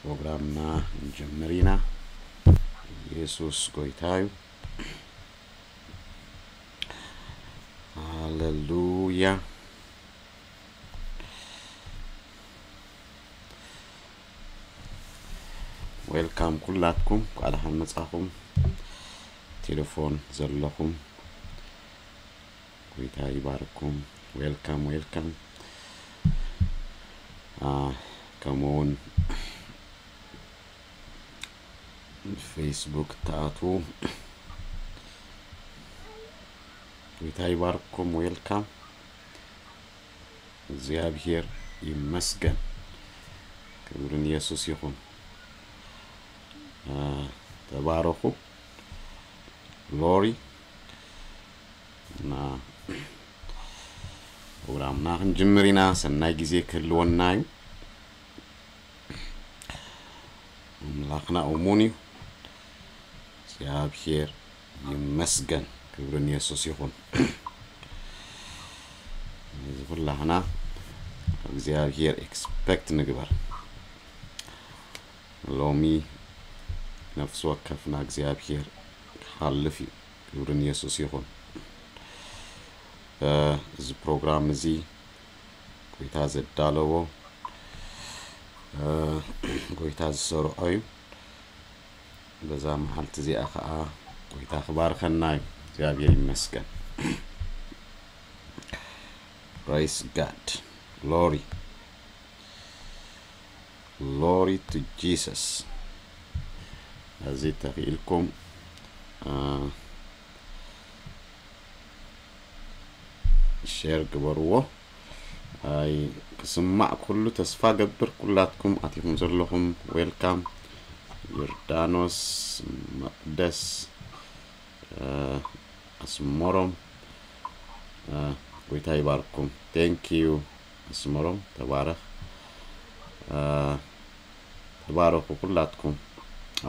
ፕሮግራምና ንጅምር ኢና። ኢየሱስ ጎይታ እዩ። ሃሌሉያ። ዌልካም ኩላትኩም፣ እንኳዕ ደሓን መጻኹም። ቴሌፎን ዘለኹም፣ ጎይታ ይባርኩም። ዌልካም፣ ዌልካም። አ፣ ከምኡውን ፌስቡክ ተኣትዉ፣ ጎይታ ይባርኩም። ዌልካም። እግዚኣብሔር ይመስገን። ክብሪ ንየሱስ ይኹን። አ፣ ተባረኹ። ግሎሪ። እና ፕሮግራምና ክንጅምር ኢና። ሰናይ ግዜ ክህልወና እዩ። ኣምላኽና እሙን እዩ። እግዚኣብሔር ይመስገን። ክብሪ ንየሱስ ይኹን። እዚ ኩላህና ካብ እግዚኣብሔር ኤክስፐክት ንግበር። ሎሚ ነፍሲ ወከፍና እግዚኣብሔር ክሓልፍ እዩ። ክብሪ ንየሱስ ይኹን። እ፣ እዚ ፕሮግራም እዚ ጎይታ ዘዳለዎ፣ እ፣ ጎይታ ዝሰርዖ እዩ። በዛ መዓልቲ እዚኣ ኸዓ ጎይታ ክባርኸና እዩ። እግዚኣብሔር ይመስገን። Praise God. Glory. Glory to Jesus. እዚ ተኽኢልኩም፣ እ፣ ሼር ግበርዎ። ኣይ ክስማዕ ኩሉ ተስፋ ገብር። ኩላትኩም ኣቲኹም ዘለኹም ዌልካም። ዮርዳኖስ፣ መቕደስ፣ እ፣ ኣስመሮም፣ እ፣ ጎይታ ይባርኩም። ቴንክ ዩ ኣስመሮም፣ ተባረኽ። እ፣ ተባረኹ ኩላትኩም።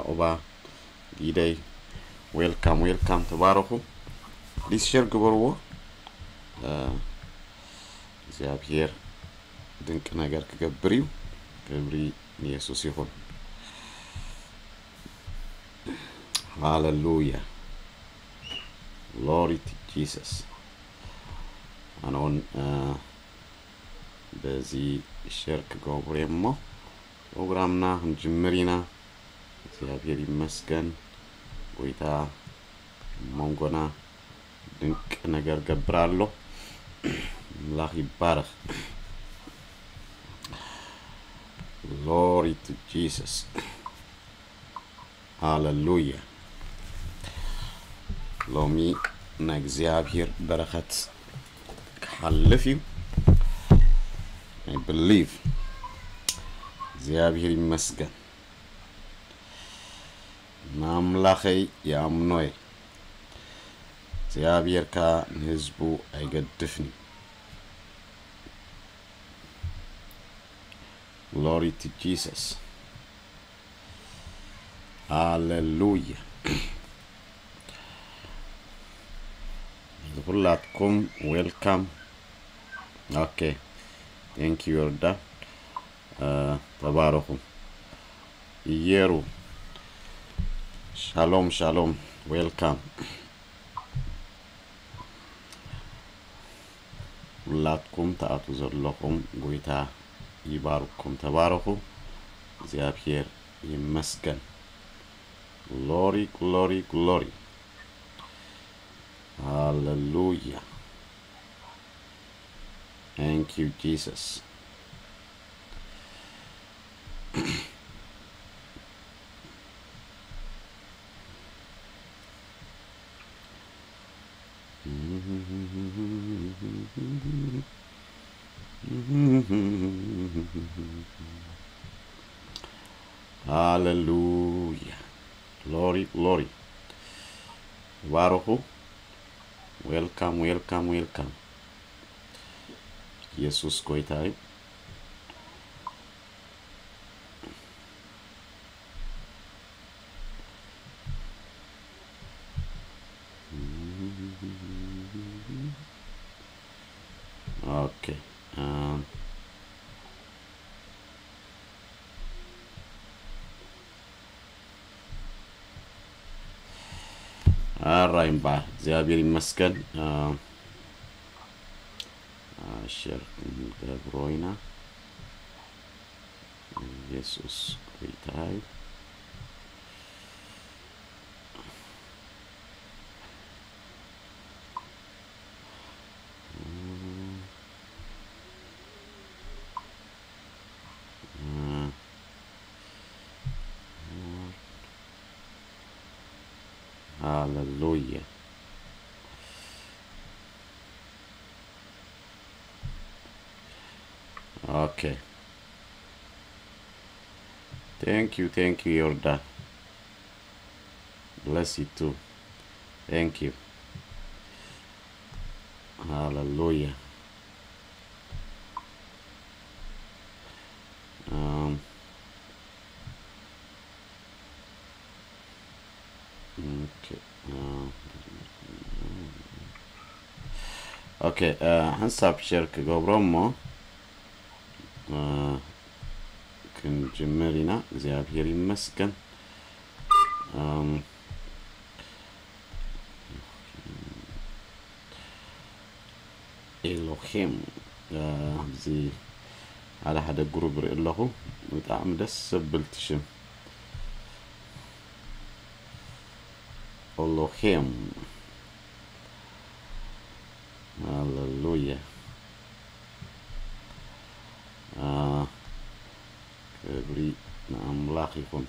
ኣኡባ፣ ጊደይ፣ ዌልካም፣ ዌልካም፣ ተባረኹ። ፕሊዝ ሼር ግበርዎ። እ፣ እግዚኣብሔር ድንቂ ነገር ክገብር እዩ። ክብሪ ንየሱስ ይኹን። ሃሌሉያ። ግሎሪ ቱ ጂሰስ። ኣነ እውን፣ እ፣ በዚ ሼር ክገብር እየ እሞ ፕሮግራምና ክንጅምር ኢና። እግዚኣብሔር ይመስገን። ጎይታ ኣብ መንጎና ድንቅ ነገር ገብር ኣሎ። ኣምላኽ ይባረኽ። ግሎሪ ቱ ጂሰስ። ሃሌሉያ። ሎሚ ናይ እግዚኣብሔር በረኸት ክሓልፍ እዩ። I believe። እግዚኣብሔር ይመስገን። ንኣምላኸይ ይኣምኖ እየ። እግዚኣብሔር ከኣ ንህዝቡ ኣይገድፍን እዩ። ግሎሪ ቱ ጂሰስ። ሃሌሉያ። ኩላትኩም ዌልካም። ኦኬ። ቴንክ ዩ ዮርዳ። እ፣ ተባረኹ። እየሩ። ሻሎም፣ ሻሎም። ዌልካም። ኩላትኩም ትኣትዉ ዘለኹም ጎይታ ይባርኩም። ተባረኹ። እግዚኣብሔር ይመስገን። ግሎሪ፣ ግሎሪ፣ ግሎሪ። ሃሌሉያ። Thank you, Jesus. ሃሌሉያ። ግሎሪ፣ ግሎሪ። ተባረኹ። ዌልካም፣ ዌልካም፣ ዌልካም። ኢየሱስ ጎይታ እዩ። ኦኬ። እ፣ ኣራይ እምበኣር እግዚኣብሔር ይመስገን። ሸር ክንገብሮ ኢና። ኢየሱስ ጎይታ እዩ። ሃሌሉያ። Okay. Thank you, thank you, Yorda. Bless you too. Thank you. Hallelujah. Um, okay. Uh, okay. Uh, ሓንሳብ ሸር ክገብሮ እሞ ክንጅምር ኢና። እግዚኣብሔር ይመስገን። ኤሎሄም ኣብዚ ሓደ ሓደ ግሩብ ርኢ ኣለኹ። ብጣዕሚ ደስ ዘብል ትሽም ኤሎሄም። ሃሌሉያ። ክብሪ ንኣምላኽ ይኹን።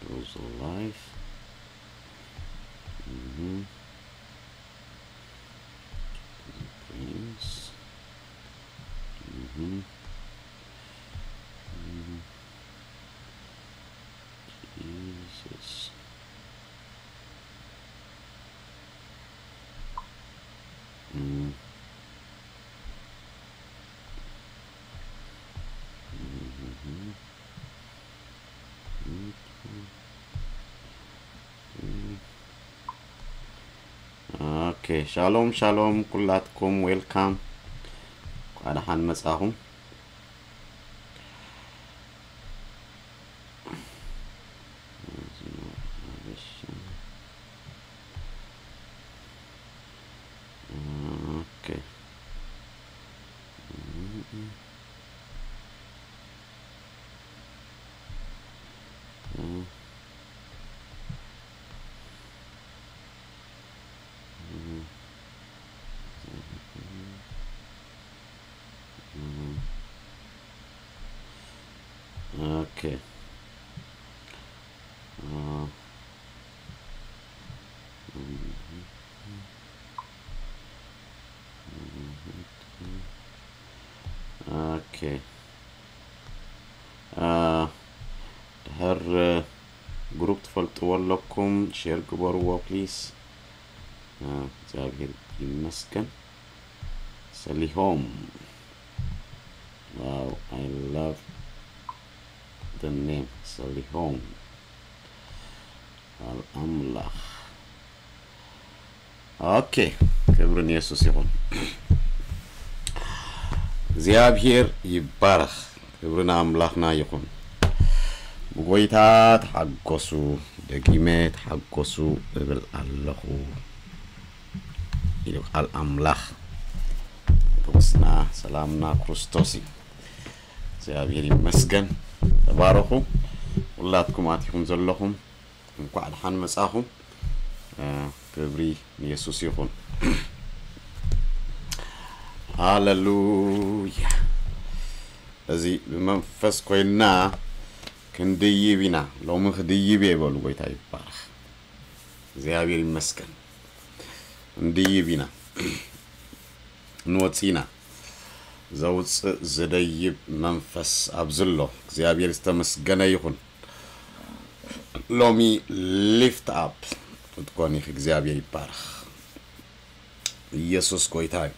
Goes live. Mm-hmm. Prince. Mm-hmm. Mm-hmm. Jesus. Mm. Mm-hmm. Okay. Okay, shalom, shalom ኩላትኩም፣ welcome። እንኳዕ ደሓን መጻኹም። Okay. Okay. Okay. ድሕር ግሩፕ ትፈልጥዎ ኣለኩም፣ ሼር ግበርዎ ፕሊስ። እግዚኣብሔር ይመስገን። ሰሊሆም። Wow, I love the name ሰሊሆም። ኣል ኣምላኽ። ኦኬ፣ ክብሪ ንየሱስ ይኹን። እግዚኣብሔር ይባረኽ። ክብሪ ንኣምላኽና ይኹን። ብጎይታ ተሓጎሱ፣ ደጊመ ተሓጎሱ እብል ኣለኹ ኢሉ ቃል ኣምላኽ። ንጉስና ሰላምና ክርስቶስ እዩ። እግዚኣብሔር ይመስገን። ተባረኹ። ሁላትኩም ኣቲኹም ዘለኹም እንኳዕ ደሓን መጻኹም። ክብሪ ንየሱስ ይኹን። ሃሌሉያ። እዚ ብመንፈስ ኮይንና ክንድይብ ኢና። ሎሚ ክድይብ እየ ይበሉ። ጎይታ ይባረኽ። እግዚኣብሔር ይመስገን። ክንድይብ ኢና። ንወፅእ ኢና። ዘውፅእ ዝደይብ መንፈስ ኣብዚ ኣሎ። እግዚኣብሔር ዝተመስገነ ይኹን። ሎሚ ሊፍት ኣፕ ክትኮን ኢኺ። እግዚኣብሔር ይባረኽ። ኢየሱስ ጎይታ እዩ።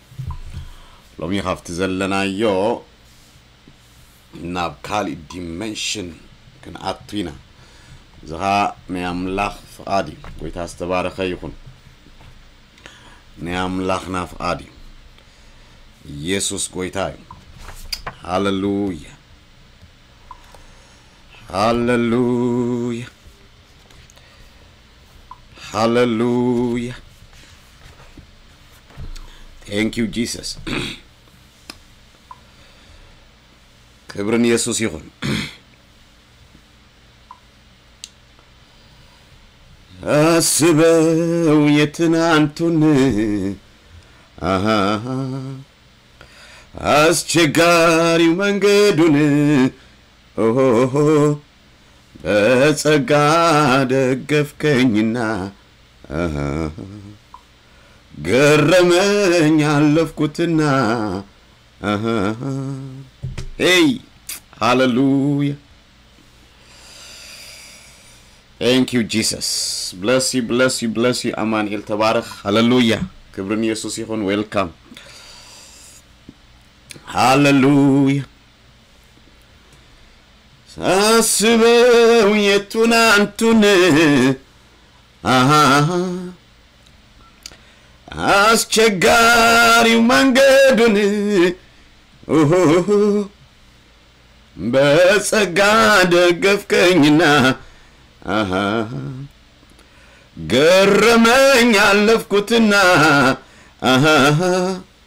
ሎሚ ካብቲ ዘለናዮ ናብ ካልእ ዲመንሽን ክንኣቱ ኢና። እዚ ኸኣ ናይ ኣምላኽ ፍቓድ እዩ። ጎይታ ዝተባረኸ ይኹን። ናይ ኣምላኽና ፍቓድ እዩ። ኢየሱስ ጎይታ እዩ። ሃለሉያ፣ ሃለሉያ፣ ሃለሉያ። Thank you Jesus። ክብርን የሱስ ይኹን። ኣስበው የትናንቱን፣ ኣሃ፣ ኣስቸጋሪው መንገዱን፣ ኦሆሆ፣ በጸጋ ደገፍከኝና፣ ኣሃ፣ ገረመኝ አለፍኩትና። አሃ። Hey, ሃሌሉያ። Thank you Jesus. Bless you, bless you, bless you. ኣማኑኤል ተባረኽ። ሃሌሉያ። ክብርን የሱስ ይኹን። Welcome። ሃሌሉያ። ሳስበው የቱን አንቱን፣ አሃ፣ አስቸጋሪው መንገዱን፣ ኡሁሁ፣ በጸጋ ደገፍከኝና፣ አሃ፣ ገረመኝ አለፍኩትና፣ አሃ፣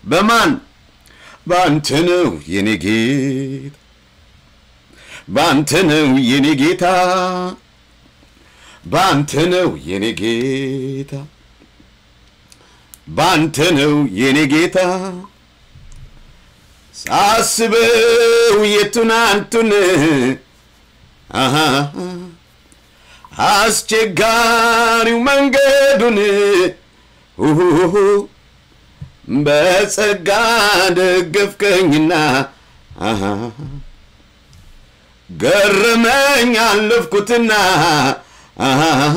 በማን? ባንተ ነው የኔ ጌታ፣ ባንተ ነው የኔ ጌታ፣ ባንተ ነው የኔ ጌታ፣ ባንተ ነው የኔ ጌታ። ሳስበው የቱን አንቱን፣ አሃ፣ አስቸጋሪው መንገዱን፣ ኡሁሁ፣ በጸጋ ደገፍከኝና፣ አሃ፣ ገረመኝ አለፍኩትና፣ አሃ፣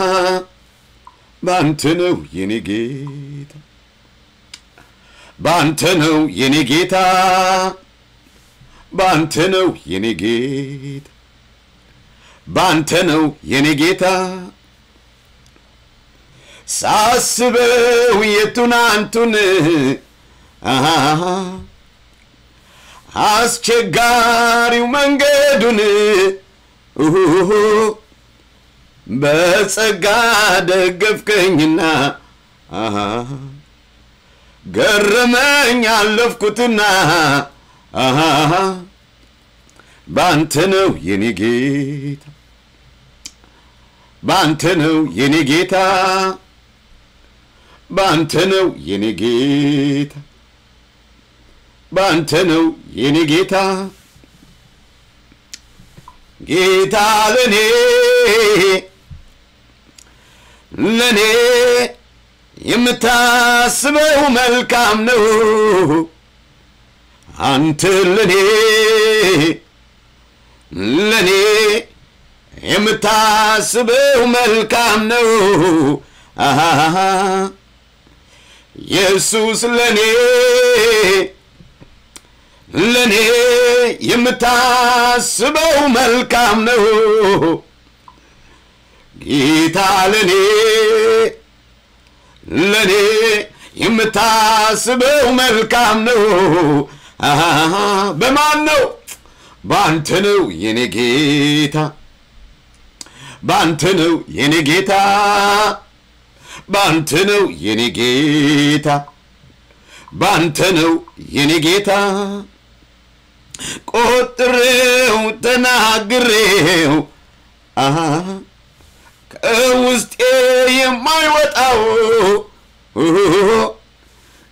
ባንተ ነው የኔ ጌታ፣ ባንተ ነው የኔ ጌታ፣ ባንተ ነው የኔ ጌታ፣ ባንተ ነው የኔ ጌታ። ሳስበው የቱን አንቱን፣ አሃ፣ አስቸጋሪው መንገዱን፣ ኡሁሁ፣ በጸጋ ደገፍከኝና፣ አሃ፣ ገረመኝ አለፍኩትና፣ አሃ፣ ባንተ ነው የኔ ጌታ፣ ባንተ ነው የኔ ጌታ፣ ባንተ ነው የኔ ጌታ፣ ባንተ ነው የኔ ጌታ። ጌታ ለኔ፣ ለኔ የምታስበው መልካም ነው። አንተ ለኔ፣ ለኔ የምታስበው መልካም ነው። አሃ፣ ኢየሱስ ለኔ፣ ለኔ የምታስበው መልካም ነው። ጌታ ለኔ፣ ለኔ የምታስበው መልካም ነው። አሃ፣ በማን ነው? ባንተ ነው የኔ ጌታ፣ ባንተ ነው የኔ ጌታ፣ ባንተ ነው የኔ ጌታ፣ ባንተ ነው የኔ ጌታ። ቆጥሬው ተናግሬው፣ አሃ፣ ከውስጤ የማይወጣው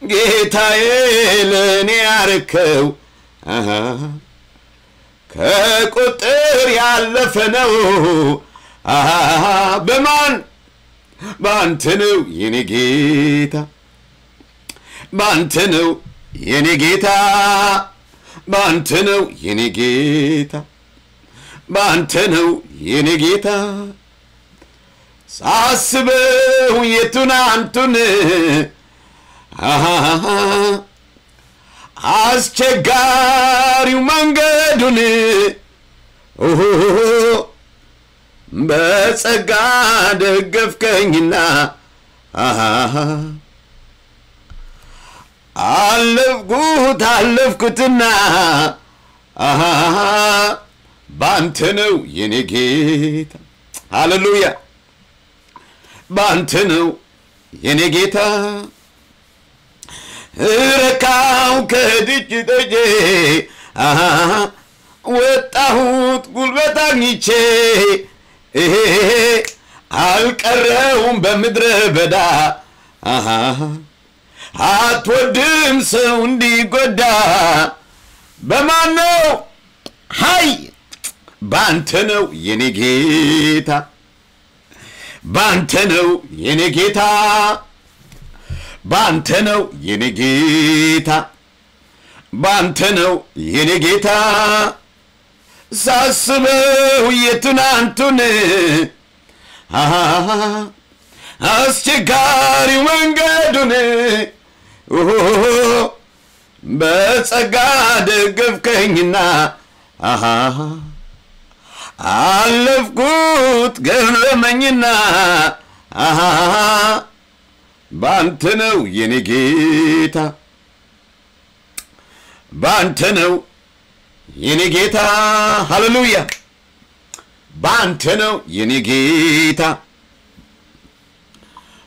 ጌታዬ ለኔ ያረከው፣ አሃ፣ ከቁጥር ያለፈ ነው። አሃ፣ በማን? ባንተ ነው የኔ ጌታ፣ ባንተ ነው የኔ ጌታ፣ ባንተ ነው የኔ ጌታ፣ ባንተ ነው የኔ ጌታ። ሳስበው የቱን አንቱን፣ አሃ፣ ኣስቸጋሪው መንገዱን ኦሆ በጸጋ ደገፍከኝና ኣሃ። ኣለፍኩት ኣለፍኩትና ኣሃ። ባንተ ነው የኔ ጌታ። ሃሌሉያ። ባንተ ነው የኔ ጌታ። ረካው ከድጅ ደጄ አሃ፣ ወጣሁት ጉልበት አግኝቼ እሄ፣ አልቀረውም በምድረ በዳ አሃ፣ አትወድም ሰው እንዲጎዳ። በማን ነው? ሀይ ባንተ ነው የኔ ጌታ። ባንተ ነው የኔ ጌታ፣ ባንተ ነው የኔ ጌታ፣ ባንተ ነው የኔ ጌታ። ሳስበው የትናንቱን አሃ፣ አስቸጋሪ መንገዱን ኦሆ፣ በጸጋ ደገፍከኝና አሃ፣ አለፍኩት ገረመኝና አሃ፣ ባንተ ነው የኔ ጌታ፣ ባንተ ነው የኔ ጌታ። ሃሌሉያ። ባንተ ነው የኔ ጌታ፣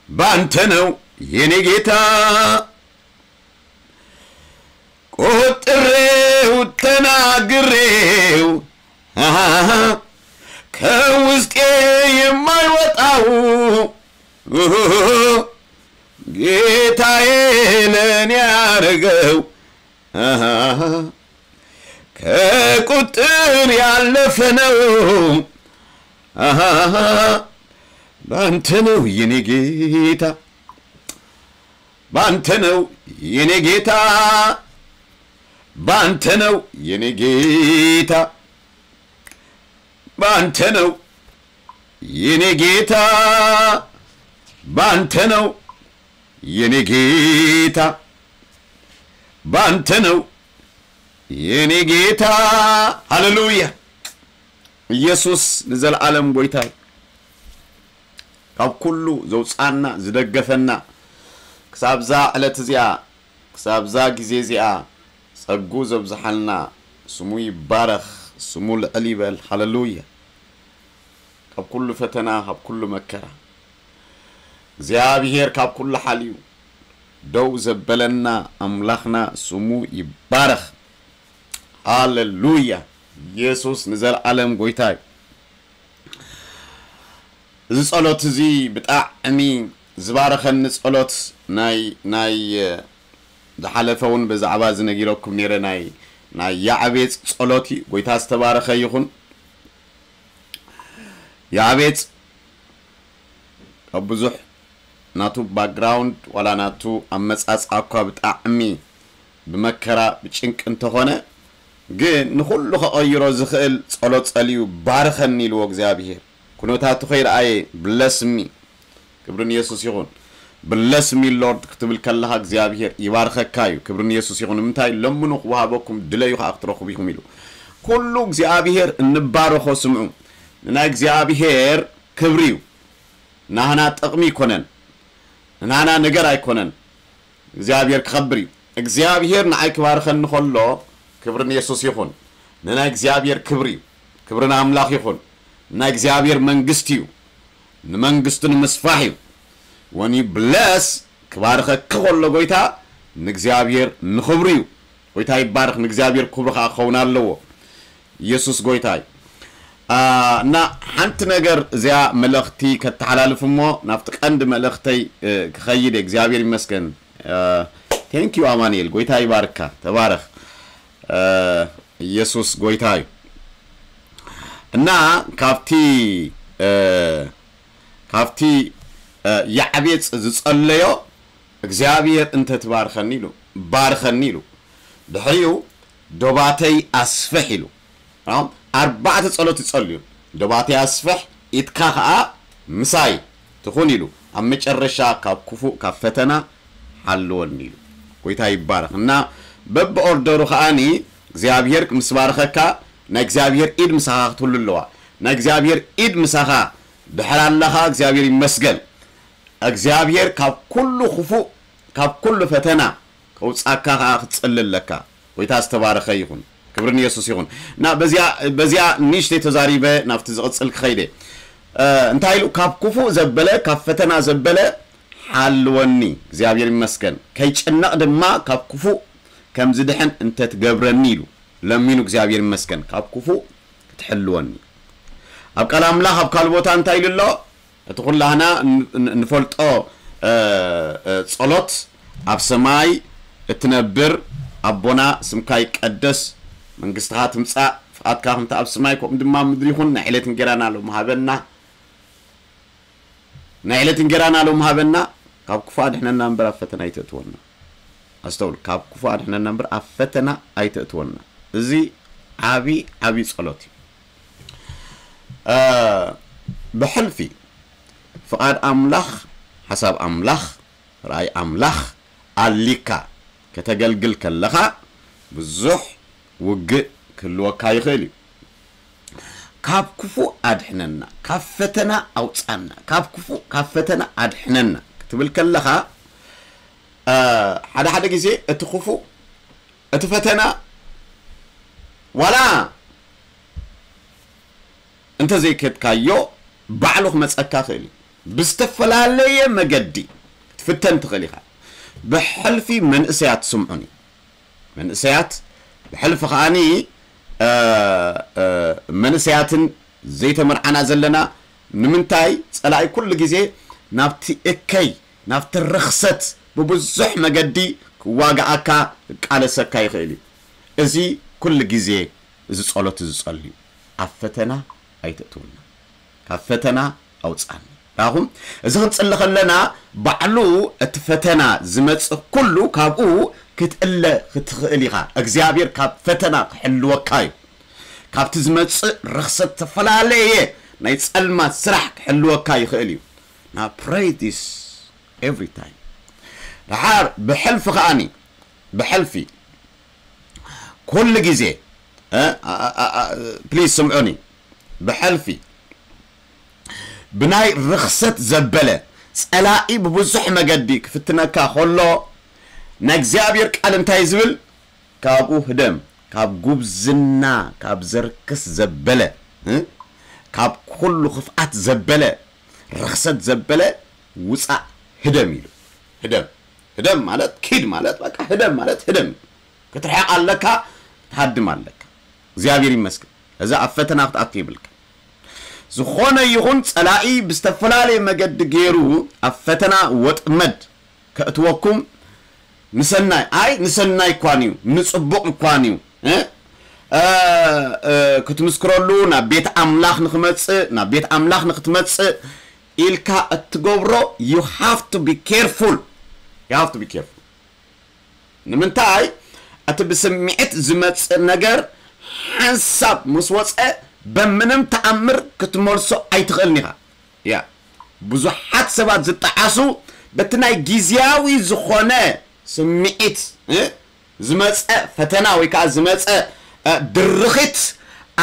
ባንተ ነው የኔ ጌታ። ቆጥሬው ተናግሬው አሃ፣ ከውስጤ የማይወጣው ኦሆ፣ ጌታዬ ለኔ ያረገው አሃ፣ ከቁጥር ያለፈ ነው። አሃ፣ ባንተ ነው የኔ ጌታ፣ ባንተ ነው የኔ ጌታ፣ ባንተ ነው የኔ ጌታ፣ ባንተ ነው የኔ ጌታ፣ ባንተ ነው የኔ ጌታ፣ ባንተ ነው የኔ ጌታ። ሃሌሉያ። ኢየሱስ ንዘለዓለም ጎይታይ፣ ካብ ኩሉ ዘውጻና ዝደገፈና፣ ክሳብዛ ዕለት እዚኣ፣ ክሳብዛ ግዜ እዚኣ ጸጉ ዘብዝሓልና ስሙ ይባረኽ፣ ስሙ ልዕል ይበል። ሃሌሉያ። ካብ ኩሉ ፈተና፣ ካብ ኩሉ መከራ እግዚኣብሔር ካብ ኩሉ ሓልዩ ደው ዘበለና ኣምላኽና ስሙ ይባረኽ። ሃሌሉያ። ኢየሱስ ንዘለዓለም ጎይታ እዩ። እዚ ጸሎት እዚ ብጣዕሚ ዝባረኸኒ ጸሎት ናይ ናይ ዝሓለፈ እውን ብዛዕባ እዚ ነጊረኩም ነይረ። ናይ ናይ ያዕቤጽ ጸሎት እዩ። ጎይታ ዝተባረኸ ይኹን። ያዕቤጽ ካብ ብዙሕ ናቱ ባክግራውንድ ዋላ ናቱ ኣመጻጽኣ እኳ ብጣዕሚ ብመከራ ብጭንቂ እንተኾነ፣ ግን ንኹሉ ከቐይሮ ዝኽእል ጸሎት ጸልዩ፣ "ባርኸኒ" ኢልዎ እግዚኣብሄር። ኩነታቱ ከይረኣየ፣ "ብለስ ሚ" ክብሪ ንየሱስ ይኹን። "ብለስ ሚ ሎርድ" ክትብል ከለኻ እግዚኣብሄር ይባርኸካ እዩ። ክብሪ ንየሱስ ይኹን። ንምንታይ? "ለምኑ ክወሃበኩም፣ ድለዩ ከኣ ክትረኽቡ ኢኹም" ኢሉ። ኩሉ እግዚኣብሄር እንባርኾ ስምዑ። ንናይ እግዚኣብሄር ክብሪ እዩ። ናህና ጥቕሚ ኣይኮነን። ንናህና ነገር ኣይኮነን። እግዚኣብሄር ክኸብር እዩ። እግዚኣብሄር ንዓይ ክባርኸኒ ከሎ፣ ክብሪ ንየሱስ ይኹን። ንናይ እግዚኣብሄር ክብሪ እዩ። ክብሪ ንኣምላኽ ይኹን። ንናይ እግዚኣብሄር መንግስቲ እዩ። ንመንግስቱ ንምስፋሕ እዩ። When you bless፣ ክባርኸኪ ከሎ ጎይታ፣ ንእግዚኣብሄር ንኽብሪ እዩ። ጎይታ ይባረኽ፣ ንእግዚኣብሔር ክብሪ ኸዓ ክኸውን ኣለዎ። ኢየሱስ ጎይታ እዩ። አ፣ እና ሓንቲ ነገር እዚኣ መልእኽቲ ከተሓላልፍ እሞ ናብቲ ቀንዲ መልእኽተይ፣ እ፣ ክኸይድ እየ። እግዚኣብሔር ይመስገን። እ፣ thank you ኣማኑኤል፣ ጎይታ ይባርካ፣ ተባረኽ። እ፣ ኢየሱስ ጎይታ እዩ። እና ካብቲ፣ እ፣ ካብቲ፣ እ፣ ያዕቤጽ ዝጸለዮ እግዚኣብሔር እንተትባርከኒ ኢሉ፣ ባርከኒ ኢሉ። ድሕሪኡ ዶባተይ ኣስፍሕ ኢሉ። ኣም፣ ኣርባዕተ ጸሎት ይጸልዩ። ዶባተይ ኣስፍሕ፣ ኢድካ ኸኣ ምሳይ ትኹን ኢሉ። ኣብ መጨረሻ ካብ ክፉእ፣ ካብ ፈተና ሓልወኒ ኢሉ። ጎይታ ይባረኽ። እና በብኦርደሩ ከኣኒ እግዚኣብሔር ምስ ባረኸካ ናይ እግዚኣብሔር ኢድ ምሳኻ ክትህሉ ኣለዋ። ናይ እግዚኣብሔር ኢድ ምሳኻ ድሕር ኣለኻ፣ እግዚኣብሔር ይመስገን። እግዚኣብሔር ካብ ኩሉ ክፉእ፣ ካብ ኩሉ ፈተና ከውጻካ ከኣ ክትጸሊ ኣለካ። ጎይታ ዝተባረኸ ይኹን። ክብሪ ንየሱስ ይኹን። እና በዚኣ በዚኣ ንእሽተይ ተዛሪበ ናብቲ ዝቕጽል ክኸይደ። እ፣ እንታይ ኢሉ? ካብ ክፉእ ዘበለ፣ ካብ ፈተና ዘበለ ሓልወኒ፣ እግዚኣብሔር ይመስገን። ከይጨነቕ ድማ ካብ ክፉእ ከም ዝድሕን እንተትገብረኒ ኢሉ ለሚኑ፣ እግዚኣብሔር ይመስገን። ካብ ክፉእ ክትሕልወኒ። ኣብ ቃል ኣምላኽ ኣብ ካልእ ቦታ እንታይ ኢሉ ኣሎ? እቲ ኩላህና ን-፣ ን-፣ ንፈልጦ፣ እ፣ እ፣ ጸሎት፣ ኣብ ሰማይ እትነብር ኣቦና፣ ስምካ ይቀደስ፣ መንግስትኻ ትምጻእ፣ ፍቓድካ ከምቲ ኣብ ሰማይ ከምኡ ድማ ኣብ ምድሪ ይኹን፣ ናይ ዕለት እንጌራና ሎሚ ሃበና፣ ናይ ዕለት እንጌራና ሎሚ ሃበና፣ ካብ ክፉእ ኣድሕነና እምበር ኣብ ፈተና ኣይተእትወና። ኣስተውሉ፣ ካብ ክፉእ ኣድሕነና እምበር ኣብ ፈተና ኣይተእትወና። እዚ ዓቢ፣ ዓቢ ጸሎት እዩ። እ፣ ብሕልፊ ፍቓድ ኣምላኽ፣ ሓሳብ ኣምላኽ፣ ራእይ ኣምላኽ ኣሊካ ከተገልግል ከለኻ ብዙሕ ውግእ ክህልወካ ይኽእል እዩ። ካብ ክፉእ ኣድሕነና፣ ካብ ፈተና ኣውጻና፣ ካብ ክፉእ፣ ካብ ፈተና ኣድሕነና ክትብል ከለኻ፣ እ፣ ሓደ ሓደ ግዜ እቲ ክፉእ፣ እቲ ፈተና ዋላ እንተዘይከድካዮ ባዕሉ ክመጸካ ይኽእል እዩ። ብዝተፈላለየ መገዲ ክትፍተን ትኽእል ኢኻ። ብሕልፊ መንእሰያት ስምዑኒ። መንእሰያት ብሕልፊ ከኣኒ፣ እ፣ እ፣ መንእሰያትን ዘይተመርዓና ዘለና ንምንታይ ጸላኢ ኩሉ ግዜ ናብቲ እከይ፣ ናብቲ ርኽሰት ብብዙሕ መገዲ ክዋግኣካ ክቃለሰካ ይኽእል እዩ። እዚ ኩሉ ግዜ እዚ ጸሎት እዚ ጸልዩ፣ ኣብ ፈተና ኣይተእትውና፣ ካብ ፈተና ኣውጻኒ። ራኹም፣ እዚ ክንጽሊ ከለና ባዕሉ እቲ ፈተና ዝመጽእ ኩሉ ካብኡ ክትእለ ክትኽእል ኢኻ። እግዚኣብሔር ካብ ፈተና ክሕልወካ እዩ። ካብቲ ዝመጽእ ርኽሰት፣ ዝተፈላለየ ናይ ጸልማት ስራሕ ክሕልወካ ይኽእል እዩ። Now pray this every time። ደሓር ብሕልፊ ከኣኒ፣ ብሕልፊ ኩሉ ግዜ፣ እ፣ ኣ፣ ኣ፣ ኣ፣ ፕሊዝ ስምዑኒ። ብሕልፊ ብናይ ርኽሰት ዘበለ ጸላኢ ብብዙሕ መገዲ ክፍትነካ ከሎ፣ ናይ እግዚኣብሔር ቃል እንታይ ዝብል? ካብኡ ህደም፣ ካብ ጉብዝና፣ ካብ ዘርክስ ዘበለ፣ እ፣ ካብ ኩሉ ክፍኣት ዘበለ፣ ርኽሰት ዘበለ ውጻእ፣ ህደም ኢሉ። ህደም፣ ህደም ማለት፣ ኪድ ማለት፣ በቃ ህደም ማለት ህደም። ክትርሕቕ ኣለካ፣ ትሃድም ኣለካ። እግዚኣብሔር ይመስገን። እዚ ኣብ ፈተና ክትኣቱ ይብልካ። ዝኾነ ይኹን ጸላኢ ብዝተፈላለየ መገዲ ገይሩ ኣብ ፈተና ወጥመድ ከእትወኩም ንሰናይ፣ ኣይ ንሰናይ እኳን እዩ፣ ንጽቡቕ እኳን እዩ፣ እ? እ፣ እ፣ ክትምስክረሉ ናብ ቤት ኣምላኽ ንኽመጽእ፣ ናብ ቤት ኣምላኽ ንኽትመጽእ ኢልካ እትገብሮ፣ you have to be careful። You have to be careful። ንምንታይ? እቲ ብስምዒት ዝመጽእ ነገር ሓንሳብ ምስ ወጸ፣ በምንም ተኣምር ክትመልሶ ኣይትኽእልን ኢኻ። ያ፣ ብዙሓት ሰባት ዝጠዓሱ በቲ ናይ ግዝያዊ ዝኾነ ስምዒት፣ እ፣ ዝመጸ ፈተና ወይ ከዓ ዝመጸ፣ እ፣ ድርኺት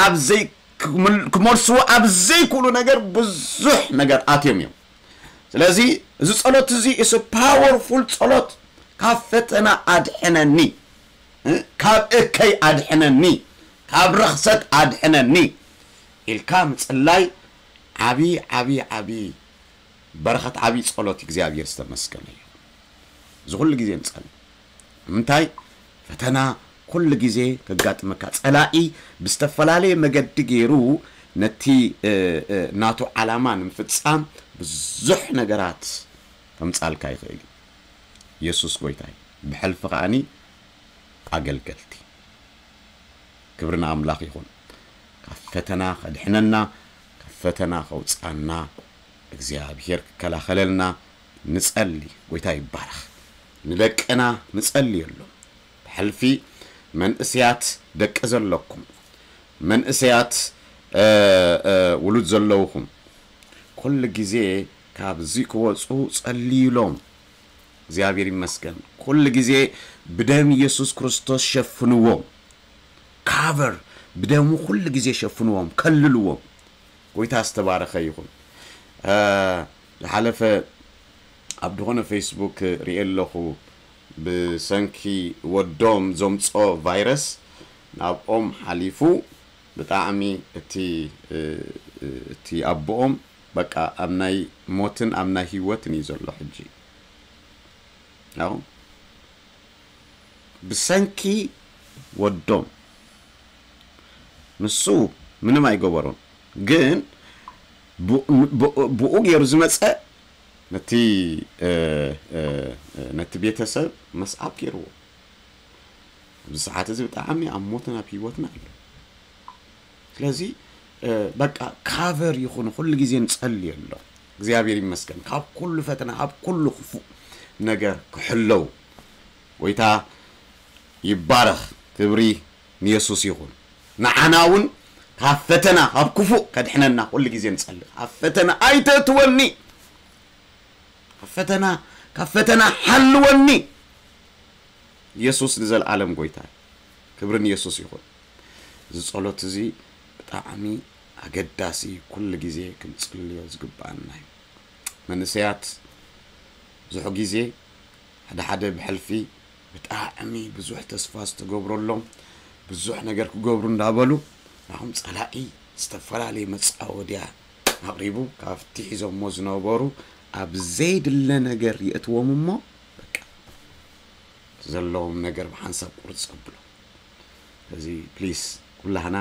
ኣብ ዘይ-፣ ክምል-፣ ክመልስዎ ኣብ ዘይክእሉ ነገር ብዙሕ ነገር ኣትዮም እዮም። ስለዚ እዚ ጸሎት እዚ is a powerful ጸሎት። ካብ ፈተና ኣድሕነኒ፣ እ፣ ካብ እከይ ኣድሕነኒ፣ ካብ ረኽሰት ኣድሕነኒ ኢልካ ምጽላይ ዓቢ፣ ዓቢ፣ ዓቢ በረኸት፣ ዓቢ ጸሎት። እግዚኣብሔር ዝተመስገነ እዩ። እዚ ኩሉ ግዜ ንጸሊ። ንምንታይ? ፈተና ኩሉ ግዜ ከጋጥመካ፣ ጸላኢ ብዝተፈላለየ መገዲ ገይሩ ነቲ፣ እ፣ እ፣ ናቱ ዓላማ ንምፍጻም ብዙሕ ነገራት ከምጻልካ ይኽእል እዩ። የሱስ ጎይታ እዩ። ብሕልፊ ከኣኒ ኣገልገልቲ። ክብሪ ንኣምላኽ ይኹን። ካብ ፈተና ከድሕነና፣ ካብ ፈተና ከውጽኣና፣ እግዚኣብሔር ክከላኸለልና ንጸሊ። ጎይታ ይባረኽ። ንደቅና ንጸልየሎም። ብሕልፊ መንእሰያት ደቂ ዘለኩም፣ መንእሰያት፣ እ፣ እ፣ ውሉድ ዘለውኹም፣ ኩሉ ግዜ ካብዚ ክወጹ ጸልዩሎም። እግዚኣብሔር ይመስገን። ኩሉ ግዜ ብደም ኢየሱስ ክርስቶስ ሸፍንዎም። ካቨር ብደሙ ኩሉ ግዜ ሸፍንዎም፣ ከልልዎም። ጎይታ ዝተባረኸ ይኹን። ዝሓለፈ ኣብ ዝኾነ ፌስቡክ ሪኤ ኣለኹ፣ ብሰንኪ ወዶም ዘምፅኦ ቫይረስ ናብኦም ሓሊፉ። ብጣዕሚ እቲ እቲ ኣቦኦም በቃ ኣብ ናይ ሞትን ኣብ ናይ ህይወትን እዩ ዘሎ ሕጂ። ያው ብሰንኪ ወዶም ንሱ ምንም ኣይገበሮን፣ ግን ብኡ ገይሩ ዝመፀ ነቲ ነቲ ቤተሰብ መስዓብ ገይርዎ። ኣብዚ ሰዓት እዚ ብጣዕሚ ኣብ ሞትን ኣብ ህይወትን ኣሎ። ስለዚ በቃ ካቨር ይኹን፣ ኩሉ ግዜ ንጸልየሎም። እግዚኣብሔር ይመስገን ካብ ኩሉ ፈተና፣ ካብ ኩሉ ክፉእ ነገር ክሕለው። ጎይታ ይባረኽ፣ ክብሪ ንየሱስ ይኹን። ንዓና እውን ካብ ፈተና፣ ካብ ክፉእ ከድሕነና ኩሉ ግዜ ንጸልእ። ካብ ፈተና ኣይተእትወኒ፣ ካብ ፈተና፣ ካብ ፈተና ሓልወኒ። የሱስ ንዘለኣለም ጎይታ እዩ። ክብሪ ንየሱስ ይኹን። እዚ ጸሎት እዚ ብጣዕሚ ኣገዳሲ፣ ኩሉ ግዜ ክንጽልዮ ዝግብኣና እዩ። መንእሰያት ብዙሕ ግዜ ሓደ ሓደ ብሕልፊ ብጣዕሚ ብዙሕ ተስፋ ዝተገብረሎም ብዙሕ ነገር ክገብሩ እንዳበሉ ናኹም ጸላኢ ዝተፈላለየ መጻወድያ ኣቕሪቡ ካብቲ ሒዞሞ ዝነበሩ ኣብ ዘይድለ ነገር የእትዎም እሞ በቃ ዘለዎም ነገር ብሓንሳብ ቁርጽ ኣብሎ። እዚ ፕሊስ ኩላህና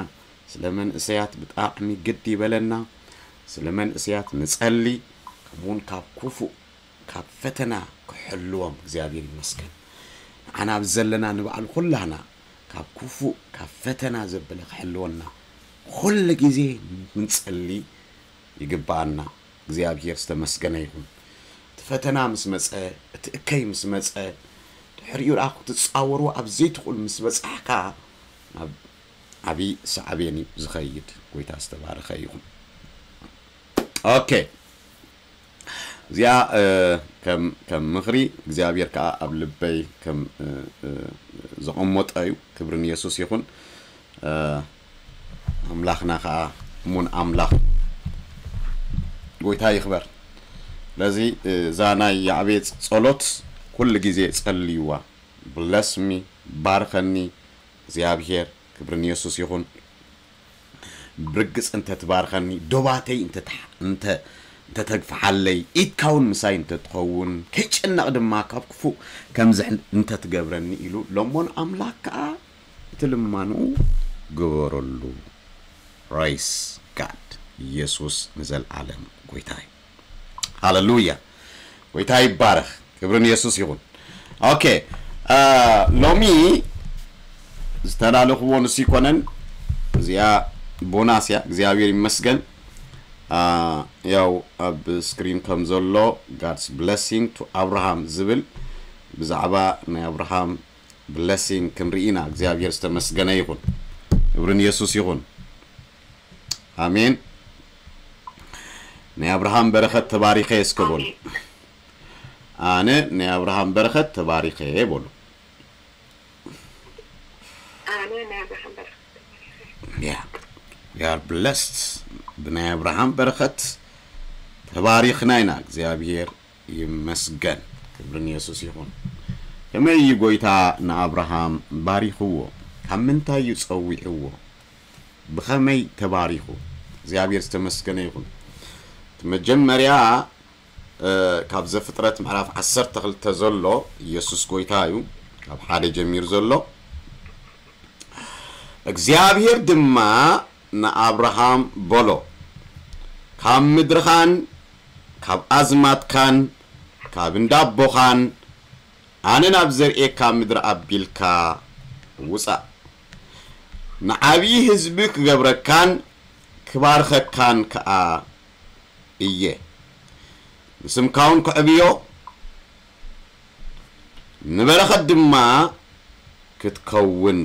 ስለ መንእሰያት ብጣዕሚ ግድ ይበለና። ስለ መንእሰያት ንጸሊ፣ ከምኡውን ካብ ክፉእ ካብ ፈተና ክሕልዎም እግዚኣብሔር ይመስገን። ንዓና ኣብዚ ዘለና ንባዕሉ ኩላህና ካብ ክፉእ ካብ ፈተና ዘበለ ክሕልወና ኩሉ ግዜ ክንጸሊ ይግብኣና። እግዚኣብሔር ዝተመስገነ ይኹን። እቲ ፈተና ምስ መጸ፣ እቲ እከይ ምስ መጸ፣ ድሕሪኡ ደኣ ክትጻወርዎ ኣብ ዘይትኽእሉ ምስ በጻሕካ ናብ ዓብዪ ሳዕቤን እዩ ዝኸይድ። ጎይታ ዝተባረኸ ይኹን። ኦኬ፣ እዚኣ ከም ከም ምኽሪ እግዚኣብሔር ከዓ ኣብ ልበይ ከም ዘቐመጦ እዩ። ክብሪ ንየሱስ ይኹን። ኣምላኽና ከዓ እሙን ኣምላኽ ጎይታ ይኽበር። ስለዚ እዛ ናይ ያዕቤጽ ጸሎት ኩሉ ግዜ ጸልይዋ። ብለስሚ፣ ባርከኒ እግዚኣብሔር። ክብሪ ንየሱስ ይኹን። ብርግጽ እንተ ትባርከኒ፣ ዶባተይ እንተ እንተ እንተ ተግፍሓለይ፣ ኢድካ እውን ምሳይ እንተ ትኸውን፣ ከይጨነቕ ድማ ካብ ክፉእ ከም ዝሕን እንተ ትገብረኒ ኢሉ ለሞን ኣምላኽ ከኣ እቲ ልማኑ ግበረሉ። ፕራይስ ጋድ። ኢየሱስ ንዘለዓለም ጎይታ እዩ። ሃለሉያ። ጎይታ ይባረኽ። ክብሪ ንየሱስ ይኹን። ኦኬ፣ ሎሚ ዝተላለኽዎ ንሱ ይኮነን። እዚኣ ቦናስ እያ። እግዚኣብሔር ይመስገን። ያው ኣብ ስክሪን ከም ዘሎ God's blessing to Abraham ዝብል ብዛዕባ ናይ ኣብርሃም ብለሲንግ ክንርኢ ኢና። እግዚኣብሔር ዝተመስገነ ይኹን። ክብሪ ንየሱስ ይኹን። ኣሜን። ናይ ኣብርሃም በረኸት ተባሪኸ እስከ በሉ። ኣነ ናይ ኣብርሃም በረኸት ተባሪኸ በሉ። ኣነ ናይ ኣብርሃም በረኸት ተባሪኸ። Yeah, we are blessed ብናይ ኣብርሃም በረኸት ተባሪኽና ኢና። እግዚኣብሔር ይመስገን። ክብሪ ንየሱስ ይኹን። ከመይ እዩ ጎይታ ንኣብርሃም ባሪኽዎ? ካብ ምንታይ እዩ ጸዊዕዎ? ብኸመይ ተባሪኹ? እግዚኣብሔር ዝተመስገነ ይኹን። እቲ መጀመርያ ካብ ዘፍጥረት ምዕራፍ ዓሰርተ ክልተ ዘሎ፣ ኢየሱስ ጎይታ እዩ፣ ካብ ሓደ ጀሚሩ ዘሎ። እግዚኣብሔር ድማ ንኣብርሃም በሎ፣ ካብ ምድርኻን ካብ ኣዝማትካን ካብ እንዳቦኻን ኣነ ናብ ዘርእየካ ምድሪ ኣቢልካ ውጻእ። ንዓብዪ ህዝቢ ክገብረካን ክባርኸካን ከኣ እየ። ንስምካ እውን ከዕብዮ፣ ንበረኸት ድማ ክትከውን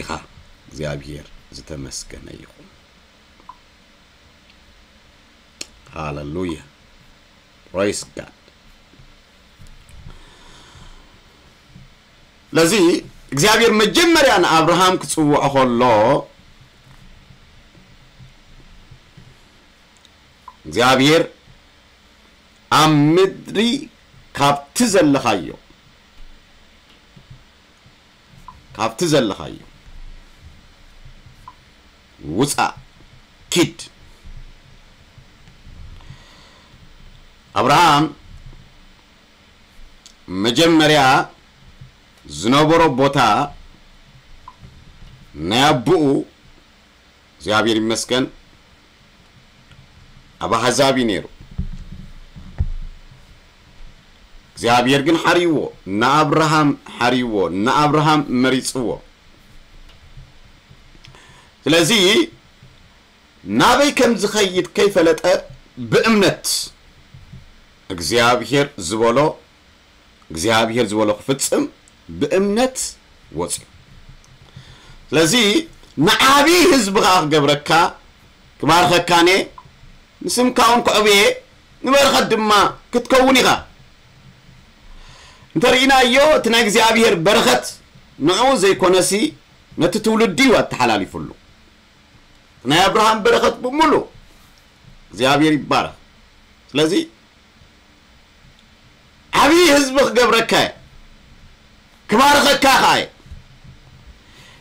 ኢኻ። እግዚኣብሔር ዝተመስገነ ይኹን። ሃለሉያ። ፕሬስ ጋድ። ስለዚ እግዚኣብሔር መጀመርያ ንኣብርሃም ክጽውዖ ከሎ እግዚኣብሔር ኣብ ምድሪ ካብቲ ዘለኻዮ ካብቲ ዘለኻዮ ውፃእ ኪድ ኣብርሃም መጀመርያ ዝነበሮ ቦታ ናይ ኣቦኡ እግዚኣብሔር ይመስገን ኣብ ኣሕዛብ እዩ ነይሩ። እግዚኣብሔር ግን ሓርይዎ ንኣብርሃም ሓርይዎ ንኣብርሃም መሪፅዎ። ስለዚ ናበይ ከም ዝኸይድ ከይፈለጠ ብእምነት እግዚኣብሔር ዝበሎ እግዚኣብሔር ዝበሎ ክፍጽም ብእምነት ወፅዩ። ስለዚ ንዓብዪ ህዝቢ ከዓ ክገብረካ ክባርኸካኔ ንስምካ እውን ክዕብየ ንበረኸት ድማ ክትከውን ኢኻ። እንተርኢናዮ እቲ ናይ እግዚኣብሔር በረኸት ንዕኡ ዘይኮነሲ ነቲ ትውልዲ እዩ ኣተሓላሊፉሉ። ናይ ኣብርሃም በረኸት ብምሉ እግዚኣብሔር ይባረኽ። ስለዚ ዓብዪ ህዝቢ ክገብረካ እየ፣ ክባርኸካ ከዓ እየ፣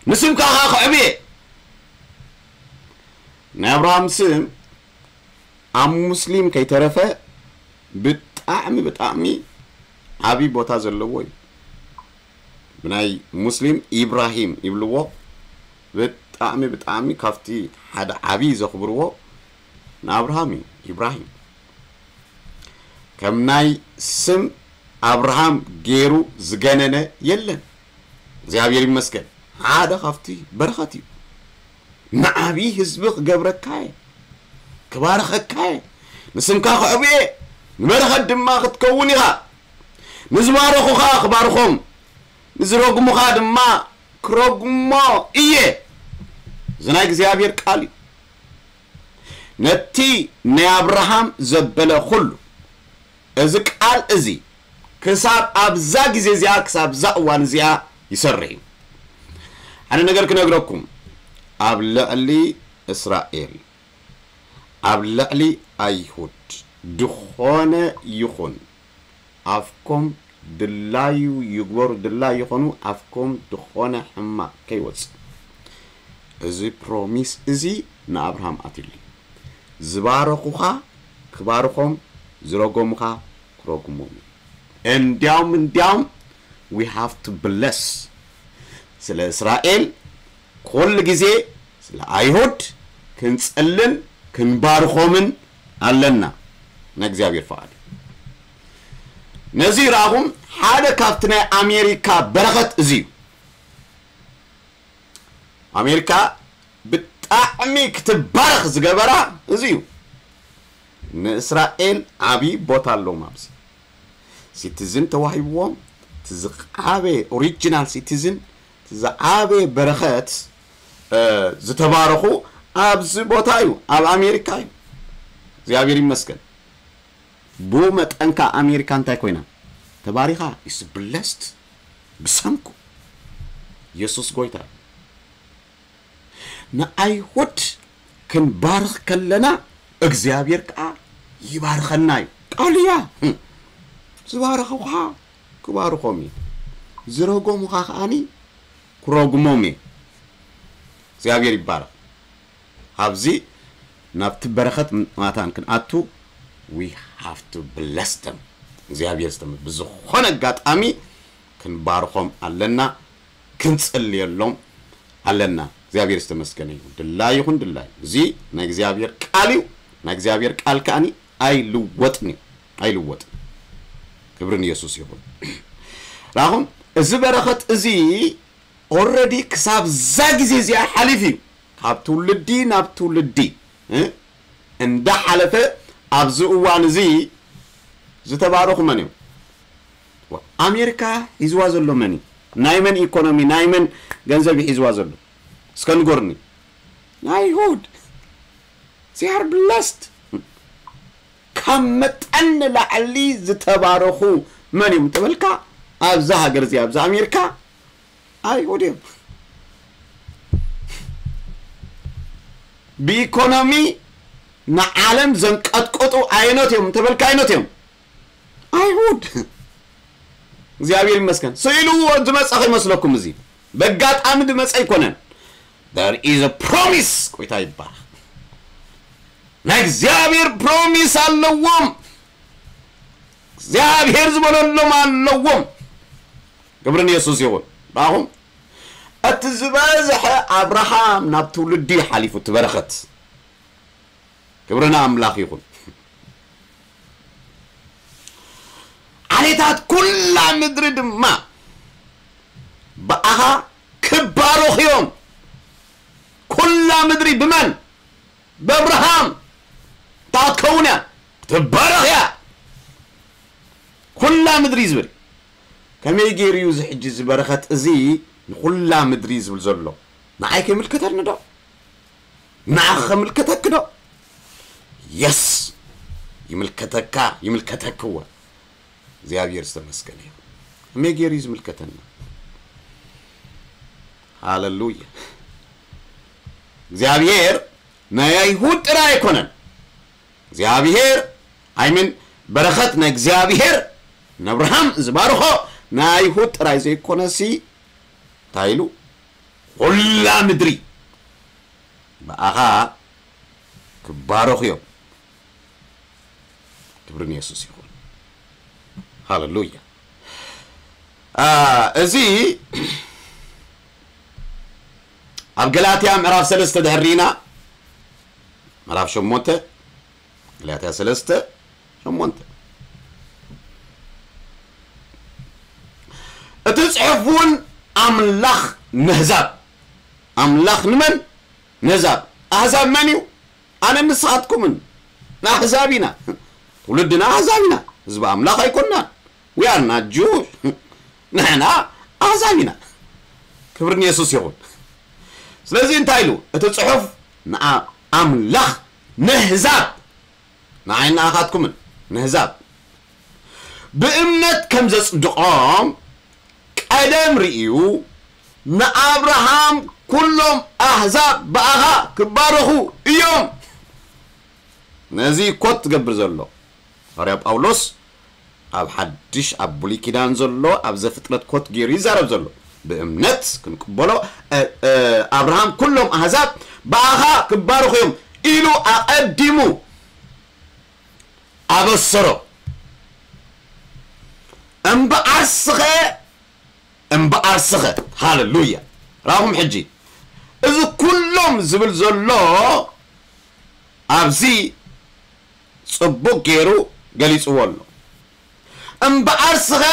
ንስምካ ከዓ ክዕብየ። ናይ ኣብርሃም ስም ኣብ ሙስሊም ከይተረፈ ብጣዕሚ ብጣዕሚ ዓብዪ ቦታ ዘለዎ እዩ። ብናይ ሙስሊም ኢብራሂም ይብልዎ። ብጣዕሚ ብጣዕሚ ካብቲ ሓደ ዓብዪ ዘኽብርዎ ንኣብርሃም እዩ። ኢብራሂም ከም ናይ ስም ኣብርሃም ገይሩ ዝገነነ የለን። እግዚኣብሔር ይመስገን ሓደ ካብቲ በረኸት እዩ። ንዓብዪ ህዝቢ ክገብረካ እየ፣ ክባርኸካ እየ፣ ንስምካ ክዕብየ፣ ንበረኸት ድማ ክትከውን ኢኻ። ንዝባረኹኻ ክባርኾም፣ ንዝረግሙኻ ድማ ክረግሞ እየ። እዚ ናይ እግዚኣብሔር ቃል እዩ። ነቲ ናይ ኣብርሃም ዘበለ ኩሉ እዚ ቃል እዚ ክሳብ ኣብዛ ግዜ እዚኣ ክሳብ እዛ እዋን እዚኣ ይሰርሕ እዩ። ሓደ ነገር ክነግረኩም፣ ኣብ ልዕሊ እስራኤል ኣብ ልዕሊ ኣይሁድ ድኾነ ይኹን ኣፍኮም ድላዩ ይግበሩ ድላይ ይኾኑ ኣፍኮም ድኾነ ሕማቕ ከይወፅእ እዚ ፕሮሚስ እዚ ንኣብርሃም ኣትሉ ዝባረኹኻ ክባርኾም ዝረጎሙኻ ክረጉሞም እዩ። እንዲያውም እንዲያውም we have to bless ስለ እስራኤል ኩሉ ግዜ ስለ ኣይሁድ ክንጽልን ክንባርኾምን ኣለና። ናይ እግዚኣብሔር ፍቓድ ነዚ ይረኣኹም ሓደ ካብቲ ናይ ኣሜሪካ በረኸት እዚ እዩ። ኣሜሪካ ብጣዕሚ ክትባረኽ ዝገበራ እዚ እዩ። ንእስራኤል ዓብዪ ቦታ ኣለዎም ኣብዚ ሲቲዝን ተዋሂብዎም እቲ ዝዓበየ ኦሪጂናል ሲቲዝን እቲ ዝዓበየ በረኸት ዝተባረኹ ኣብዚ ቦታ እዩ ኣብ ኣሜሪካ እዩ። እግዚኣብሔር ይመስገን። ብኡ መጠንካ ኣሜሪካ እንታይ ኮይና ተባሪኻ is blessed ብሰንኩ የሱስ ጎይታ እዩ። ንኣይሁድ ክንባርኽ ከለና እግዚኣብሔር ከዓ ይባርኸና እዩ። ቃሉ እያ። ዝባረኹኻ ክባርኾም እዩ፣ ዝረጎሙኻ ከዓኒ ክረጉሞም እዩ። እግዚኣብሔር ይባረኽ። ኣብዚ ናብቲ በረኸት ማታን ክንኣቱ we have to bless them። እግዚኣብሔር ዝተመ ብዝኾነ ኣጋጣሚ ክንባርኾም ኣለና፣ ክንጽልየሎም ኣለና። እግዚኣብሔር ዝተመስገነ ይኹን። ድላይ ይኹን ድላይ፣ እዚ ናይ እግዚኣብሔር ቃል እዩ። ናይ እግዚኣብሔር ቃል ከዓኒ ኣይልወጥን እዩ፣ ኣይልወጥን። ክብሪ ንየሱስ ይኹን። ራኹም እዚ በረኸት እዚ ኦረዲ ክሳብ እዛ ግዜ እዚኣ ሓሊፍ እዩ። ካብ ትውልዲ ናብ ትውልዲ እ እንዳሓለፈ ኣብዚ እዋን እዚ ዝተባረኹ መን እዮም? ኣሜሪካ ሒዝዋ ዘሎ መን እዩ? ናይ መን ኢኮኖሚ ናይ መን ገንዘብ እዩ ሒዝዋ ዘሎ? እስከ ንገሩኒ። ናይ ኣይሁድ። They are blessed። ካብ መጠን ንላዕሊ ዝተባረኹ መን እዮም እንተበልካ ኣብዛ ሃገር እዚኣ ኣብዛ ኣሜሪካ ኣይሁድ እዮም። ብኢኮኖሚ ንዓለም ዘንቀጥቅጡ ኣየኖት እዮም እንተበልካ፣ ኣየኖት እዮም? ኣይሁድ። እግዚኣብሔር ይመስገን። ስኢሉ ዝመጸ ከይመስለኩም፣ እዚ በጋጣሚ ዝመጸ ኣይኮነን። There is a promise። ጎይታ ይባረኽ። ናይ እግዚኣብሔር ፕሮሚስ ኣለዎም። እግዚኣብሔር ዝበለሎም ኣለዎም። ክብሪ ንየሱስ ይኹን። ባኹም እቲ ዝበዝሐ ኣብርሃም ናብ ትውልዲ ሓሊፉ፣ እቲ በረኸት። ክብሪ ንኣምላኽ ይኹን። ዓሌታት ኩላ ምድሪ ድማ ብኣኻ ክባረኹ እዮም። ኩላ ምድሪ ብመን? ብኣብርሃም። እንታይ ክትከውን እያ? ክትባረኽ እያ። ኩላ ምድሪ ዝብል ከመይ ገይሩ እዩ እዚ ሕጂ እዚ በረኸት እዚ ንኹላ ምድሪ ዝብል ዘሎ? ንዓይ ከይምልከተኒ ዶ? ንዓኺ ከምልከተኪ ዶ? የስ፣ ይምልከተካ፣ ይምልከተክዎ። እግዚኣብሔር ዝተመስገነ ይኹን። ከመይ ገይሩ እዩ ዝምልከተና? ሃለሉያ። እግዚኣብሔር ናይ ኣይሁድ ጥራይ ኣይኮነን። እግዚኣብሔር ኣይምን በረኸት ናይ እግዚኣብሔር ንኣብርሃም ዝባርኾ ናይ ኣይሁድ ጥራይ ዘይኮነሲ፣ እንታይ ኢሉ? ኩላ ምድሪ ብኣኻ ክባረኹ እዮም። ክብሪ ንየሱስ ይኹን። ሃለሉያ። አ፣ እዚ ኣብ ገላትያ ምዕራፍ ሰለስተ ድሕር ርኢና፣ ምዕራፍ ሸሞንተ፣ ገላትያ ሰለስተ ሸሞንተ፣ እቲ ጽሑፍ እውን ኣምላኽ ነህዛብ፣ ኣምላኽ ንመን? ነህዛብ። ኣህዛብ መን እዩ? ኣነ ንስኻትኩምን ንኣህዛብ ኢና። ትውልድና ኣህዛብ ኢና። ህዝቢ ኣምላኽ ኣይኮንናን። We are not Jews። ንሕና ኣህዛብ ኢና። ክብሪ ንየሱስ ይኹን። ስለዚ እንታይ ኢሉ እቲ ጽሑፍ? ንኣ-፣ ኣምላኽ ነህዛብ፣ ንዓይ ንኣኻትኩምን ነህዛብ ብእምነት ከም ዘጽድቖም ቀደም ርእዩ፣ ንኣብርሃም ኩሎም ኣህዛብ ብኣኻ ክባረኹ እዮም። ነዚ ኮት ትገብር ዘሎ ሃዋርያ ጳውሎስ ኣብ ሓድሽ፣ ኣብ ብሉይ ኪዳን ዘሎ፣ ኣብ ዘፍጥረት ኮት ገይሩ ይዛረብ ዘሎ። ብእምነት ክንቅበሎ፣ እ፣ እ፣ ኣብርሃም ኩሎም ኣህዛብ ብኣኻ ክባረኹ እዮም ኢሉ ኣቐዲሙ ኣበሰሮ። እምበኣርስኸ፣ እምበኣርስኸ፣ ሃለሉያ። ራኹም ሕጂ፣ እዚ ኩሎም ዝብል ዘሎ ኣብዚ ጽቡቕ ገይሩ ገሊጽዎ ኣሎ። እምበኣርስኸ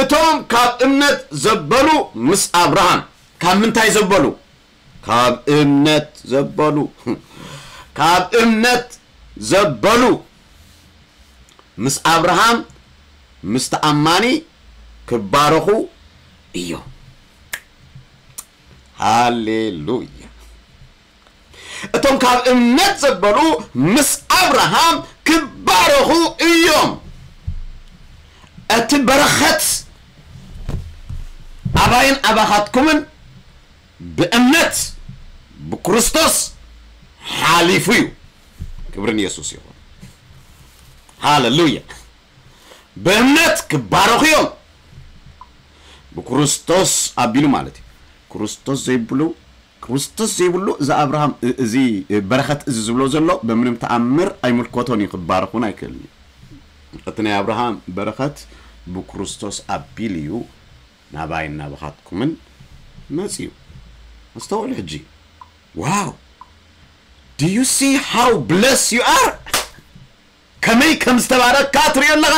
እቶም ካብ እምነት ዘበሉ ምስ ኣብርሃም፣ ካብ ምንታይ ዘበሉ? ካብ እምነት ዘበሉ፣ ካብ እምነት ዘበሉ ምስ ኣብርሃም፣ ምስ ተኣማኒ ክባረኹ እዮም። ሃሌሉያ። እቶም ካብ እምነት ዘበሉ ምስ ኣብርሃም ክባረኹ እዮም። እቲ በረኸት ኣባይን ኣባኻትኩምን ብእምነት ብክርስቶስ ሓሊፉ እዩ። ክብሪ ንየሱስ ይኹን። ሃለሉያ። ብእምነት ክባረኹ እዮም። ብክርስቶስ ኣቢሉ ማለት እዩ። ክርስቶስ ዘይብሉ፣ ክርስቶስ ዘይብሉ እዚ ኣብርሃም እ-፣ እዚ በረኸት እዚ ዝብሎ ዘሎ በምንም ተኣምር ኣይምልከቶን እዩ፣ ክባረኽ እውን ኣይክእልን እዩ። እቲ ናይ ኣብርሃም በረኸት ብክርስቶስ ኣቢሉ እዩ ናባይን ናባኻትኩምን መጺኡ። ኣስተውዕሉ ሕጂ። ዋው! Do you see how blessed you are? ከመይ ከም ዝተባረካ ትሪኦ ኣለኻ?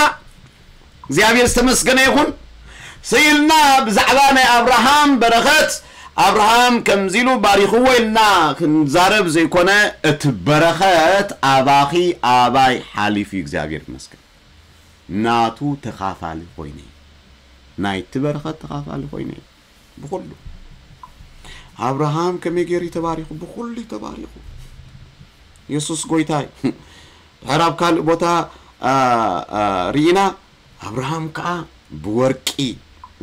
እግዚኣብሔር ዝተመስገነ ይኹን። ስኢልና ብዛዕባ ናይ ኣብርሃም በረኸት፣ ኣብርሃም ከምዚ ኢሉ ባሪኽዎ ኢልና ክንዛረብ ዘይኮነ፣ እቲ በረኸት ኣባኺ ኣባይ ሓሊፉ እዩ። እግዚኣብሔር ይመስገን። ናቱ ተኻፋሊ ኮይነ፣ ናይቲ በረኸት ተኻፋሊ ኮይነ። ብኹሉ ኣብርሃም ከመይ ገይሩ እዩ ተባሪኹ? ብኹሉ እዩ ተባሪኹ። የሱስ ጎይታ እዩ። ድሕር ኣብ ካልእ ቦታ፣ አ፣ አ፣ ርኢና፣ ኣብርሃም ከኣ ብወርቂ፣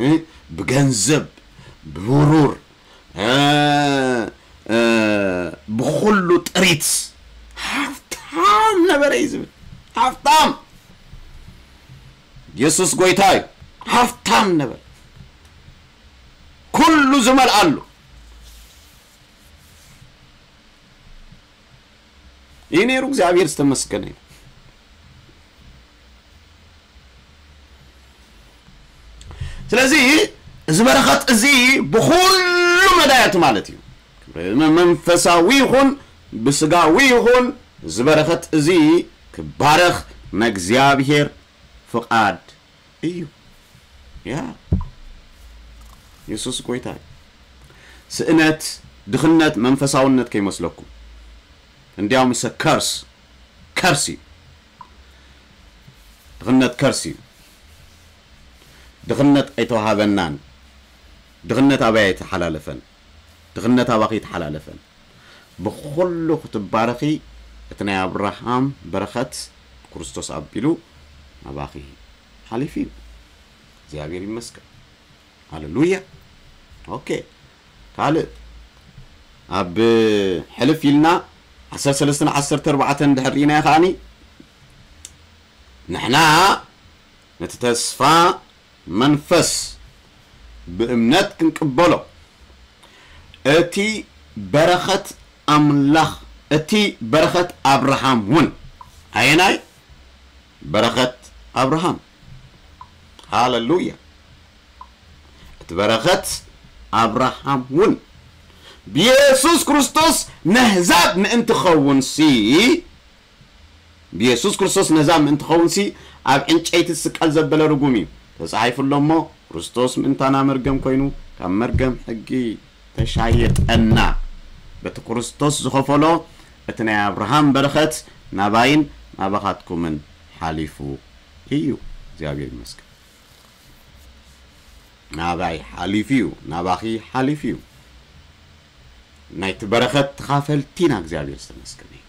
እ፣ ብገንዘብ፣ ብብሩር፣ እ፣ እ፣ ብኹሉ ጥሪት ሃብታም ነበረ እዩ ዝብል። ሃብታም፣ የሱስ ጎይታ እዩ። ሃብታም ነበረ፣ ኩሉ ዝመልኣሉ እዩ ነይሩ። እግዚኣብሔር ዝተመስገነ እዩ። ስለዚ እዚ በረኸት እዚ ብኹሉ መዳያት ማለት እዩ፣ መንፈሳዊ ይኹን ብስጋዊ ይኹን፣ እዚ በረኸት እዚ ክባረኽ ናይ እግዚኣብሔር ፍቓድ እዩ። ያ፣ የሱስ ጎይታ እዩ። ስእነት፣ ድኽነት መንፈሳውነት ከይመስለኩም። እንዲያውም እሰ ከርስ፣ ከርስ እዩ። ድኽነት ከርስ እዩ። ድኽነት ኣይተዋሃበናን። ድኽነት ኣበይ ኣይተሓላለፈን። ድኽነት ኣባኺ ኣይተሓላለፈን። ብኹሉ ክትባረኺ፣ እቲ ናይ ኣብርሃም በረኸት ክርስቶስ ኣቢሉ ናባኺ ሓሊፉ እዩ። እግዚኣብሔር ይመስገን። ሃሌሉያ። ኦኬ። ካልእ ኣብ ሕልፍ ኢልና ዓሰርተ ሰለስተን ዓሰርተ ኣርባዕተን ድሕር ርኢናዮ ከኣኒ፣ ንሕና ነቲ ተስፋ መንፈስ ብእምነት ክንቅበሎ፣ እቲ በረኸት ኣምላኽ፣ እቲ በረኸት ኣብርሃም እውን፣ ኣየናይ በረኸት ኣብርሃም? ሃሌሉያ። እቲ በረኸት ኣብርሃም እውን ብየሱስ ክርስቶስ ነህዛብ ምእንቲ ኸውንሲ፣ ብየሱስ ክርስቶስ ነህዛብ ምእንቲ ኸውንሲ፣ ኣብ ዕንጨይቲ ዝስቀል ዘበለ ርጉም እዩ። ተጻሒፉ ኣሎ እሞ፣ ክርስቶስ ምእንታና መርገም ኮይኑ፣ ካብ መርገም ሕጊ ተሻየጠና። በቲ ክርስቶስ ዝኸፈሎ፣ እቲ ናይ ኣብርሃም በረኸት ናባይን ናባኻትኩምን ሓሊፉ እዩ። እግዚኣብሔር ይመስገን። ናባይ ሓሊፉ እዩ፣ ናባኺ ሓሊፉ እዩ። ናይቲ በረኸት ተኻፈልቲ ኢና። እግዚኣብሔር ዝተመስገነ እዩ።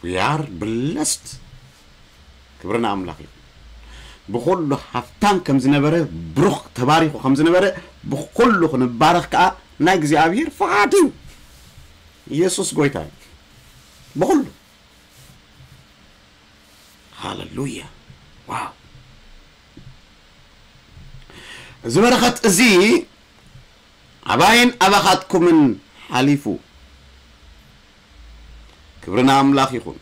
We are blessed። ክብሪ ንኣምላኽ ይኹን። ብኹሉ ሃፍታም ከም ዝነበረ፣ ብሩኽ ተባሪኹ ከም ዝነበረ፣ ብኹሉ ክንባረኽ ከኣ ናይ እግዚኣብሔር ፍቓድ እዩ። ኢየሱስ ጎይታ እዩ። ብኹሉ። ሃሌሉያ። ዋው። እዚ በረኸት እዚ ኣባይን ኣባኻትኩምን ሓሊፉ። ክብሪ ንኣምላኽ ይኹን።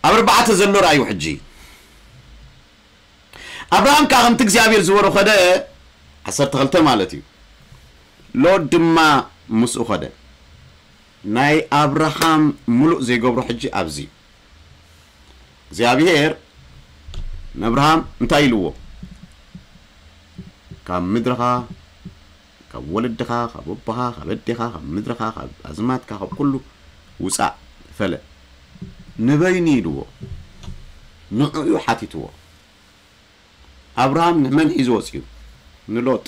ኣብ ኣርባዕተ ዘሎ ርኣዩ ሕጂ። ኣብርሃም ከኣ ከምቲ እግዚኣብሔር ዝበሮ ኸደ፣ ዓሰርተ ክልተ ማለት እዩ። ሎጥ ድማ ምስኡ ኸደ። ናይ ኣብርሃም ምሉእ ዘይገብሮ ሕጂ ኣብዚ እዩ። እግዚኣብሔር ንኣብርሃም እንታይ ኢልዎ? ካብ ምድርኻ፣ ካብ ወለድኻ፣ ካብ ኣቦኻ፣ ካብ ኣዴኻ፣ ካብ ምድርኻ፣ ካብ ኣዝማድካ፣ ካብ ኩሉ ውጻእ፣ ፈለ። ንበይኑ ኢልዎ። ንዕኡ ሓቲትዎ። ኣብርሃም ንመን ሒዙ ወጺኡ? ንሎጥ።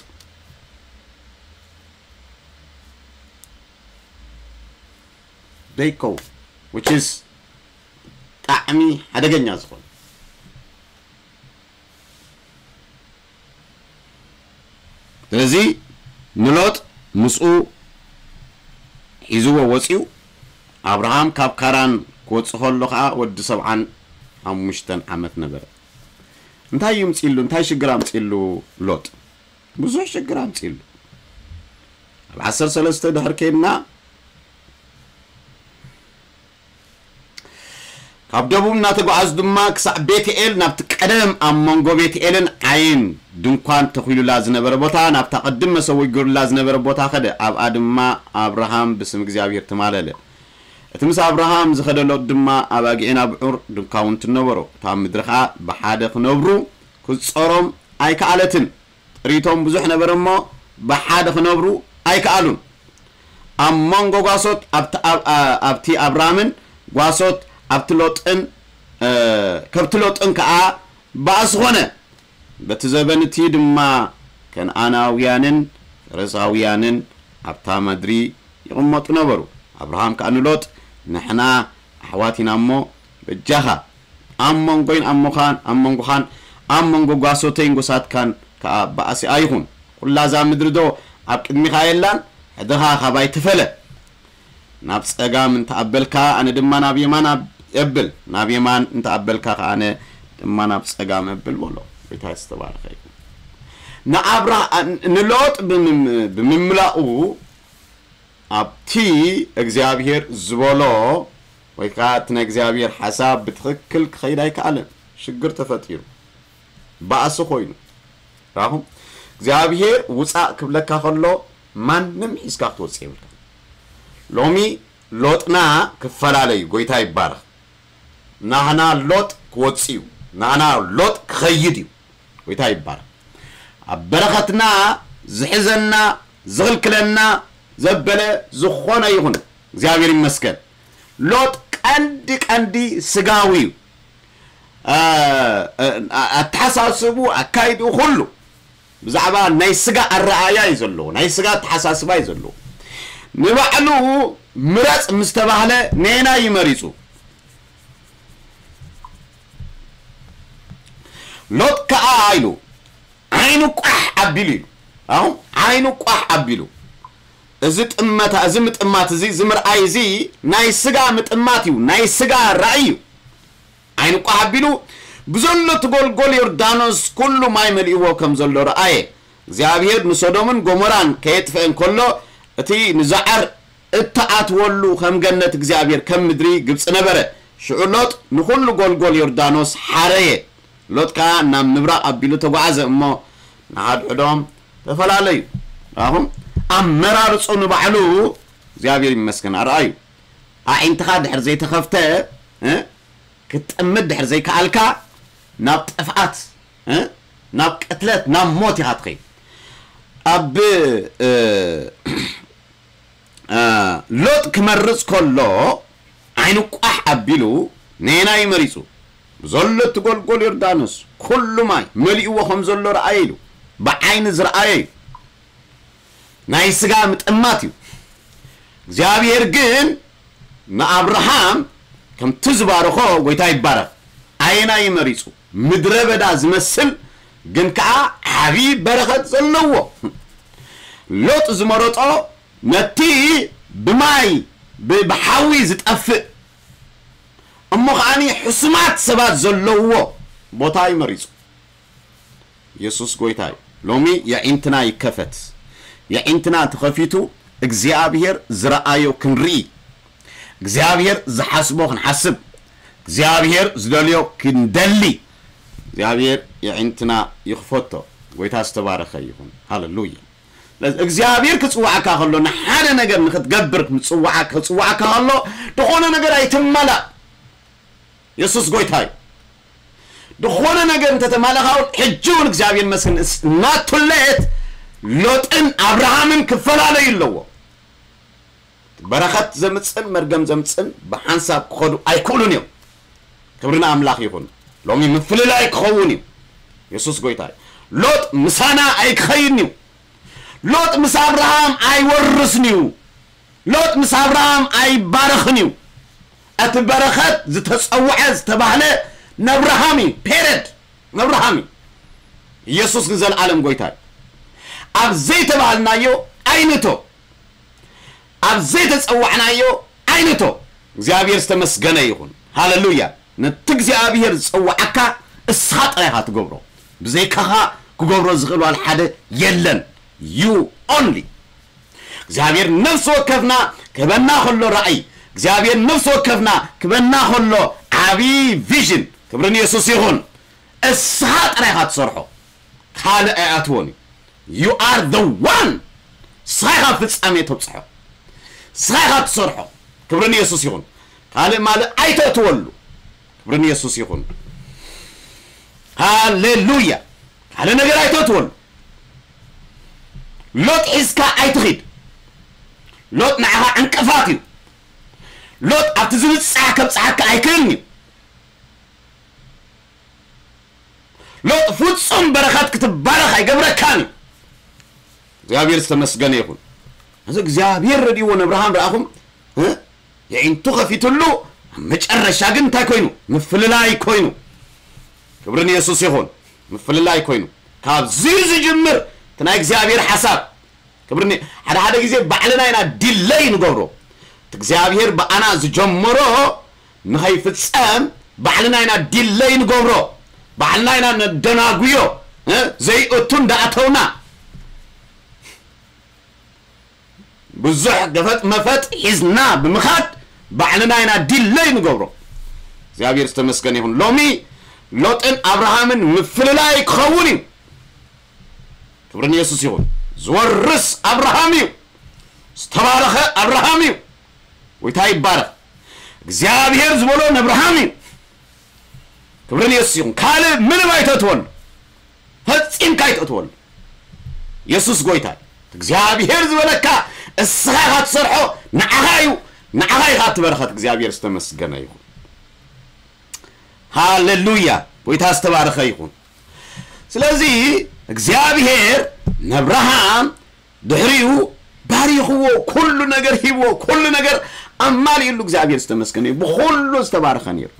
ደይከው፣ which is ብጣዕሚ ሓደገኛ ዝኾነ። ስለዚ ንሎጥ ምስኡ ሒዝዎ ወፂኡ። ኣብርሃም ካብ ካራን ክወፅእ ከሎ ከዓ ወዲ ሰብዓን ሓሙሽተን ዓመት ነበረ። እንታይ እዩ ምፅሉ? እንታይ ሽግር ኣምፅሉ? ሎጥ ብዙሕ ሽግር ኣምፅሉ። ኣብ ዓሰርተ ሰለስተ ድሕር ከይድና ካብ ደቡብ እናተጓዓዙ ድማ ክሳዕ ቤትኤል፣ ናብቲ ቀደም ኣብ መንጎ ቤትኤልን ዓይን ድንኳን ተኺሉላ ዝነበረ ቦታ፣ ናብታ ቅድም መሰዊኡ ገይሩላ ዝነበረ ቦታ ኸደ። ኣብኣ ድማ ኣብርሃም ብስም እግዚኣብሔር ተማለለ። እቲ ምስ ኣብርሃም ዝኸደ ሎጥ ድማ ኣባጊዕን ኣብዑር ድንኳውንትን ነበሮ። እታ ምድሪ ኸኣ ብሓደ ክነብሩ ክትጾሮም ኣይከኣለትን። ጥሪቶም ብዙሕ ነበረ እሞ ብሓደ ክነብሩ ኣይከኣሉን። ኣብ መንጎ ጓሶት ኣብቲ ኣብ-፣ ኣ-፣ ኣብቲ ኣብራምን ጓሶት ኣብቲ ሎጥን፣ እ፣ ከብቲ ሎጥን ከኣ ባእሲ ኾነ። በቲ ዘበን እቲ ድማ ከነኣናውያንን ፈረሳውያንን ኣብታ ምድሪ ይቕመጡ ነበሩ። ኣብርሃም ከኣ ንሎጥ፣ "ንሕና ኣሕዋት ኢና እሞ በጃኻ ኣብ መንጎይን ኣብ ሞኻን ኣብ መንጎኻን ኣብ መንጎ ጓሶተይን ጎሳትካን ከኣ ባእሲ ኣይኹን። ኩላ እዛ ምድሪ ዶ ኣብ ቅድሚኻ የላን? ሕድኻ ካባይ ትፈለ። ናብ ጸጋም እንተኣበልካ ኣነ ድማ ናብ የማን ኣብ- እብል፣ ናብ የማን እንተኣበልካ ከኣ ኣነ ድማ ናብ ጸጋም እብል በሎ። ጎይታ ዝተባረኸ ይኹን። ንኣብራ ንሎጥ ብምም- ብምምላኡ ኣብቲ እግዚኣብሔር ዝበሎ ወይ ከዓ እቲ ናይ እግዚኣብሔር ሓሳብ ብትኽክል ክኸይድ ኣይከኣለን። ሽግር ተፈጢሩ፣ ባእሲ ኮይኑ። ራኹም እግዚኣብሔር ውፃእ ክብለካ ከሎ ማንም ሒዝካ ክትወፅእ የብልካ። ሎሚ ሎጥና ክፈላለዩ፣ ጎይታ ይባረኽ። ናህና ሎጥ ክወፅእ እዩ፣ ናህና ሎጥ ክኸይድ እዩ። ጎይታ ይባረኽ። ኣብ በረኸትና ዝሕዘና ዝኽልክለና ዘበለ ዝኾነ ይኹን እግዚኣብሔር ይመስገን። ሎጥ ቀንዲ ቀንዲ ስጋዊ እዩ። አ- አ- ኣተሓሳስቡ ኣካይድኡ ኩሉ ብዛዕባ ናይ ስጋ ኣረኣያ እዩ ዘለዎ፣ ናይ ስጋ ኣተሓሳስባ እዩ ዘለዎ። ንባዕሉ ምረፅ ምስ ተባህለ ነየናይ እዩ መሪፁ? ሎጥ ከኣ ኢሉ ዓይኑ ቋሕ ኣቢሉ ኢሉ። ኣሁን ዓይኑ ቋሕ ኣቢሉ እዚ ጥመታ እዚ ምጥማት እዚ እዚ ምርኣይ እዚ ናይ ስጋ ምጥማት እዩ፣ ናይ ስጋ ራእይ እዩ። ዓይኑ ቋሕ ኣቢሉ ብዘሎ እቲ ጎልጎል ዮርዳኖስ ኩሉ ማይ መሊእዎ ከም ዘሎ ረኣየ። እግዚኣብሔር ንሶዶምን ጎሞራን ከየጥፍአን ከሎ እቲ ንዛዓር እተኣትወሉ ከም ገነት እግዚኣብሔር ከም ምድሪ ግብፂ ነበረ። ሽዑ ሎጥ ንኹሉ ጎልጎል ዮርዳኖስ ሓረየ። ሎጥ ከኣ ናብ ምብራቕ ኣቢሉ ተጓዓዘ እሞ ንሓድሕዶም ተፈላለዩ። ኣኹም ኣመራርፁ ንባዕሉ እግዚኣብሔር ይመስገን ኣርኣዩ። ኣዒንትኻ ድሕር ዘይተኸፍተ እ? ክትጥምት ድሕር ዘይከኣልካ ናብ ጥፍኣት እ? ናብ ቅትለት ናብ ሞት ኢኻ ትኸይድ። ኣብ እ፣ እ፣ ሎጥ ክመርፅ ከሎ ዓይኑ ቋሕ ኣቢሉ ነየናይ መሪፁ? ብዘሎ እቲ ጎልጎል ዮርዳኖስ ኩሉ ማይ መሊእዎ ከም ዘሎ ረኣየ ኢሉ ብዓይኒ ዝረኣየ እዩ። ናይ ስጋ ምጥማት እዩ። እግዚኣብሔር ግን ንኣብርሃም ከምቲ ዝባረኾ ጎይታ ይባረኽ ኣየናይ መሪፁ? ምድረ በዳ ዝመስል ግን ከዓ ዓብዪ በረኸት ዘለዎ። ሎጥ ዝመረጦ ነቲ ብማይ ብ- ብሓዊ ዝጠፍእ እሞ ከዓኒ ሕሱማት ሰባት ዘለውዎ ቦታ እዩ መሪፁ። የሱስ ጎይታ እዩ። ሎሚ የዒንትና ይከፈት። የዒንትና ተኸፊቱ እግዚኣብሔር ዝረኣዮ ክንርኢ፣ እግዚኣብሔር ዝሓስቦ ክንሓስብ፣ እግዚኣብሔር ዝደልዮ ክንደሊ እግዚኣብሔር የዒንትና ይኽፈቶ። ጎይታ ዝተባረኸ ይኹን። ሃለሉያ። ስለዚ እግዚኣብሔር ክፅዋዓካ ከሎ ንሓደ ነገር ንክትገብር ምፅዋዓ ክፅዋዓካ ከሎ ዝኾነ ነገር ኣይትመላእ። የሱስ ጎይታ እዩ። ዝኾነ ነገር እንተተማለኻ እውን ሕጂ እውን እግዚኣብሔር ይመስገን ናቱሌት ሎጥን ኣብርሃምን ክፈላለዩ ኣለዎ። በረኸት ዘምፅን መርገም ዘምፅን ብሓንሳብ ክኸዱ ኣይክእሉን እዮም። ክብሪ ንኣምላኽ ይኹን። ሎሚ ምፍልላይ ክኸውን እዩ። የሱስ ጎይታ እዩ። ሎጥ ምሳና ኣይክኸይድን እዩ። ሎጥ ምስ ኣብርሃም ኣይወርስን እዩ። ሎጥ ምስ ኣብርሃም ኣይባረኽን እዩ። እቲ በረኸት ዝተፀውዐ ዝተባህለ ነብርሃም እዩ። ፔረድ ነብርሃም እዩ። ኢየሱስ ንዘለዓለም ጎይታ እዩ። ኣብ ዘይተባህልናዮ ኣይንእቶ፣ ኣብ ዘይተፀዋዕናዮ ኣይንእቶ። እግዚኣብሔር ዝተመስገነ ይኹን። ሃለሉያ። ነቲ እግዚኣብሔር ዝፀዋዓካ እስኻ ጥራይ ኢኻ ትገብሮ። ብዘይካኻ ክገብሮ ዝኽእል ዋላ ሓደ የለን። You only እግዚኣብሔር ነፍሲ ወከፍና ክበና ከሎ ራእይ እግዚኣብሔር ነፍሲ ወከፍና ክበና ከሎ ዓብዪ ቪዥን ክብሪ ንየሱስ ይኹን። እስኻ ጥራይ ኢኻ ትሰርሖ። ካልእ ኣይኣትዎን እዩ። You are the one። እስኻ ኢኻ ፍጻሜ ተብፅሖ። እስኻ ኢኻ ትሰርሖ። ክብሪ ንየሱስ ይኹን። ካልእ ማልእ ኣይተእትወሉ። ክብሪ ንየሱስ ይኹን። ሃሌሉያ። ካልእ ነገር ኣይተእትወሉ። ሎጥ ሒዝካ ኣይትኺድ። ሎጥ ንዓኻ ዕንቅፋት እዩ። ሎጥ ኣብቲ ዝብጻሕ ከብጽሓካ ኣይክእልን እዩ። ሎጥ ፍጹም በረኸት ክትባረኽ ኣይገብረካን እዩ። እግዚኣብሔር ዝተመስገነ ይኹን። እዚ እግዚኣብሔር ረድእዎ ነብርሃም ረኣኹም እ? የዒንቱ ከፊትሉ መጨረሻ ግን እንታይ ኮይኑ? ምፍልላይ ኮይኑ። ክብሪ ንየሱስ ይኹን። ምፍልላይ ኮይኑ። ካብዚ ዝጅምር እቲ ናይ እግዚኣብሔር ሓሳብ። ክብሪ ን-፣ ሓደ ሓደ ግዜ ባዕልና ኢና ዲለይ ንገብሮ። እቲ እግዚኣብሔር ብኣና ዝጀመሮ ንኸይፍጸም ባዕልና ኢና ዲለይ ንገብሮ። ባዕልና ኢና ነደናጉዮ። እ? ዘይእቱ እንዳኣተውና ብዙሕ ገፈጥ መፈጥ ሒዝና ብምኻድ ባዕልና ኢና ዲለይ ንገብሮ። እግዚኣብሔር ዝተመስገነ ይኹን። ሎሚ ሎጥን ኣብርሃምን ምፍልላይ ክኸውን እዩ። ክብሪ ንየሱስ ይኹን። ዝወርስ ኣብርሃም እዩ። ዝተባረኸ ኣብርሃም እዩ። ጎይታ ይባረኽ። እግዚኣብሔር ዝበሎ ንኣብርሃም እዩ። ክብሪ ንየሱስ ይኹን። ካልእ ምንም ኣይተእትወሉ። ፈጺምካ ኣይተእትወሉ። የሱስ ጎይታ እዩ። እግዚኣብሔር ዝበለካ እስኻ ኢኻ ትሰርሖ፣ ንዓኻ እዩ፣ ንዓኻ ኢኻ እቲ በረኸት። እግዚኣብሔር ዝተመስገነ ይኹን። ሃሌሉያ። ጎይታ ዝተባረኸ ይኹን። ስለዚ እግዚኣብሔር ንኣብርሃም ድሕሪኡ ባሪኽዎ፣ ኩሉ ነገር ሂብዎ፣ ኩሉ ነገር ኣማሊእሉ። እግዚኣብሔር ዝተመስገነ እዩ። ብኹሉ ዝተባረኸ ነይሩ።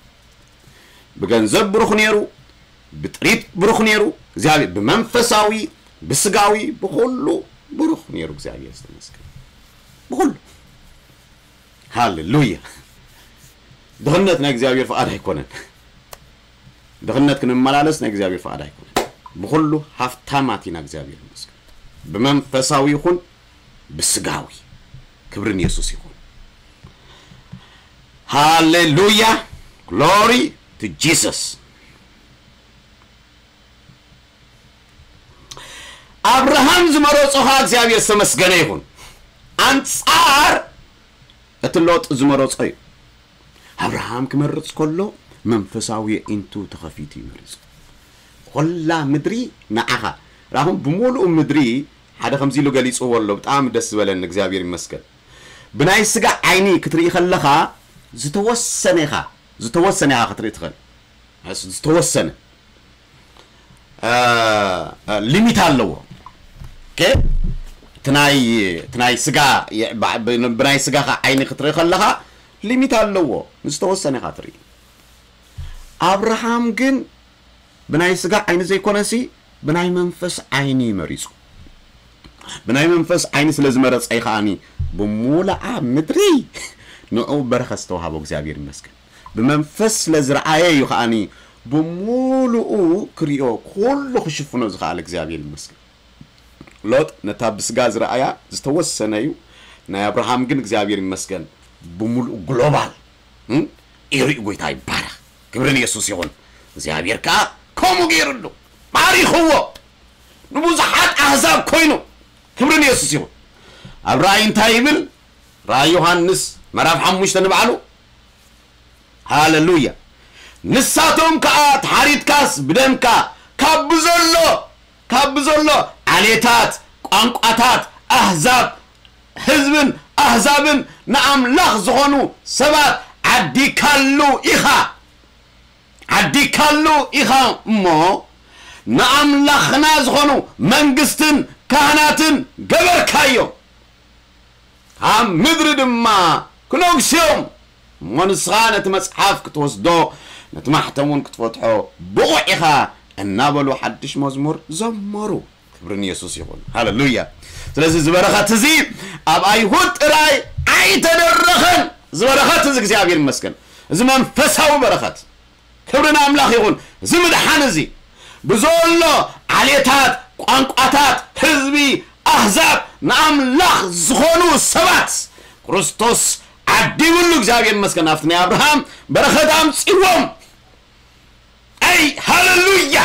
ብገንዘብ ብሩኽ ነይሩ፣ ብጥሪት ብሩኽ ነይሩ። እግዚኣብሔር ብመንፈሳዊ፣ ብስጋዊ፣ ብኹሉ ብሩኽ ነይሩ። እግዚኣብሔር ዝተመስገነ ብኹሉ። ሃሌሉያ። ድኽነት ናይ እግዚኣብሔር ፍቓድ ኣይኮነን። ድኽነት ክንመላለስ ናይ እግዚኣብሔር ፍቓድ ኣይኮነን። ብኹሉ ሃፍታማት ኢና። እግዚኣብሔር ይመስገን። ብመንፈሳዊ ይኹን ብስጋዊ። ክብሪ ንየሱስ ይኹን። ሃሌሉያ። ግሎሪ ቱ ጂሰስ። ኣብርሃም ዝመረጾ ኸኣ እግዚኣብሔር ዝተመስገነ ይኹን። ኣንጻር እቲ ሎጥ ዝመረጾ እዩ። ኣብርሃም ክመርጽ ከሎ መንፈሳዊ ኣዒንቱ ተኸፊቱ እዩ መሪጹ። ኾላ ምድሪ ንዓኻ። ራኹም ብምሉኡ ምድሪ ሓደ ከምዚ ኢሉ ገሊጽዎ ኣሎ። ብጣዕሚ ደስ ዝበለኒ፣ እግዚኣብሔር ይመስገን። ብናይ ስጋ ዓይኒ ክትርኢ ከለኻ ዝተወሰነ ኢኻ፣ ዝተወሰነ ኢኻ ክትርኢ ትኽእል። ዝተወሰነ እ፣ እ፣ ሊሚት ኣለዎ። ኦኬ? እቲ ናይ፣ እቲ ናይ ስጋ የ-፣ ባ-፣ ብ-፣ ብናይ ስጋኻ ዓይኒ ክትርኢ ከለኻ ሊሚት ኣለዎ። ዝተወሰነ ኢኻ ትርኢ። ኣብርሃም ግን ብናይ ስጋ ዓይኒ ዘይኮነሲ ብናይ መንፈስ ዓይኒ መሪጹ። ብናይ መንፈስ ዓይኒ ስለ ዝመረጸ እዩ ከኣኒ ብሙሉኣ ምድሪ ንዕኡ በረኸት ዝተዋሃቦ። እግዚኣብሔር ይመስገን። ብመንፈስ ስለ ዝረኣየ እዩ ከኣኒ ብሙሉኡ ክሪኦ ኩሉ ክሽፍኖ ዝኸኣለ። እግዚኣብሔር ይመስገን። ሎጥ ነታ ብስጋ ዝረኣያ ዝተወሰነ እዩ። ናይ ኣብርሃም ግን እግዚኣብሔር ይመስገን ብሙሉኡ ግሎባል፣ እም፣ እዩ ሪኡ። ጎይታ ይባረኽ። ክብሪ ንየሱስ ይኹን። እግዚኣብሔር ከኣ ከምኡ ገይሩሉ፣ ባሪኽዎ፣ ንብዙሓት ኣህዛብ ኮይኑ። ክብሪ ንየሱስ ይኹን። ኣብ ራእይ እንታይ ይብል? ራእይ ዮሃንስ ምዕራፍ ሓሙሽተ ንባዕሉ። ሃሌሉያ። ንሳቶም ከኣ ተሓሪድካስ ብደምካ ካብ ብዘሎ፣ ካብ ብዘሎ ዓሌታት፣ ቋንቋታት፣ ኣህዛብ፣ ህዝብን ኣህዛብን ንኣምላኽ ዝኾኑ ሰባት ዓዲካሉ ኢኻ። ዓዲካሉ ኢኻ እሞ ንኣምላኽና ዝኾኑ መንግስትን ካህናትን ገበርካዮም። ኣብ ምድሪ ድማ ክነግሱ እዮም። እሞ ንስኻ ነቲ መጽሓፍ ክትወስዶ፣ ነቲ ማሕተም እውን ክትፈትሖ ብቑዕ ኢኻ እናበሉ ሓድሽ መዝሙር ዘመሩ። ክብሪ ንየሱስ ይኹን። ሃሌሉያ። ስለዚ እዚ በረኸት እዚ ኣብ ኣይሁድ ጥራይ ኣይተደረኸን። እዚ በረኸት እዚ እግዚኣብሔር ይመስገን። እዚ መንፈሳዊ በረኸት። ክብሪ ንኣምላኽ ይኹን። እዚ ምድሓን እዚ ብዘሎ ዓሌታት፣ ቋንቋታት፣ ህዝቢ፣ ኣህዛብ ንኣምላኽ ዝኾኑ ሰባት ክርስቶስ ዓዲብሉ። እግዚኣብሔር ይመስገን። ኣብቲ ናይ ኣብርሃም በረኸት ኣምጺዎም። ኣይ፣ ሃሌሉያ!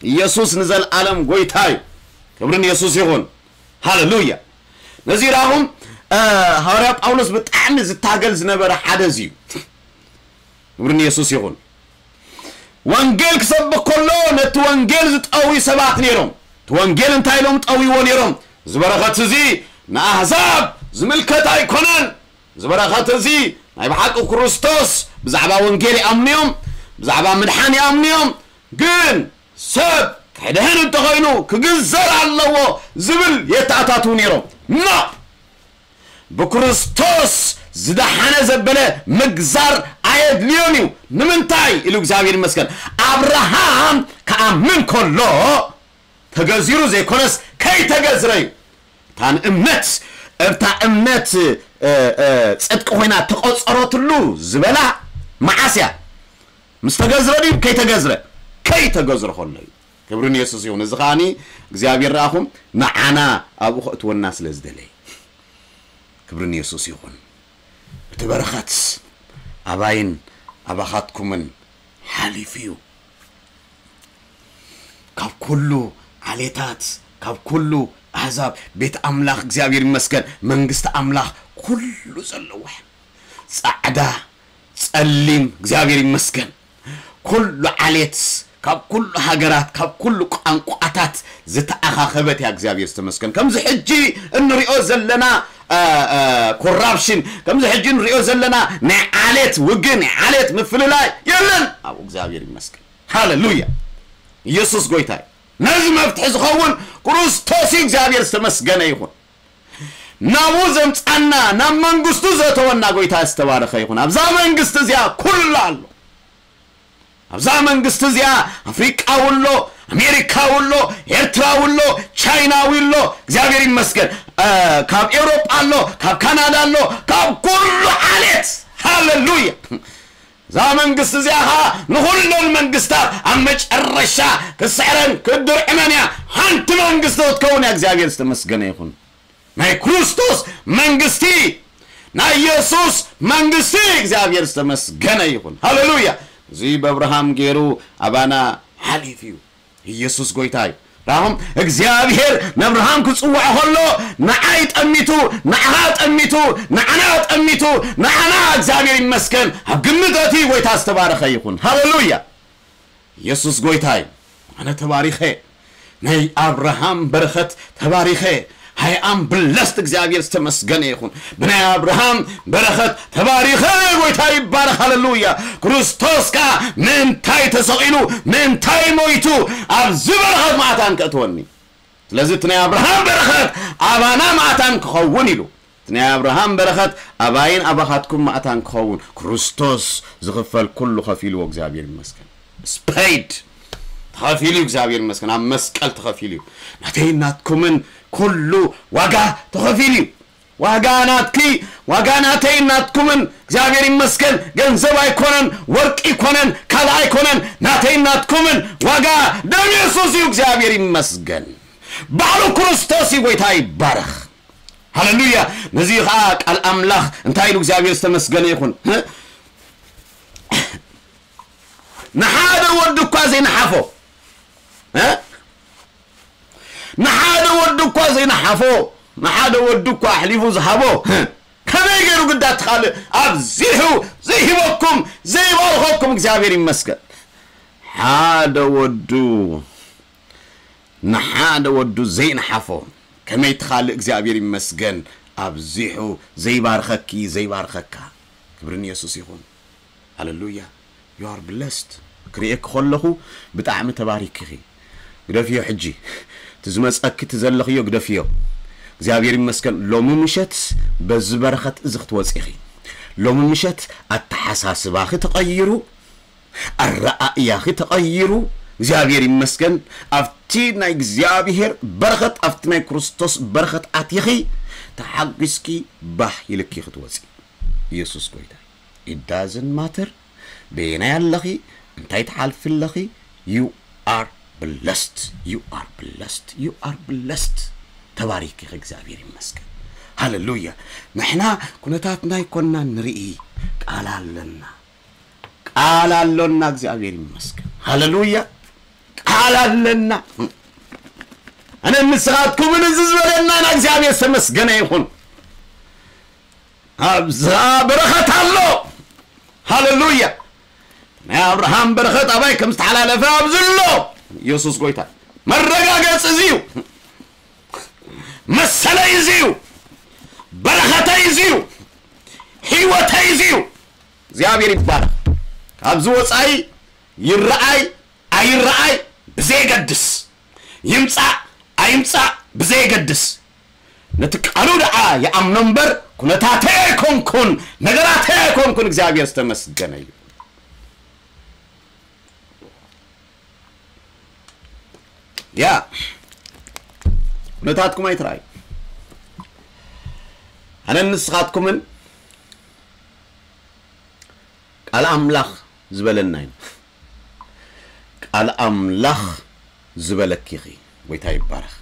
ኢየሱስ ንዘለኣለም ጎይታ እዩ። ክብሪ ንየሱስ ይኹን። ሃሌሉያ! ነዚ ራኹም፣ እ፣ ሃዋርያ ጳውሎስ ብጣዕሚ ዝታገል ዝነበረ ሓደ እዚ እዩ። ክብሪ ንየሱስ ይኹን። ወንጌል ክሰብኽ ከሎ ነቲ ወንጌል ዝጠውዩ ሰባት ነይሮም። እቲ ወንጌል እንታይ ኢሎም ጠውይዎ ነይሮም? እዚ በረኸት እዚ ንኣህዛብ ዝምልከት ኣይኮነን። እዚ በረኸት እዚ ናይ ብሓቂ ክርስቶስ ብዛዕባ ወንጌል ይኣምኑ እዮም፣ ብዛዕባ ምድሓን ይኣምኑ እዮም። ግን ሰብ ክድሕን እንተኾይኑ ክግዘር ኣለዎ ዝብል የተኣታትዉ ነይሮም። ኖ! ብክርስቶስ ዝደሓነ ዘበለ ምግዛር ኣየድልዮን እዩ። ንምንታይ ኢሉ እግዚኣብሔር ይመስገን። ኣብርሃም ክኣምን ከሎ ተገዚሩ ዘይኮነስ ከይተገዝረ እዩ። እታ ንእምነት፣ እታ እምነት፣ እ፣ እ፣ ጽድቂ ኮይና ተቆጸረትሉ ዝበላ መዓስ እያ? ምስ ተገዝረ ድዩ ከይተገዝረ? ከይተገዝረ ከሎ እዩ። ክብሪ ንየሱስ ይኹን። እዚ ከኣኒ እግዚኣብሔር ረኣኹም ንዓና ኣብኡ ከእትወና ስለ ዝደለየ። ክብሪ ንየሱስ ይኹን። እቲ በረኸት ኣባይን ኣባኻትኩምን ሓሊፉ እዩ። ካብ ኩሉ ዓሌታት፣ ካብ ኩሉ ኣህዛብ ቤት ኣምላኽ እግዚኣብሔር ይመስገን፣ መንግስቲ ኣምላኽ ኩሉ ዘለዎ፣ ጻዕዳ፣ ጸሊም፣ እግዚኣብሔር ይመስገን፣ ኩሉ ዓሌት፣ ካብ ኩሉ ሃገራት፣ ካብ ኩሉ ቋንቋታት ዝተኣኻኸበት እያ። እግዚኣብሔር ዝተመስገን። ከምዚ ሕጂ እንሪኦ ዘለና፣ እ፣ እ፣ ኮራፕሽን፣ ከምዚ ሕጂ እንሪኦ ዘለና ናይ ዓሌት ውግእ፣ ናይ ዓሌት ምፍልላይ የለን። ኣብኡ እግዚኣብሔር ይመስገን። ሃሌሉያ። ኢየሱስ ጎይታ እዩ። ነዚ መፍትሒ ዝኸውን ክርስቶስ እዩ። እግዚኣብሔር ዝተመስገነ ይኹን። ናብኡ ዘምጻና፣ ናብ መንግስቱ ዘእተወና ጎይታ ዝተባረኸ ይኹን። ኣብዛ መንግስቲ እዚኣ ኩሉ ኣሎ። ኣብዛ መንግስቲ እዚኣ ኣፍሪቃ ውሎ፣ ኣሜሪካ ውሎ፣ ኤርትራ ውሎ፣ ቻይና ውሎ፣ እግዚኣብሔር ይመስገን። እ፣ ካብ ኤውሮጳ ኣሎ፣ ካብ ካናዳ ኣሎ፣ ካብ ኩሉ ዓሌት። ሃሌሉያ። እዛ መንግስቲ እዚኣ ኸዓ ንኹለን መንግስታት ኣብ መጨረሻ ክስዕረን ክድርዕመን እያ። ሓንቲ መንግስቲ ክትከውን እያ። እግዚኣብሔር ዝተመስገነ ይኹን። ናይ ክርስቶስ መንግስቲ፣ ናይ ኢየሱስ መንግስቲ እግዚኣብሔር ዝተመስገነ ይኹን። ሃሌሉያ። እዚ በብርሃም ገይሩ ኣባና ሓሊፉ እዩ። ኢየሱስ ጎይታ እዩ። ራኹም እግዚኣብሔር ነብርሃም ክጽውዖ ከሎ ንዓይ ጠሚቱ፣ ንዓኻ ጠሚቱ፣ ንዓና ጠሚቱ፣ ንዓና እግዚኣብሔር ይመስገን ኣብ ግምት እቲ ጎይታ ዝተባረኸ ይኹን። ሃሌሉያ። ኢየሱስ ጎይታ እዩ። ኣነ ተባሪኸ ናይ ኣብርሃም በረኸት ተባሪኸ። ሃይ ኣም ብለስት እግዚኣብሔር ዝተመስገነ ይኹን። ብናይ ኣብርሃም በረኸት ተባሪኸ። ጎይታ ይባረኽ። ሃሌሉያ። ክርስቶስ ከኣ ምእንታይ ተሰቒሉ ምእንታይ ሞይቱ ኣብዚ በረኸት ማእታን ከእትወኒ። ስለዚ እቲ ናይ ኣብርሃም በረኸት ኣባና ማእታን ክኸውን ኢሉ። እቲ ናይ ኣብርሃም በረኸት ኣባይን ኣባኻትኩም ማእታን ክኸውን ክርስቶስ ዝኽፈል ኩሉ ከፊልዎ እግዚኣብሔር ይመስገን። ስፔድ ተኸፊሉ እዩ እግዚኣብሔር ይመስገን። ኣብ መስቀል ተኸፊሉ እዩ። ናተይን ናትኩምን ኩሉ ዋጋ ተኸፊሉ እዩ። ዋጋ ናትኪ ዋጋ ናተይን ናትኩምን እግዚኣብሔር ይመስገን። ገንዘብ ኣይኮነን፣ ወርቂ ኣይኮነን፣ ካልእ ኣይኮነን። ናተይን ናትኩምን ዋጋ ደም የሱስ እዩ። እግዚኣብሔር ይመስገን። ባዕሉ ክርስቶስ እዩ። ጎይታ ይባረኽ። ሃሌሉያ። ነዚ ኸዓ ቃል ኣምላኽ እንታይ ኢሉ እግዚኣብሔር ዝተመስገነ ይኹን። ንሓደ ወዱ እኳ ዘይነሓፎ፣ ንሓደ ወዱ እኳ ዘይነሓፎ፣ ንሓደ ወዱ እኳ ኣሕሊፉ ዝሃቦ ከመይ ገይሩ ግዳ ትኻልእ ኣብዚሑ ዘይሂበኩም ዘይባርኸኩም እግዚኣብሔር ይመስገን። ሓደ ወዱ ንሓደ ወዱ ዘይነሓፎ ከመይ ትኻልእ እግዚኣብሔር ይመስገን ኣብዚሑ ዘይባርኸኪ ዘይባርኸካ። ክብሪ ንየሱስ ይኹን። ሃሌሉያ። You are blessed። ክርእየኪ ከለኹ ብጣዕሚ ተባሪኪኺ። ግደፍዮ ሕጂ። እቲ ዝመጸኪ እቲ ዘለኽዮ ግደፍዮ። እግዚኣብሔር ይመስገን ሎሚ ምሸት በዚ በረኸት እዚ ክትወጺ ኢኺ። ሎሚ ምሸት ኣተሓሳስባኺ ተቐይሩ፣ ኣረኣእያኺ ተቐይሩ። እግዚኣብሔር ይመስገን ኣብቲ ናይ እግዚኣብሔር በረኸት ኣብቲ ናይ ክርስቶስ በረኸት ኣቲኺ ተሓጒስኪ ባህ ኢልኪ ክትወጺ። ኢየሱስ ጎይታ። It doesn't matter በየናይ ኣለኺ እንታይ ትሓልፊ ኣለኺ። You are blessed. You are blessed. You are blessed. ተባሪኪ። እግዚኣብሔር ይመስገን። ሃሌሉያ። ንሕና ኩነታትና ኣይኮንና ንርኢ፣ ቃል ኣለና። ቃል ኣሎና። እግዚኣብሔር ይመስገን። ሃሌሉያ። ቃል ኣለና። ኣነ ንስኻትኩምን እዚ ዝበለና ና እግዚኣብሔር ዝተመስገነ ይኹን። ኣብዛ በረኸት ኣሎ። ሃሌሉያ። ናይ ኣብርሃም በረኸት ኣባይ ከም ዝተሓላለፈ ኣብዚ ኣሎ። ኢየሱስ ጎይታ። መረጋገጺ እዚ እዩ። መሰለይ እዚ እዩ። በረኸተይ እዚ እዩ። ህይወተይ እዚ እዩ። እግዚኣብሔር ይባረኽ። ካብዚ ወጻኢ ይረኣይ ኣይረኣይ ብዘየገድስ፣ ይምጻእ ኣይምጻእ ብዘየገድስ፣ ነቲ ቃሉ ደኣ ይኣምኖ እምበር፣ ኩነታተይ ኣይኮንኩን፣ ነገራተይ ኣይኮንኩን። እግዚኣብሔር ዝተመስገነ እዩ። ያ፣ ኩነታትኩም ኣይትረኣዩ። ኣነን ንስኻትኩምን ቃል ኣምላኽ ዝበለና ኢና። ቃል ኣምላኽ ዝበለኪ ኢኺ። ጎይታ ይባረኽ።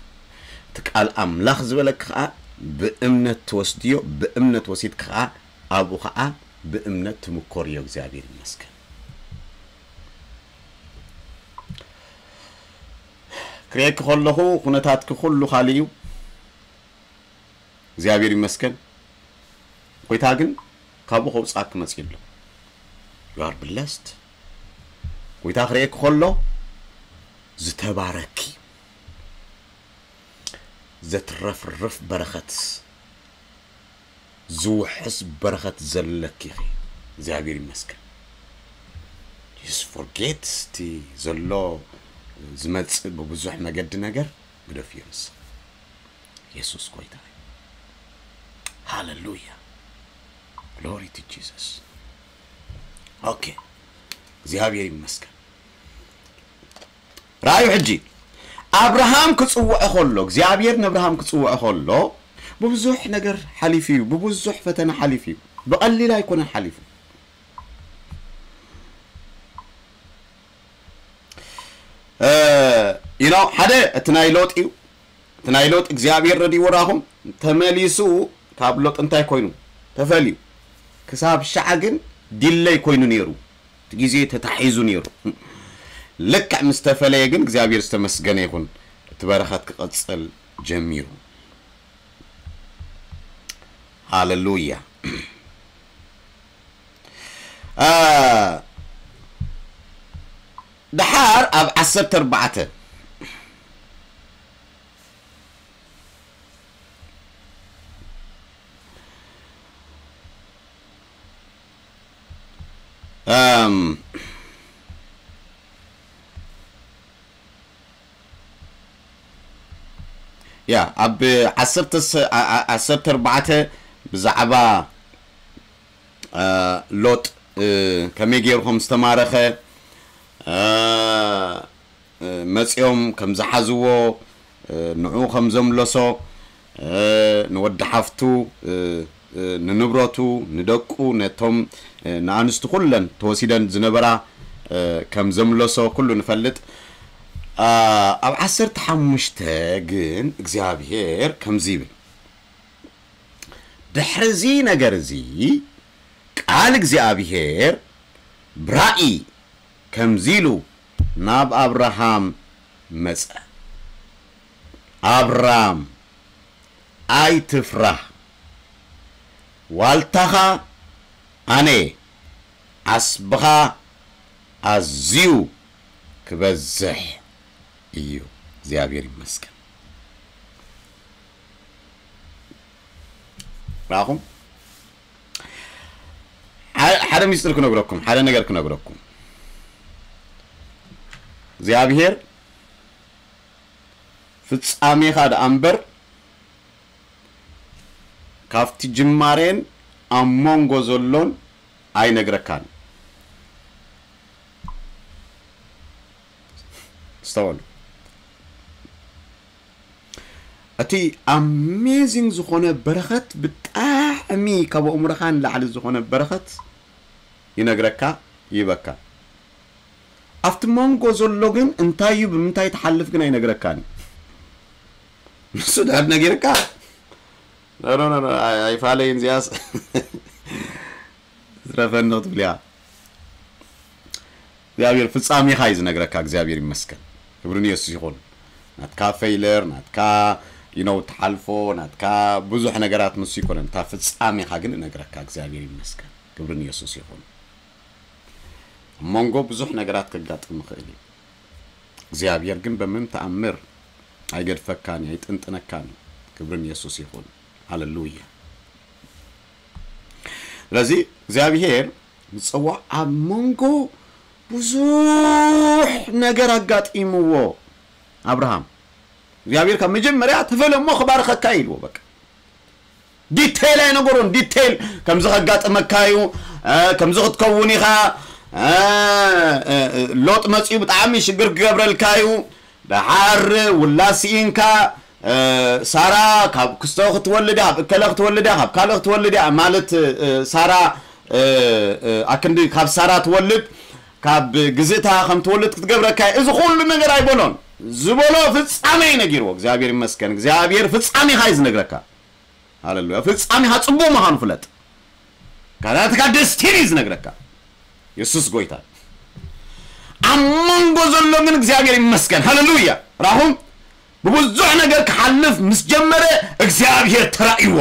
እቲ ቃል ኣምላኽ ዝበለኪ ኸዓ ብእምነት ትወስድዮ፣ ብእምነት ወሲድኪ ኸዓ ኣብኡ ኸዓ ብእምነት ትምኮርዮ። እግዚኣብሔር ይመስገን። ክርእየኪ ከለኹ ኩነታትኪ ኩሉ ካልእ እዩ። እግዚኣብሔር ይመስገን። ጎይታ ግን ካብኡ ከውፅኣኪ መፅዩ ኣሎ። You are blessed። ጎይታ ክርእየኪ ከሎ ዝተባረኪ፣ ዘትረፍርፍ በረኸት፣ ዝውሕስ በረኸት ዘለኪ ኢኺ። እግዚኣብሔር ይመስገን። Just forget እቲ ዘሎ ዝመጽእ ብብዙሕ መገዲ ነገር ግደፍዮ ንስኺ። የሱስ ጎይታ እዩ። ሃሌሉያ። Glory to Jesus። ኦኬ። እግዚኣብሔር ይመስገን። ራእዩ ሕጂ ኣብርሃም ክጽውዖ ከሎ፣ እግዚኣብሔር ንኣብርሃም ክጽውዖ ከሎ፣ ብብዙሕ ነገር ሓሊፉ እዩ፣ ብብዙሕ ፈተና ሓሊፉ እዩ። ብቐሊል ኣይኮነን ሓሊፉ። እ፣ you know፣ ሓደ እቲ ናይ ሎጥ እዩ። እቲ ናይ ሎጥ እግዚኣብሔር ረድእዎ ራኹም ተመሊሱ ካብ ሎጥ እንታይ ኮይኑ ተፈልዩ። ክሳብ ሻዓ ግን ዲለይ ኮይኑ ነይሩ። እቲ ግዜ ተታሒዙ ነይሩ። ልክዕ ምስ ተፈለየ ግን እግዚኣብሔር ዝተመስገነ ይኹን። እቲ በረኸት ክቐጽል ጀሚሩ። ሃሌሉያ። እ፣ ደሓር ኣብ ዓሰርተ ኣርባዕተ፣ እም፣ ያ፣ ኣብ ዓሰርተ ሰ-፣ ዓ-፣ ዓ-፣ ዓሰርተ ኣርባዕተ ብዛዕባ እ፣ ሎጥ፣ እ፣ ከመይ ገይሩ ከም ዝተማረኸ፣ እ፣ እ፣ መጺኦም ከም ዝሓዝዎ፣ እ፣ ንዕኡ ከም ዘምለሶ፣ እ፣ ንወዲ ሓፍቱ፣ እ፣ እ፣ ንንብረቱ፣ ንደቁ፣ ነቶም፣ እ፣ ንኣንስቱ ኩለን ተወሲደን ዝነበራ፣ እ፣ ከም ዘምለሶ ኩሉ ንፈልጥ። እ፣ ኣብ ዓሰርተ ሓሙሽተ ግን እግዚኣብሔር ከምዚ ይብል። ድሕሪ እዚ ነገር እዚ ቃል እግዚኣብሔር ብራእይ ከምዚ ኢሉ ናብ ኣብርሃም መጸ። ኣብራም ኣይትፍራህ፣ ዋልታኻ ኣነ እየ፣ ዓስብኻ ኣዝዩ ክበዝሕ እዩ። እግዚኣብሔር ይመስገን። ራኹም ሓደ ሚስጥር ክነግረኩም፣ ሓደ ነገር ክነግረኩም። እግዚኣብሔር ፍጻሜኻ ደኣ እምበር ካብቲ ጅማሬን ኣብ መንጎ ዘሎን ኣይነግረካን። ስተወሉ። እቲ ኣሜዚንግ ዝኾነ በረኸት፣ ብጣዕሚ ካብ ኣእምሮኻ ንላዕሊ ዝኾነ በረኸት ይነግረካ፣ ይህበካ። ኣብቲ መንጎ ዘሎ ግን እንታይ እዩ፣ ብምንታይ ትሓልፍ ግን ኣይነግረካን እዩ። ንሱ ድሕር ነጊርካ፣ ኖ፣ ኖ፣ ኖ፣ ኖ፣ ኣይ-፣ ኣይፋለይን እዚኣስ። ዝረፈኒ ክትብል እያ። እግዚኣብሔር ፍጻሜኻ እዩ ዝነግረካ። እግዚኣብሔር ይመስገን። ክብሪ ንየሱስ ይኹን። ናትካ ፌይለር፣ ናትካ፣ you know፣ ትሓልፎ፣ ናትካ ብዙሕ ነገራት ንሱ ይኮነን። እታ ፍጻሜኻ ግን እነግረካ። እግዚኣብሔር ይመስገን። ክብሪ ንየሱስ ይኹን። ኣብ መንጎ ብዙሕ ነገራት ከጋጥም ይኽእል እዩ። እግዚኣብሔር ግን በምንም ተኣምር ኣይገድፈካን እዩ፣ ኣይጥንጥነካን እዩ። ክብሪ ንየሱስ ይኹን። ሃሌሉያ። ስለዚ እግዚኣብሔር ዝጸውዖ ኣብ መንጎ ብዙሕ ነገር ኣጋጢምዎ ኣብርሃም። እግዚኣብሔር ካብ መጀመርያ ተፈለ እሞ ክባርኸካ ኢልዎ። በቃ ዲቴይል ኣይነገሮን። ዲቴይል ከምዚ ከጋጥመካ እዩ፣ እ፣ ከምዚ ክትከውን ኢኻ፣ እ፣ እ፣ እ፣ ሎጥ መፂኡ ብጣዕሚ ሽግር ክገብረልካ እዩ። ደሓር ውላድ ስኢንካ፣ እ፣ ሳራ ካብ ክስቶ ክትወልድ እያ፣ ካብ እከለ ክትወልድ እያ፣ ካብ ካልእ ክትወልድ እያ ማለት፣ እ፣ ሳራ፣ እ፣ እ፣ ኣክንዲ ካብ ሳራ ትወልድ፣ ካብ ግዝእታ ከም ትወልድ ክትገብረካ እያ። እዚ ኩሉ ነገር ኣይበሎን። ዝበሎ ፍጻሜ እዩ ነጊርዎ። እግዚኣብሔር ይመስገን። እግዚኣብሔር ፍጻሜኻ እዩ ዝነግረካ። ሃሌሉያ። ፍጻሜኻ ጽቡቕ ምዃኑ ፍለጥ። ካላትካ ደስቲኒ እዩ ዝነግረካ። የሱስ ጎይታ። ኣብ መንጎ ዘሎ ግን እግዚኣብሔር ይመስገን። ሃሌሉያ። ራኹም ብብዙሕ ነገር ክሓልፍ ምስ ጀመረ እግዚኣብሔር ተራእይዎ።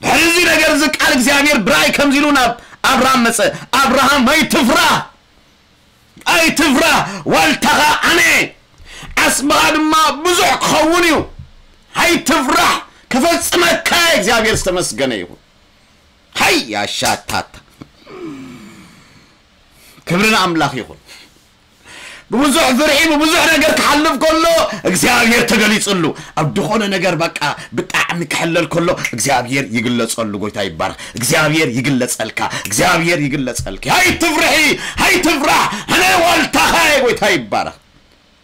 ድሕሪ እዚ ነገር እዚ ቃል እግዚኣብሔር ብራእይ ከምዚ ኢሉ ናብ ኣብርሃም መጸ። ኣብርሃም ኣይትፍራህ፣ ኣይትፍራህ፣ ዋልታኻ ኣነ፣ ዓስብኻ ድማ ብዙሕ ክኸውን እዩ። ኣይትፍራህ፣ ክፈጽመካ እየ። እግዚኣብሔር ዝተመስገነ ይኹን። ሃይ ያሻታታ። ክብሪ ንኣምላኽ ይኹን። ብብዙሕ ፍርሒ፣ ብብዙሕ ነገር ክሓልፍ ከሎ እግዚኣብሔር ተገሊጽሉ። ኣብ ዝኾነ ነገር በቃ ብጣዕሚ ክሕለል ከሎ እግዚኣብሔር ይግለጸሉ። ጎይታ ይባረኽ። እግዚኣብሔር ይግለጸልካ። እግዚኣብሔር ይግለጸልኪ። ኣይትፍርሒ፣ ኣይትፍራህ። ኣነ ዋልታኻ እየ። ጎይታ ይባረኽ።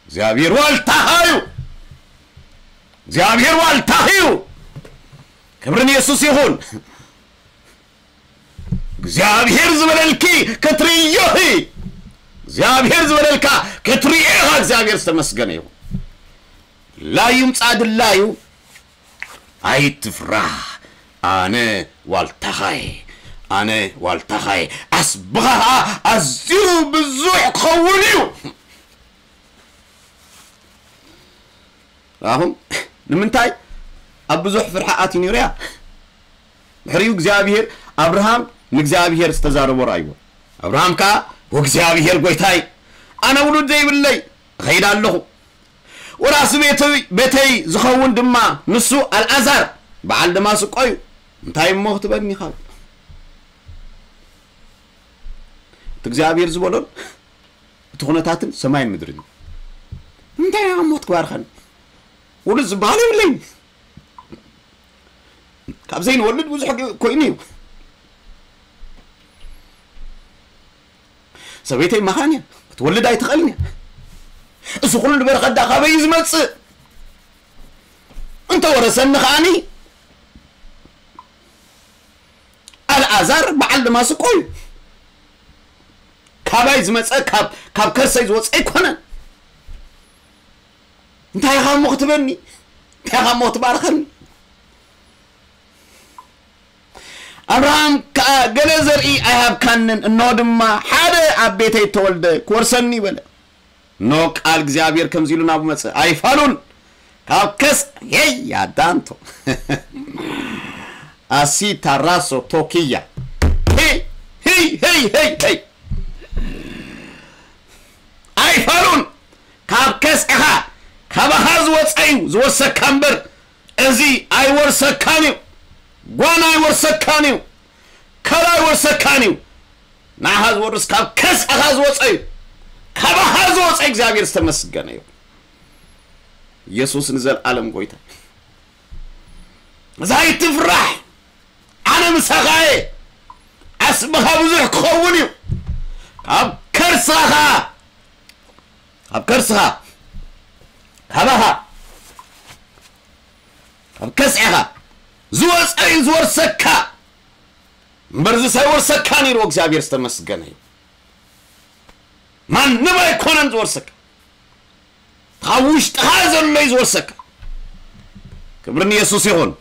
እግዚኣብሔር ዋልታኻ እዩ። እግዚኣብሔር ዋልታኺ እዩ። ክብሪ ንየሱስ ይኹን። እግዚኣብሔር ዝበለልኪ ክትርእዮ ኢኺ። እግዚኣብሔር ዝበለልካ ክትርእዮ ኢኻ። እግዚኣብሔር ዝተመስገነ ይኹን። ድላዩ ምጻእ ድላዩ። ኣይትፍራህ፣ ኣነ ዋልታኻ እየ፣ ኣነ ዋልታኻ እየ። ዓስብኻ ኸኣ ኣዝዩ ብዙሕ ክኸውን እዩ። ራኹም ንምንታይ ኣብ ብዙሕ ፍርሒ ኣትዩ ነይሩ እያ? ድሕሪኡ እግዚኣብሔር ኣብርሃም ንእግዚኣብሔር ዝተዛረቦ ረኣይዎ። ኣብርሃም ከኣ፣ "ወእግዚኣብሔር ጐይታይ፣ ኣነ ውሉድ ዘይብለይ እኸይድ ኣለኹ፣ ወራሲ ቤተይ፣ ቤተይ ዝኸውን ድማ ንሱ ኣልዓዛር በዓል ደማስቆ እዩ፣ እንታይ እሞ ክትበኒ ኢኻ?" እቲ እግዚኣብሔር ዝበሎን እቲ ኩነታትን ሰማይን ምድርን እዩ። እንታይ እሞ ክትባርኸኒ? ውሉድ ዝበሃል የብለይን። ካብ ዘይንወልድ ብዙሕ ግ-፣ ኮይኑ እዩ። ሰበይተይ መኻን እያ፣ ክትወልድ ኣይትኽእልን እያ። እዚ ኩሉ በረኸት ደኣ ካበይ እዩ ዝመጽእ? እንተ ወረሰኒ ከኣኒ፣ ኣልዓዛር በዓል ደማስቆ እዩ። ካባይ ዝመጸ፣ ካብ፣ ካብ ከርሰይ ዝወጸ ኣይኮነን። እንታይ ኢኻ እሞ ክትበኒ? እንታይ ኢኻ እሞ ክትባርኸኒ? ኣብርሃም ከኣ፣ "ገለ ዘርኢ ኣይሃብካንን፣ እንሆ ድማ ሓደ ኣብ ቤተይ እተወልደ ክወርሰኒ" በለ። እንሆ ቃል እግዚኣብሔር ከምዚ ኢሉ ናብኡ መጸ፣ "ኣይፋሉን፣ ካብ ከስ-" ሄይ ያዳንቶ። "ኣሲ ታራሶ ቶኪያ። ሄይ፣ ሄይ፣ ሄይ፣ ሄይ፣ ሄይ። ኣይፋሉን፣ ካብ ከስዕኻ፣ ካባኻ ዝወጸ እዩ ዝወርሰካ እምበር፣ እዚ ኣይወርሰካን እዩ። ጓና ኣይወርሰካን እዩ። ከላ ኣይወርሰካን እዩ። ንዓኻ ዝወርስ ካብ ከስዕኻ ዝወጸ እዩ። ካባኻ ዝወጸ እግዚኣብሔር ዝተመስገነ እዩ። ኢየሱስ ንዘለኣለም ጎይታ። እዛ ኣይትፍራሕ፣ ኣነ ምሳኻ እየ። ዓስብኻ ብዙሕ ክኸውን እዩ። ካብ ከርስኻ፣ ካብ ከርስኻ፣ ካባኻ፣ ካብ ከስዕኻ ዝወጸ እዩ ዝወርሰካ። እምበርዚ ሳይወርሰካ ነይሩ እግዚኣብሔር ዝተመስገነ እዩ። ማንም ኣይኮነን ዝወርሰካ። ካብ ውሽጥኻ ዘሎ እዩ ዝወርሰካ። ክብሪ ንየሱስ ይኹን።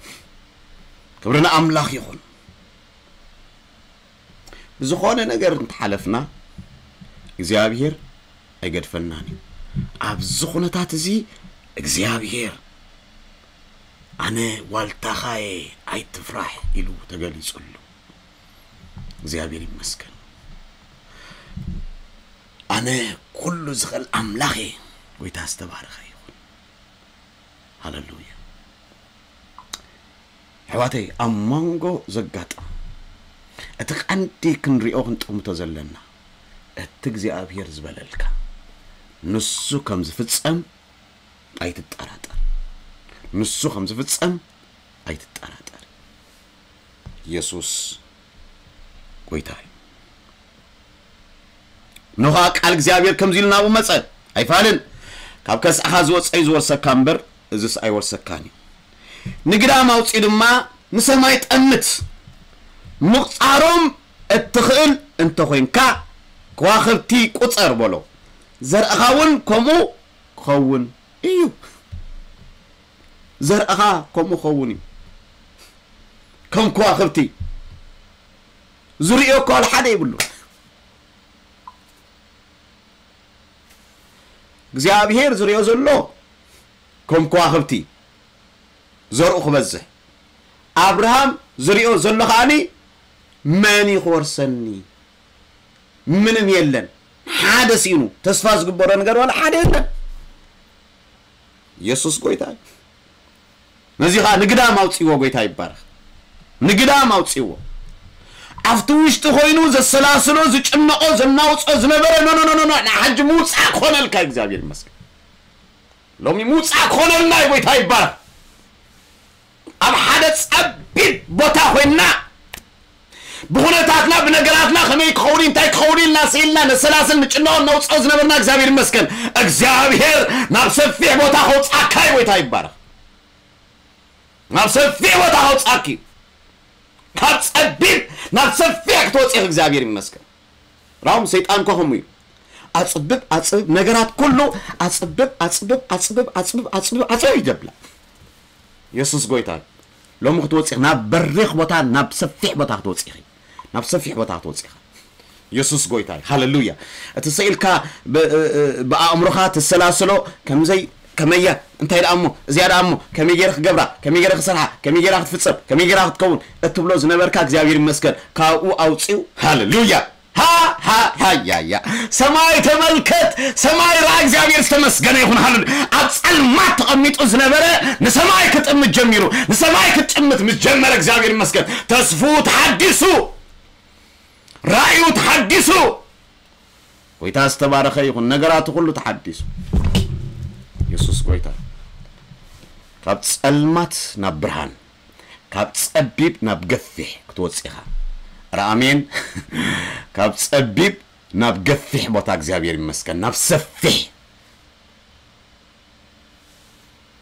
ክብሪ ንኣምላኽ ይኹን። ብዝኾነ ነገር እንተሓለፍና እግዚኣብሔር ኣይገድፈናን እዩ። ኣብዚ ኩነታት እዚ እግዚኣብሔር ኣነ ዋልታኻ እየ ኣይትፍራሕ ኢሉ ተገሊጹሉ። እግዚኣብሔር ይመስገን። ኣነ ኩሉ ዝኽእል ኣምላኽ እየ። ጎይታ ዝተባረኸ ይኹን። ሃሌሉያ። ኣሕዋተይ፣ ኣብ መንጎ ዘጋጥም እቲ ቀንዲ ክንሪኦ ክንጥምቶ ዘለና፣ እቲ እግዚኣብሔር ዝበለልካ ንሱ ከም ዝፍጸም ኣይትጠራጠር። ንሱ ከም ዝፍጸም ኣይትጠራጠር። ኢየሱስ ጎይታ እዩ። እነሆ ኸኣ ቃል እግዚኣብሔር ከምዚ ኢሉ ናብኡ መጸ፣ ኣይፋልን፣ ካብ ከስዕኻ ዝወጸ እዩ ዝወርሰካ እምበር፣ እዝስ ኣይወርሰካን እዩ። ንግዳም ኣውጺኡ ድማ ንሰማይ ጠምት፣ ምቑጻሮም እትኽእል እንተ ኾይንካ፣ ከዋኽብቲ ቁጸር በሎ፣ ዘርእኻ እውን ከምኡ ክኸውን እዩ። ዘርእኻ ከምኡ ክኸውን እዩ። ከም ከዋኽብቲ ዝርእዮ እኳ ዋላ ሓደ የብሉ። እግዚኣብሔር ዝርእዮ ዘሎ ከም ከዋኽብቲ ዘርኡ ክበዝሕ፣ ኣብርሃም ዝርእዮ ዘሎ ከኣኒ መን እዩ ክወርሰኒ? ምንም የለን። ሓደ ሲኑ ተስፋ ዝግበሮ ነገር ዋላ ሓደ የለን። ኢየሱስ ጎይታ እዩ። ነዚ ኸኣ ንግዳም ኣውጽእዎ፣ ጎይታ ይባረኽ። ንግዳም ኣውጽእዎ። ኣብቲ ውሽጢ ኮይኑ ዘሰላስሎ፣ ዝጭነቆ፣ ዘናውጾ ዝነበረ፣ ኖ፣ ኖ፣ ኖ፣ ኖ፣ ኖ፣ ንሓጂ ምውጻእ ክኾነልካ እግዚኣብሔር ይመስገን። ሎሚ ምውጻእ ክኾነልና እዩ፣ ጎይታ ይባረኽ። ኣብ ሓደ ጸቢብ ቦታ ኮይንና ብኹነታትና፣ ብነገራትና ከመይ ክኸውን፣ እንታይ ክኸውን ኢልና ስኢልና ነሰላስል፣ ንጭነቆ፣ ነውጽኦ ዝነበርና እግዚኣብሔር ይመስገን። እግዚኣብሔር ናብ ሰፊሕ ቦታ ከውጻእካ እዩ፣ ጎይታ ይባረኽ። ናብ ሰፊሕ ቦታ ከውጻእኪ እዩ። ካብ ጸቢብ ናብ ሰፊሕ ክትወጽኢ እግዚኣብሔር ይመስገን። ራሁም ሰይጣን እኮ ከምኡ እዩ። ኣጽብብ፣ ኣጽብብ፣ ነገራት ኩሉ ኣጽብብ፣ ኣጽብብ፣ ኣጽብብ፣ ኣጽብብ፣ ኣጽብብ፣ ኣጽብብ ይደብላ። የሱስ ጎይታ እዩ። ሎሚ ክትወጽኢ፣ ናብ በሪኽ ቦታ፣ ናብ ሰፊሕ ቦታ ክትወጽኢ ኢኺ። ናብ ሰፊሕ ቦታ ክትወጽኢ ኢኻ። የሱስ ጎይታ እዩ። ሃሌሉያ። እቲ ስኢልካ ብ-፣ እ-፣ እ-፣ ብኣእምሮኻ ትሰላስሎ፣ ከምዘይ፣ ከመያ፣ እንታይ ደኣ እሞ፣ እዚኣ ደኣ እሞ፣ ከመይ ገይረ ክገብራ፣ ከመይ ገይረ ክሰርሓ፣ ከመይ ገይራ ክትፍጸም፣ ከመይ ገይራ ክትከውን እትብሎ ዝነበርካ፣ እግዚኣብሔር ይመስገን፣ ካብኡ ኣውጺኡ። ሃሌሉያ። ሃ፣ ሃ፣ ሃ፣ ያ፣ ያ። ሰማይ ተመልከት፣ ሰማይ ረኣ፣ እግዚኣብሔር ዝተመስገነ ይኹን። ሃሌሉያ። ኣብ ጸልማት ተቐሚጡ ዝነበረ ንሰማይ ክጥምት ጀሚሩ። ንሰማይ ክትጥምት ምስ ጀመረ፣ እግዚኣብሔር ይመስገን፣ ተስፉ ተሓዲሱ፣ ራእዩ ተሓዲሱ። ጎይታ ዝተባረኸ ይኹን። ነገራቱ ኩሉ ተሓዲሱ። የሱስ ጎይታ። ካብ ጸልማት ናብ ብርሃን፣ ካብ ጸቢብ ናብ ገፊሕ ክትወጽእ ኢኻ። ኧረ ኣሜን። ካብ ጸቢብ ናብ ገፊሕ ቦታ፣ እግዚኣብሔር ይመስገን፣ ናብ ሰፊሕ።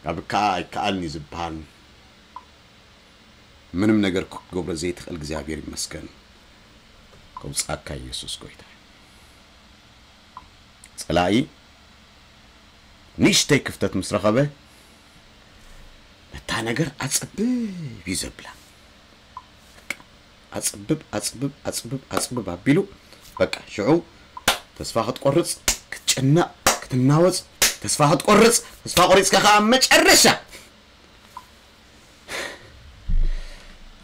ካብ ከኣ ኣይከኣልን እዩ ዝበሃል ምንም ነገር ክትገብሮ ዘይትኽእል እግዚኣብሔር ይመስገን። ከውጻእካ ኢየሱስ ጎይታ። ጸላኢ ንእሽተይ ክፍተት ምስ ረኸበ፣ ነታ ነገር ኣጽብብ እዩ ዘብላ። ኣጽብብ፣ ኣጽብብ፣ ኣጽብብ፣ ኣጽብብ ኣቢሉ፣ በቃ፣ ሽዑ ተስፋ ክትቆርጽ፣ ክትጭነቕ፣ ክትናወጽ፣ ተስፋ ክትቆርጽ፣ ተስፋ ቆሪጽካ ከኣ ኣብ መጨረሻ፣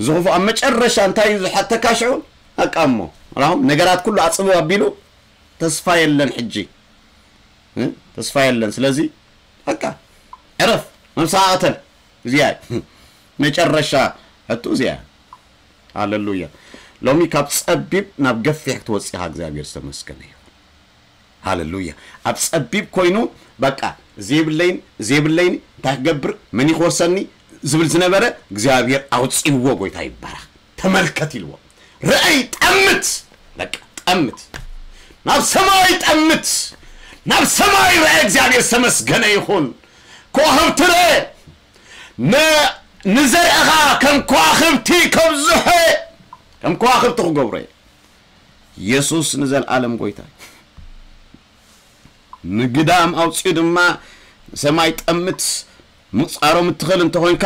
እዚ ክፉእ ኣብ መጨረሻ እንታይ እዩ ዝሓተካ ሽዑ? በቃ እሞ፣ ራሁም ነገራት ኩሉ ኣጽብብ ኣቢሉ፣ ተስፋ የለን ሕጂ። እ? ተስፋ የለን። ስለዚ፣ በቃ፣ ዕረፍ፣ ነብስኻ ቅተል። እዚኣ እዩ። መጨረሻ ሕቶ እዚኣ እያ። ሃሌሉያ። ሎሚ ካብ ጸቢብ ናብ ገፊሕ ክትወጽእ ኢኻ፣ እግዚኣብሔር ዝተመስገነ ይኹን። ሃሌሉያ። ኣብ ጸቢብ ኮይኑ፣ በቃ፣ እዚ የብለይን፣ እዚ የብለይን፣ እንታይ ክገብር፣ መን እዩ ክወርሰኒ ዝብል ዝነበረ፣ እግዚኣብሔር ኣውጺእዎ፣ ጎይታ ይባረኽ። ተመልከት ኢልዎ። ርኣይ፣ ጠምት፣ በቃ፣ ጠምት። ናብ ሰማይ ጠምት። ናብ ሰማይ ርኣይ፣ እግዚኣብሔር ዝተመስገነ ይኹን። ከዋኽብቲ ርአ። ን-፣ ንዘርእኻ ከም ከዋኽብቲ ከብዝሖ፣ ከም ከዋኽብቲ ክገብሮ እየ። የሱስ ንዘለኣለም ጎይታ እዩ። ንግዳም ኣውጺኡ ድማ ንሰማይ ጠምት፣ ምቑጻሮም እትኽእል እንተኾይንካ፣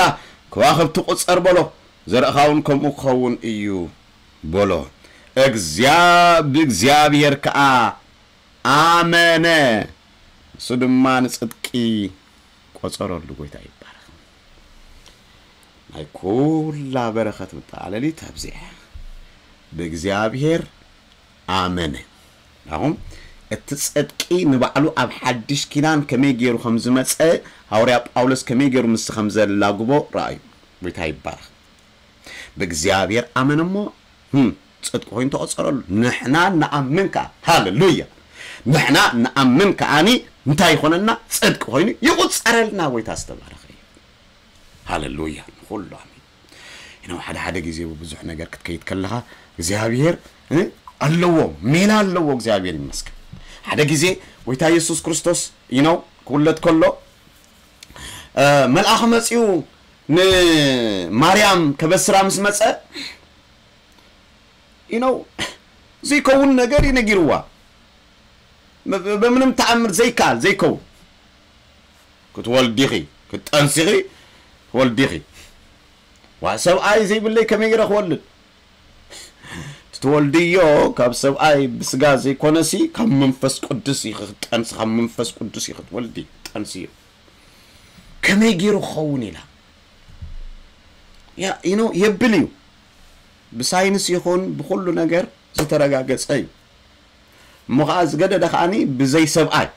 ከዋኽብቲ ቁጸር በሎ፣ ዘርእኻ እውን ከምኡ ክኸውን እዩ በሎ። እግዚኣብ-፣ ብእግዚኣብሔር ከኣ ኣመነ፣ ንሱ ድማ ንጽድቂ ቆጸረሉ። ጎይታ ይባረኽ። ናይ ኩላ በረኸት መጠቓለሊት ኣብዚኣ። ብእግዚኣብሔር ኣመነ። ኣሁን እቲ ጽድቂ ንባዕሉ ኣብ ሓድሽ ኪዳን ከመይ ገይሩ ከም ዝመጸ፣ ሃዋርያ ጳውሎስ ከመይ ገይሩ ምስቲ ከም ዘላግቦ ረኣዩ። ጎይታ ይባረኽ። ብእግዚኣብሔር ኣመነ እሞ፣ ህም፣ ጽድቂ ኮይኑ ተቖጸረሉ። ንሕና ንኣምን ከኣ፣ ሃሌሉያ። ንሕና ንኣምን ከኣኒ እንታይ ይኾነና? ጽድቂ ኮይኑ ይቑጸረልና። ጎይታ ዝተባረኸ እዩ። ሃሌሉያ። ንኹሉ ኣሜን። you know ሓደ ሓደ ግዜ ብብዙሕ ነገር ክትከይድ ከለኻ እግዚኣብሔር ኣለዎ፣ ሜላ ኣለዎ። እግዚኣብሔር ይመስገን። ሓደ ግዜ ጎይታ የሱስ ክርስቶስ you know ክውለድ ከሎ መልኣኽ መጺኡ ንማርያም ከበስራ ምስ መጸ you know ዘይከውን ነገር እዩ ነጊርዋ። በምንም ተኣምር ዘይከኣል ዘይከውን ክትወልዲኺ ክትጠንሲኺ ትወልዲኺ። ዋ ሰብኣይ ዘይብለይ ከመይ ገይረ ክወልድ? ትትወልድዮ ካብ ሰብኣይ ብስጋ ዘይኮነሲ ካብ መንፈስ ቅዱስ እዩ ክትጠንሲ፣ ካብ መንፈስ ቅዱስ እዩ ክትወልዲ ጠንስዮ። ከመይ ገይሩ ክኸውን ኢላ you know የብል እዩ። ብሳይንስ ይኹን ብኩሉ ነገር ዝተረጋገጸ እዩ። እሞ ከዓ ዝገደደ ከዓኒ ብዘይ ሰብኣይ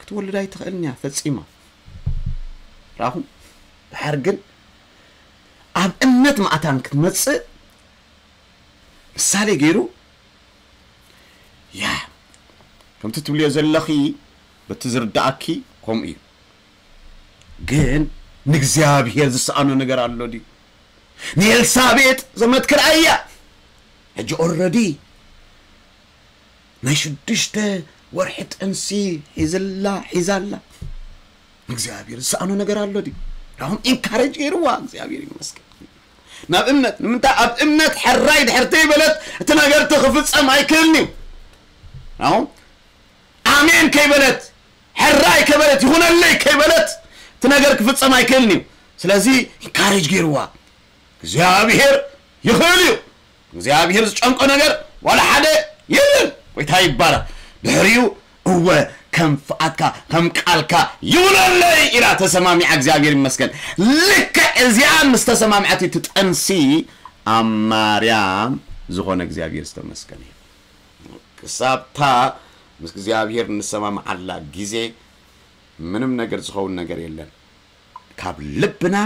ክትወልድ ኣይትኽእልን እያ ፈጺማ። ራኹም ድሓር ግን ኣብ እምነት ማእታን ክትመጽእ ምሳሌ ገይሩ ያ ከምቲ ትብልዮ ዘለኺ በቲ ዝርዳኣኪ ከምኡ እዩ። ግን ንእግዚኣብሔር ዝሰኣኖ ነገር ኣሎ ድዩ? ንኤልሳቤጥ ዘመትክር ኣያ ሕጂ ኦረዲ ናይ ሽዱሽተ ወርሒ ጥንሲ ሒዝላ ሒዛላ። እግዚኣብሔር ዝሰኣኖ ነገር ኣሎ ድዩ? ራኹም ኢንካሬጅ ገይርዋ። እግዚኣብሔር ይመስገን። ናብ እምነት ንምንታይ ኣብ እምነት ሕራይ ድሕር ተይበለት እቲ ነገር እቲ ክፍጸም ኣይክእልን እዩ። ራኹም ኣሜን ከይበለት ሕራይ ከበለት ይኹነለይ ከይበለት እቲ ነገር ክፍጸም ኣይክእልን እዩ። ስለዚ ኢንካሬጅ ገይርዋ። እግዚኣብሔር ይኽእል እዩ። እግዚኣብሔር ዝጨንቆ ነገር ዋላ ሓደ የለን። ጎይታ ይባረክ። ድሕሪኡ እወ ከም ፍቓድካ ከም ቃልካ ይውለለይ ኢላ ተሰማሚዓ። እግዚኣብሔር ይመስገን። ልክዕ እዚኣ ምስ ተሰማምዐት ትጠንሲ ኣብ ማርያም ዝኾነ እግዚኣብሔር ዝተመስገነ እዩ። ክሳብታ ምስ እግዚኣብሔር ንሰማምዓላ ግዜ ምንም ነገር ዝኸውን ነገር የለን። ካብ ልብና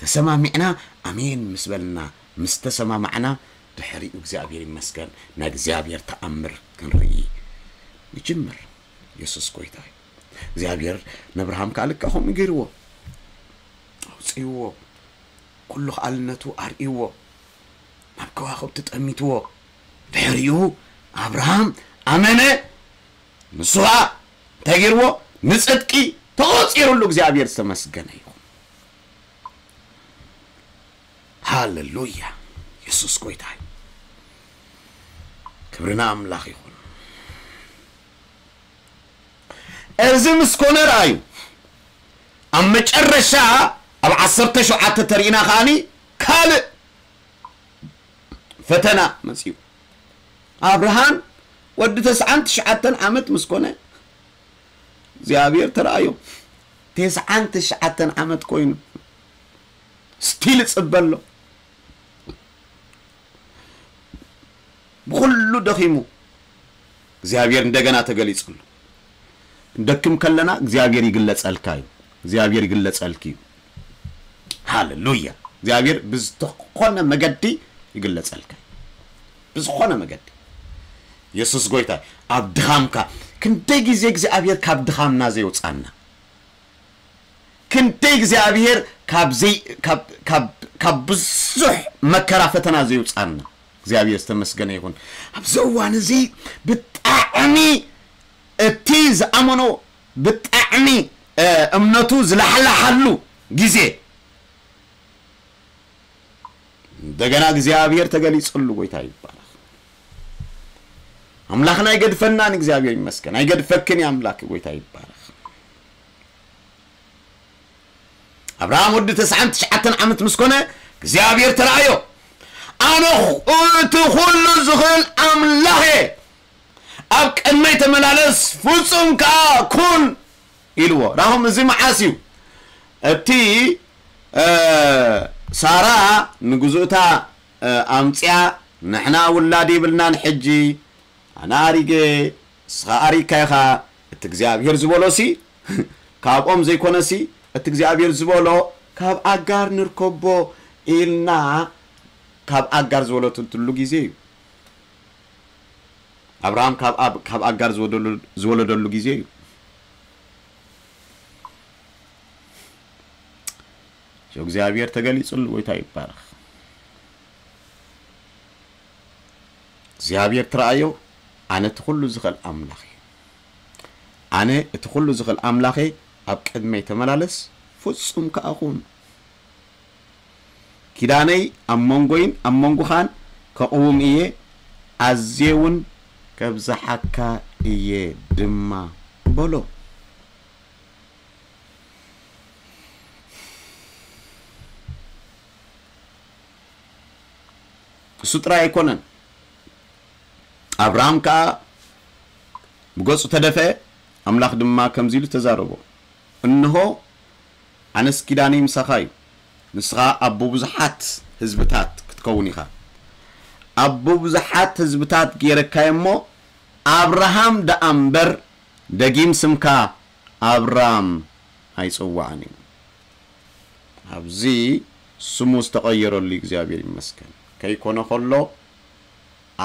ተሰማሚዕና ኣሜን ምስ በልና ምስ ተሰማማዕና ድሕሪኡ እግዚኣብሔር ይመስገን ናይ እግዚኣብሔር ተኣምር ክንርኢ ይጅምር። የሱስ ጎይታ እዩ። እግዚኣብሔር ነብርሃም ከዓ ልክዕ ከምኡ ገይርዎ ኣውፅእዎ። ኩሉ ከኣልነቱ ኣርእይዎ ናብ ከዋኽብቲ ጠሚትዎ። ድሕሪኡ ኣብርሃም ኣመነ። ንሱ ኸዓ እንታይ ገይርዎ? ንጽድቂ ተቖጺሩሉ። እግዚኣብሔር ዝተመስገነ ይኹን። ሃሌሉያ። የሱስ ጎይታ እዩ። ክብሪ ንኣምላኽ ይኹን። እዚ ምስ ኮነ ረኣዩ ኣብ መጨረሻ ኣብ ዓሰርተ ሸውዓተ ተሪእና ከዓኒ ካልእ ፈተና መጺኡ። ኣብርሃም ወዲ ተስዓን ትሽዓተን ዓመት ምስ ኮነ እግዚኣብሔር ተረኣዮ። ተስዓን ትሽዓተን ዓመት ኮይኑ ስቲል ይጽበ ኣሎ። ብኹሉ ደኺሙ እግዚኣብሔር እንደገና ተገሊጹሉ። እንደክም ከለና እግዚኣብሔር ይግለጸልካ እዩ። እግዚኣብሔር ይግለጸልኪ እዩ። ሃሌሉያ። እግዚኣብሔር ብዝተኾነ መገዲ ይግለጸልካ እዩ። ብዝኾነ መገዲ። የሱስ ጎይታ ኣብ ድኻምካ ክንደይ ግዜ እግዚኣብሔር ካብ ድኻምና ዘየውጻና ክንደይ እግዚኣብሔር ካብ ዘይ ካብ ካብ ካብ ብዙሕ መከራ ፈተና ዘየውጻና እግዚኣብሔር ዝተመስገነ ይኹን። ኣብዚ እዋን እዚ ብጣዕሚ እቲ ዝኣመኖ ብጣዕሚ እምነቱ ዝላሕላሓሉ ግዜ እንደገና እግዚኣብሔር ተገሊጽሉ። ጎይታ ይባረኽ። ኣምላኽና ኣይገድፈናን። እግዚኣብሔር ይመስገን። ኣይገድፈክን ኣምላኽ። ጎይታ ይባረኽ። ኣብርሃም ወዲ ተስዓን ትሽዓተን ዓመት ምስ ኮነ እግዚኣብሔር ተራእዮ። ኣነ እቲ ኩሉ ዝኽእል ኣምላኽ እየ። ኣብ ቅድመይ ተመላለስ ፍጹም ከኣ ኩን ኢልዎ። ራኹም እዚ መዓስ እዩ? እቲ ሳራ ንግዙእታ ኣምፅያ ንሕና ውላድ የብልናን ሕጂ ኣነ ኣሪገ እስኻ ኣሪካ ኢኻ እቲ እግዚኣብሔር ዝበሎሲ ካብኦም ዘይኮነሲ እቲ እግዚኣብሔር ዝበሎ ካብ ኣጋር ንርከቦ ኢልና ካብ ኣጋር ዝበለትሉ ግዜ እዩ። ኣብርሃም ካብ ኣጋር ዝወለደሉ ግዜ እዩ። እግዚኣብሔር ተገሊጹሉ። ጎይታ ይባረኽ። እግዚኣብሔር ትረኣዮ፣ ኣነ እቲ ኩሉ ዝኽእል ኣምላኽ እየ። ኣነ እቲ ኩሉ ዝኽእል ኣምላኽ እየ፣ ኣብ ቅድመይ ተመላለስ፣ ፍጹም ከኣ ኩን። ኪዳነይ ኣብ መንጎይን ኣብ መንጎኻን ከቕውም እየ፣ ኣዝየ እውን ከብዝሓካ እየ ድማ በሎ። እሱ ጥራይ ኣይኮነን። ኣብርሃም ከኣ ብገጹ ተደፍአ፣ ኣምላኽ ድማ ከምዚ ኢሉ ተዛረቦ፣ እንሆ ኣነስ ኪዳነይ ምሳኻ እዩ፣ ንስኻ ኣቦ ብዙሓት ህዝብታት ክትከውን ኢኻ። ኣቦ ብዙሓት ህዝብታት ገይረካዮ እሞ ኣብርሃም ደኣ እምበር ደጊም ስምካ ኣብራም ኣይጽዋዕን እዩ። ኣብዚ ስሙ ዝተቐየረሉ እግዚኣብሔር ይመስገን። ከይኮነ ከሎ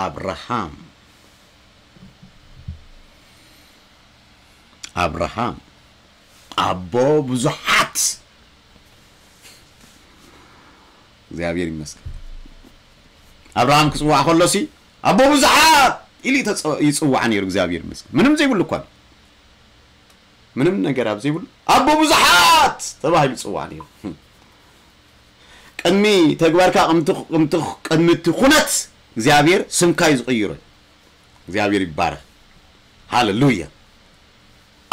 ኣብርሃም ኣብርሃም ኣቦ ብዙሓት እግዚኣብሔር ይመስገን። ኣብርሃም ክጽዋዕ ከሎሲ ኣቦ ብዙሓት ኢሉ ይተጸ- ይጽዋዕ ነይሩ። እግዚኣብሔር ይመስገን። ምንም ዘይብሉ እኳ ምንም ነገር ኣብ ዘይብሉ ኣቦ ብዙሓት ተባሂሉ ይጽዋዕ ነይሩ። ቅድሚ ተግባርካ ቅድሚ ቅድሚ እቲ ኩነት እግዚኣብሔር ስምካ እዩ ዝቕይሮ። እግዚኣብሔር ይባረክ። ሃሌሉያ።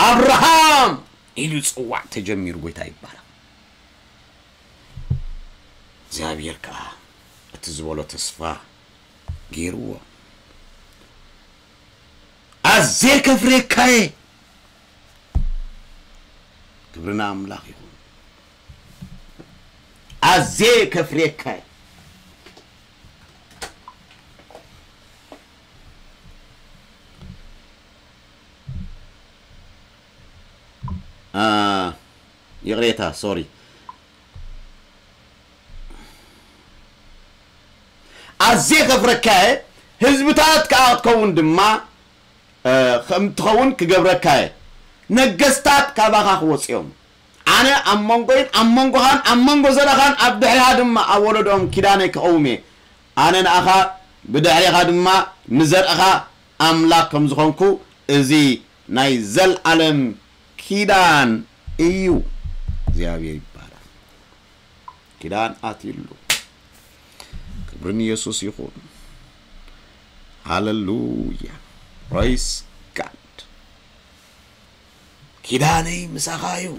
ኣብርሃም ኢሉ ይጽዋዕ ተጀሚሩ። ጎይታ ይባረክ። እግዚኣብሔር ከዓ እቲ ዝበሎ ተስፋ ገይርዎ። ኣዜ ከፍሬካየ ክብርና ኣምላኽ ይኹን። ኣዜ ከፍሬካየ ይቕሬታ ሶሪ ኣዜ ከፍረካየ ህዝብታት ከዓ ክትከውን ድማ ከም ትኸውን ክገብረካየ ነገስታት ካባኻ ክወፅኦም ኣነ ኣብ መንጎይን ኣብ መንጎኻን ኣብ መንጎ ዘረኻን ኣብ ድሕሪኻ ድማ ኣብ ወለዶም ኪዳነይ ክቐውም እየ ኣነ ንኣኻ ብድሕሪኻ ድማ ንዘርእኻ ኣምላኽ ከም ዝኾንኩ እዚ ናይ ዘልዓለም ኪዳን እዩ እግዚኣብሔር ይባላል ኪዳን ኣትይሉ ክብርን ኢየሱስ ይኹን ሃሌሉያ ፕሬስ ጋድ ኪዳነይ ምሳኻ እዩ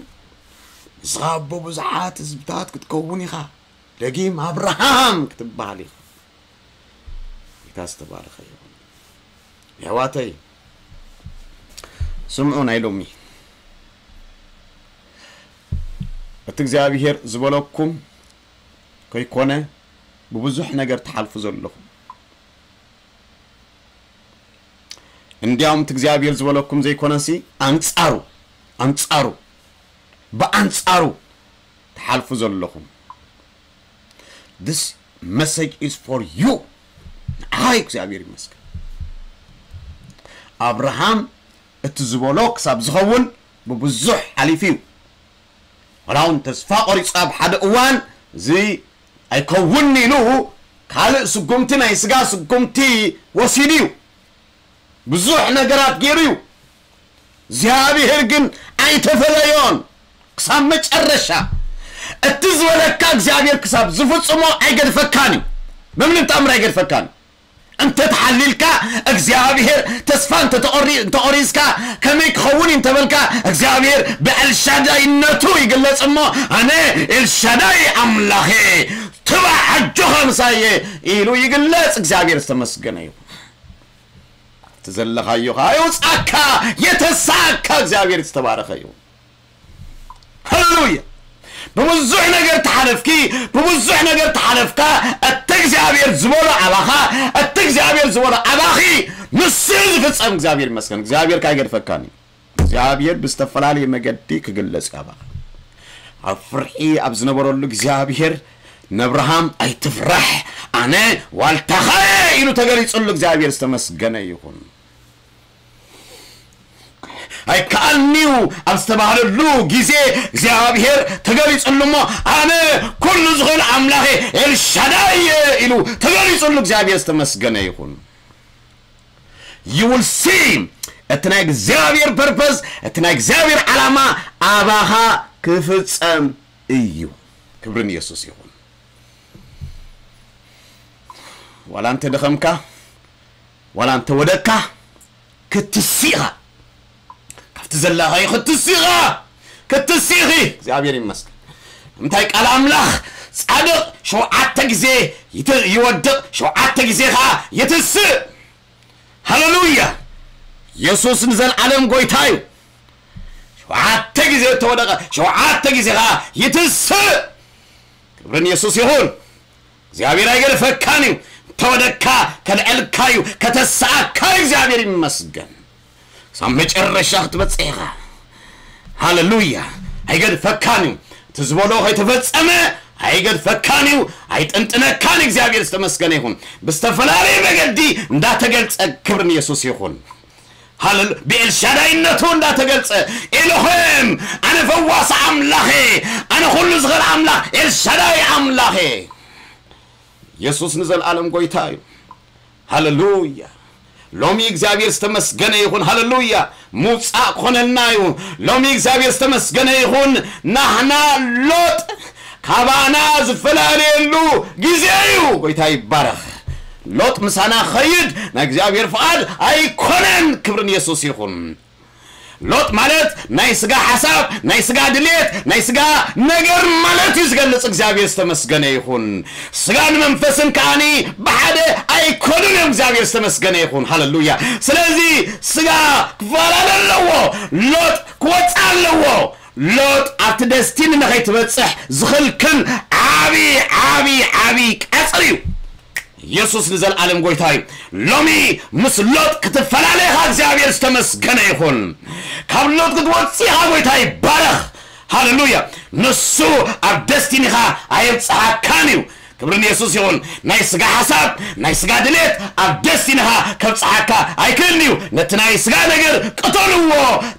ንስኻ ኣቦ ብዙሓት ህዝብታት ክትከውን ኢኻ ደጊም ኣብርሃም ክትበሃል ኢኻ ጌታ ዝተባረኸ ይኹን የሕዋተይ ስምዑ ናይ ሎሚ እቲ እግዚኣብሔር ዝበለኩም ከይኮነ ብብዙሕ ነገር ትሓልፉ ዘለኹም እንዲያውም እቲ እግዚኣብሔር ዝበለኩም ዘይኮነሲ ኣንጻሩ ኣንጻሩ ብኣንጻሩ ትሓልፉ ዘለኹም this message is for you ንዓይ እግዚኣብሔር ይመስገን ኣብርሃም እቲ ዝበሎ ክሳብ ዝኸውን ብብዙሕ ሓሊፉ እዩ ወላ እውን ተስፋ ቆሪፁ ኣብ ሓደ እዋን እዚ ኣይከውን ኢሉ ካልእ ስጉምቲ ናይ ስጋ ስጉምቲ ወሲዱ እዩ ብዙሕ ነገራት ገይሩ እዩ እግዚኣብሔር ግን ኣይተፈለዮን ክሳብ መጨረሻ እቲ ዝበለካ እግዚኣብሔር ክሳብ ዝፍፅሞ ኣይገድፈካን እዩ በምንም ተኣምር ኣይገድፈካን እዩ እንተ ተሓሊልካ እግዚኣብሔር ተስፋ እንተ ተቖሪ- እንተ ቆሪስካ ከመይ ክኸውን እዩ እንተበልካ እግዚኣብሔር ብኤልሻዳይነቱ ይግለጽ እሞ ኣነ ኤልሻዳይ ኣምላኸ ትባዕ ኣጆኻ ምሳየ ኢሉ ይግለጽ እግዚኣብሔር ዝተመስገነ እዩ እቲ ዘለኻዮ ከዓ ይውፃካ የተሳካ እግዚኣብሔር ዝተባረኸ እዩ ሃሌሉያ ብብዙሕ ነገር ተሓለፍኪ ብብዙሕ ነገር ተሓለፍካ እቲ እግዚኣብሔር ዝበሎ ኣባኻ እቲ እግዚኣብሔር ዝበሎ ኣባኺ ንሱ ዝፍፀም እግዚኣብሔር ይመስገን እግዚኣብሔር ካይገድፈካን እዩ እግዚኣብሔር ብዝተፈላለየ መገዲ ክግለጽ እዩ ኣባኻ ኣብ ፍርሒ ኣብ ዝነበረሉ እግዚኣብሔር ነብርሃም ኣይትፍራሕ ኣነ ዋልታኻየ ኢሉ ተገሊጹሉ እግዚኣብሔር ዝተመስገነ ይኹን ኣይከኣልንዩ ኣብ ዝተባህለሉ ግዜ እግዚኣብሔር ተገሊጹሉ እሞ ኣነ ኩሉ ዝኽእል ኣምላኸ ኤልሻዳይ ኢሉ ተገሊጹሉ እግዚኣብሔር ዝተመስገነ ይኹን You will see እቲ ናይ እግዚኣብሔር purpose፣ እቲ ናይ እግዚኣብሔር ዓላማ ኣባኻ ክፍጸም እዩ። ክብርን የሱስ ይኹን። ዋላ እንተ ደኸምካ፣ ዋላ እንተ ወደቅካ ክትስእ ኢኻ። ካብቲ ዘለኻዮ ክትስእ ኢኻ። ክትስእ ኢኺ። እግዚኣብሔር ይመስገን። እንታይ ቃል ኣምላኽ፣ ጻድቕ ሸውዓተ ግዜ ይት- ይወድቕ፣ ሸውዓተ ግዜ ኸዓ ይትስእ። ሃሌሉያ። የሱስ ንዘለዓለም ጎይታ እዩ። ሸውዓተ ግዜ እተወደቐ ሸውዓተ ግዜ ኸዓ ይትስእ። ክብርን የሱስ ይኹን። እግዚኣብሔር ኣይገድፈካን እዩ። እንተወደቅካ ከልዕልካ እዩ፣ ከተስኣካ እዩ። እግዚኣብሔር ይመስገን። ክሳብ መጨረሻ ክትበጽሕ ኢኻ። ሃሌሉያ። ኣይገድፈካን እዩ። እቲ ዝበሎ ከይተፈጸመ ኣይገድፈካን እዩ፣ ኣይጥንጥነካን። እግዚኣብሔር ዝተመስገነ ይኹን። ብዝተፈላለየ መገዲ እንዳተገልጸ፣ ክብሪ ንየሱስ ይኹን። ሃሌሉ ብኤልሻዳይነቱ እንዳተገልጸ፣ ኤሎሄም፣ ኣነ ፈዋሲ ኣምላኽ እየ፣ ኣነ ኩሉ ዝኽእል ኣምላኽ፣ ኤልሻዳይ ኣምላኽ እየ። የሱስ ንዘለኣለም ጎይታ እዩ። ሃሌሉያ። ሎሚ እግዚኣብሔር ዝተመስገነ ይኹን። ሃሌሉያ። ምውጻእ ክኾነልና እዩ። ሎሚ እግዚኣብሔር ዝተመስገነ ይኹን። ናህና ሎጥ ካባና ዝፈላለየሉ ግዜ እዩ። ጎይታ ይባረኽ። ሎጥ ምሳና ኸይድ ናይ እግዚኣብሔር ፍቓድ ኣይኮነን። ክብርን የሱስ ይኹን። ሎጥ ማለት ናይ ስጋ ሓሳብ፣ ናይ ስጋ ድሌት፣ ናይ ስጋ ነገር ማለት እዩ ዝገልጽ። እግዚኣብሔር ዝተመስገነ ይኹን። ስጋን መንፈስን ከኣኒ ብሓደ ኣይኮኑን እዮም። እግዚኣብሔር ዝተመስገነ ይኹን። ሃሌሉያ። ስለዚ ስጋ ክፈላለ ኣለዎ። ሎጥ ክወጽእ ኣለዎ። ሎጥ ኣብቲ ደስቲኒ ንኸይትበጽሕ ዝኽልክል ዓቢ፣ ዓቢ፣ ዓቢ ቀጽሪ እዩ። የሱስ ንዘለኣለም ጎይታ እዩ። ሎሚ ምስ ሎጥ ክትፈላለ ኢኻ፣ እግዚኣብሔር ዝተመስገነ ይኹን። ካብ ሎጥ ክትወጽእ ኢኻ፣ ጎይታ ይባረኽ። ሃሌሉያ። ንሱ ኣብ ደስቲኒኻ ኣየብጽሓካን እዩ። ክብሪ ንየሱስ ይኹን። ናይ ስጋ ሓሳብ፣ ናይ ስጋ ድሌት ኣብ ደስቲኒኻ ከብጽሓካ ኣይክእልን እዩ። ነቲ ናይ ስጋ ነገር ቅተልዎ፣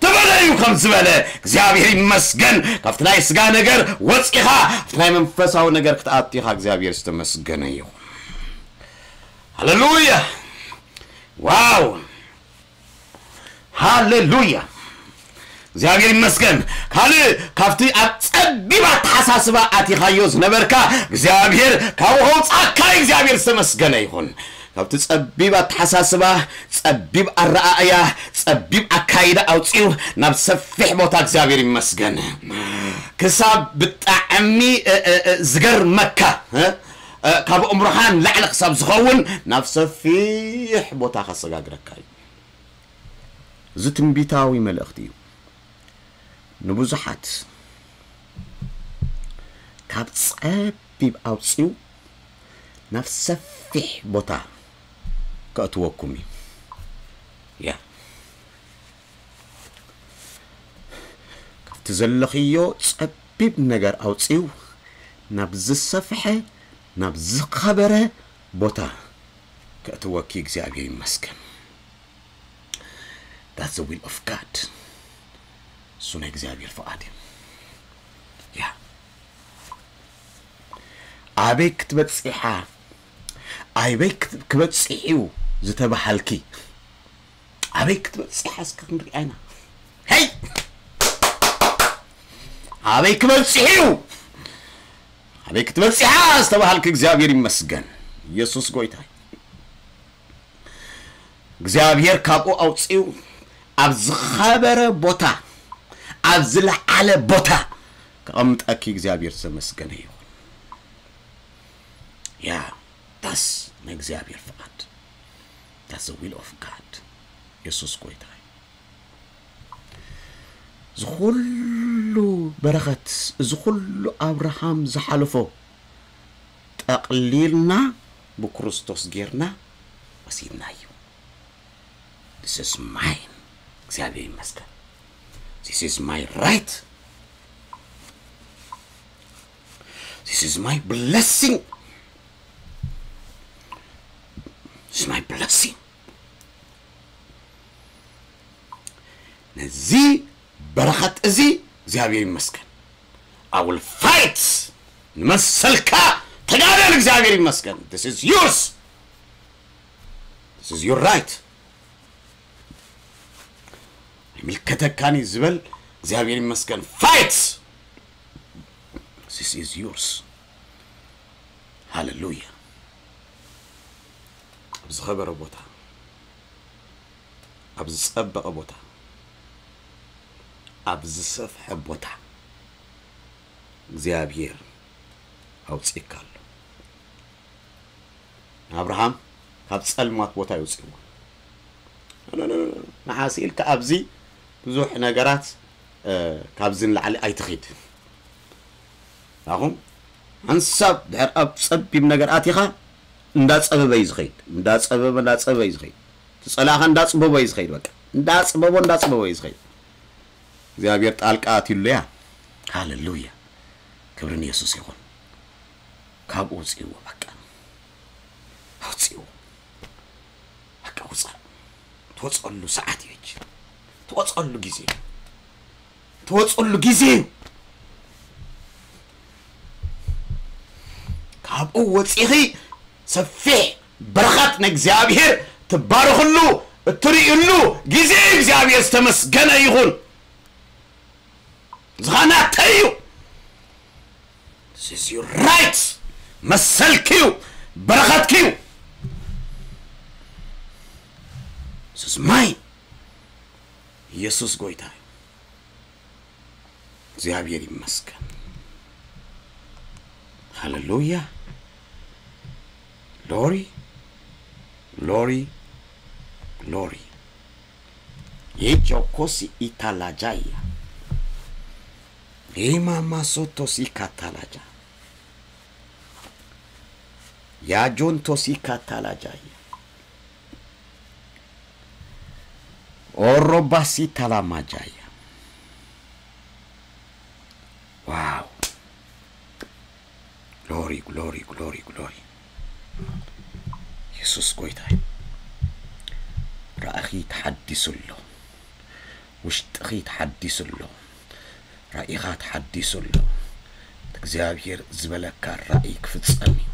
ተበለዩ ከም ዝበለ እግዚኣብሔር ይመስገን። ካብቲ ናይ ስጋ ነገር ወጺኻ ኣብቲ ናይ መንፈሳዊ ነገር ክትኣቱ ኢኻ። እግዚኣብሔር ዝተመስገነ ይኹን። ሃሌሉያ። ዋው። ሃሌሉያ። እግዚኣብሔር ይመስገን። ካልእ ካብቲ ኣብ ጸቢብ ኣተሓሳስባ ኣቲኻዮ ዝነበርካ እግዚኣብሔር ካብኡ ከውጻእካ እዩ። እግዚኣብሔር ዝተመስገነ ይኹን። ካብቲ ጸቢብ ኣተሓሳስባ፣ ጸቢብ ኣረኣእያ፣ ጸቢብ ኣካይዳ ኣውጺኡ ናብ ሰፊሕ ቦታ እግዚኣብሔር ይመስገን። ክሳብ ብጣዕሚ፣ እ፣ እ፣ እ፣ ዝገርመካ፣ እ፣ እ፣ ካብ ኣእምሮኻ ንላዕሊ ክሳብ ዝኸውን ናብ ሰፊሕ ቦታ ከሰጋግረካ እዩ። እዚ ትንቢታዊ መልእኽቲ እዩ። ንብዙሓት ካብ ጸቢብ ኣውጺኡ ናብ ሰፊሕ ቦታ ከእትወኩም እዩ። ያ። ካብቲ ዘለኽዮ ጸቢብ ነገር ኣውጺኡ ናብ ዝሰፍሐ፣ ናብ ዝኸበረ ቦታ ከእትወኪ እግዚኣብሔር ይመስገን። That's the will of God። እሱ ናይ እግዚኣብሔር ፍቓድ እዩ። ያ። ኣበይ ክትበጽሕ ኢኻ? ኣበይ ክት-፣ ክበጽሕ እዩ ዝተባሃልኪ? ኣበይ ክትበጽሕ ኢኻ? እስከ ክንሪኣ ኢና። ሄይ! ኣበይ ክበጽሕ እዩ? ኣበይ ክትበጽሕ ኢኻ ዝተባሃልኪ እግዚኣብሔር ይመስገን። ኢየሱስ ጎይታ። እግዚኣብሔር ካብኡ ኣውጺኡ ኣብ ዝኸበረ ቦታ፣ ኣብ ዝለዓለ ቦታ ከቐምጠኪ እግዚኣብሔር ዝተመስገነ ይኹን። ያ፣ that's ናይ እግዚኣብሔር ፍቓድ። That's the will of God። የሱስ ጎይታ እዩ። እዚ ኩሉ በረኸት፣ እዚ ኩሉ ኣብርሃም ዝሓለፎ ጠቕሊልና ብክርስቶስ ጌርና ወሲድናዮ። This is mine። እግዚኣብሔር ይመስገን። This is my right። This is my blessing። This is my blessing። ነዚ በረኸት እዚ እግዚኣብሔር ይመስገን። I will fight። ንመሰልካ ተጋደል፣ እግዚኣብሔር ይመስገን። This is yours። This is your right። ይምልከተካን እዩ ዝበል እግዚኣብሔር ይመስገን። Fight! This is yours. ሃሌሉያ። ኣብ ዝኸበረ ቦታ፣ ኣብ ዝጸበቐ ቦታ፣ ኣብ ዝሰፍሐ ቦታ እግዚኣብሔር ኣውጽእካ ኣሎ። ንኣብርሃም ካብ ጸልማት ቦታ የውጽእዎ። ንዓስ ኢልካ ኣብዚ ብዙሕ ነገራት ካብዚ ንላዕሊ ኣይትኺድ። ኣኹም ሓንሳብ ድሕር ኣብ ጸቢብ ነገር ኣቲኻ እንዳጸበበ እዩ ዝኸይድ፣ እንዳጸበበ እንዳጸበበ እዩ ዝኸይድ። ትጸላእኻ እንዳጽበቦ እዩ ዝኸይድ። በቃ እንዳጽበቦ እንዳጽበቦ እዩ ዝኸይድ። እግዚኣብሔር ጣልቃ ኣትዩሉ እያ። ሃሌሉያ። ክብሪ ንየሱስ ይኹን። ካብኡ ውፅእዎ። በቃ ኣውፅእዎ። በቃ ውፃእ። ትወፀሉ ሰዓት እዩ። ትወፀሉ ግዜ እዩ። ትወፀሉ ግዜ እዩ። ካብኡ ወፂኺ ሰፊሕ በረኸት ንእግዚኣብሔር ትባረኽሉ እትርእዩሉ ግዜ እዩ። እግዚኣብሔር ዝተመስገነ ይኹን። ዝኻናተይ እዩ። This is your right. መሰልኪ እዩ። በረኸትኪ እዩ። This is mine. ኢየሱስ ጎይታ እዩ። እግዚኣብሔር ይመስገን። ሃሌሉያ። ግሎሪ፣ ግሎሪ፣ ግሎሪ። የጆኮሲ ኢታላጃያ። ሪማማሶቶሲ ካታላጃ። ያጆንቶሲ ካታላጃያ። ኦሮባሲ ታላማጃያ። ዋው። ግሎሪ፣ ግሎሪ፣ ግሎሪ፣ ግሎሪ። የሱስ ጎይታ እዩ። ራእኺ ተሓዲሱ ኣሎ። ውሽጥኺ ተሓዲሱ ኣሎ። ራእይኻ ተሓዲሱ ኣሎ። እግዚኣብሔር ዝበለካ ራእይ ክፍጸም እዩ።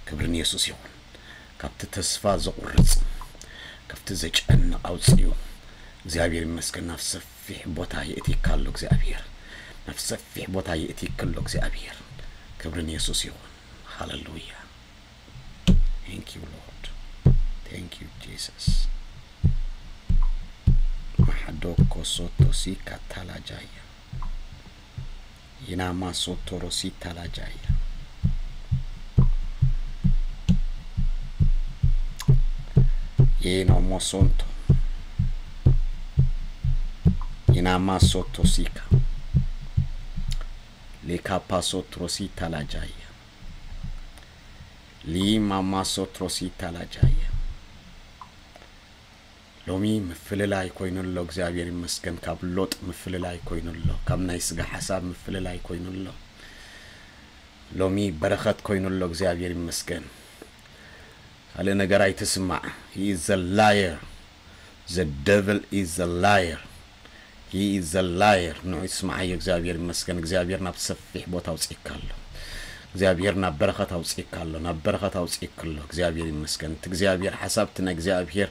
ክብሪ ንየሱስ ይኹን። ካብቲ ተስፋ ዘቑርጽ፣ ካብቲ ዘጨንቕ ኣውጽኡ። እግዚኣብሔር ይመስገን። ናብ ሰፊሕ ቦታ የእቲካ ኣሎ እግዚኣብሔር። ናብ ሰፊሕ ቦታ የእቲካ ኣሎ እግዚኣብሔር። ክብሪ ንየሱስ ይኹን። ሃሌሉያ። Thank you, Lord. Thank you, Jesus. ማሓዶ ኮሶቶ ሲ ካታላጃያ። ኢናማ ሶቶሮሲ ታላጃያ። ኢኖ ሞሶንቶ። ኢናማ ሶቶሲካ። ሊካፓ ሶትሮሲ ታላጃያ። ሊማማ ሶትሮሲ ታላጃያ። ሎሚ ምፍልላይ ኮይኑ ኣሎ። እግዚኣብሔር ይመስገን። ካብ ሎጥ ምፍልላይ ኮይኑ ኣሎ። ካብ ናይ ስጋ ሓሳብ ምፍልላይ ኮይኑ ኣሎ። ሎሚ በረኸት ኮይኑ ኣሎ። እግዚኣብሔር ይመስገን። ካልእ ነገር ኣይትስማዕ። He is a liar. The devil is a liar. He is a liar. ንዑ ይስምዓዮ። እግዚኣብሔር ይመስገን። እግዚኣብሔር ናብ ሰፊሕ ቦታ ኣውፅእካ ኣሎ። እግዚኣብሔር ናብ በረኸት ኣውፅእካ ኣሎ። ናብ በረኸት ኣውፅእካ ኣሎ። እግዚኣብሔር ይመስገን። እቲ እግዚኣብሔር ሓሳብ፣ እቲ ናይ እግዚኣብሔር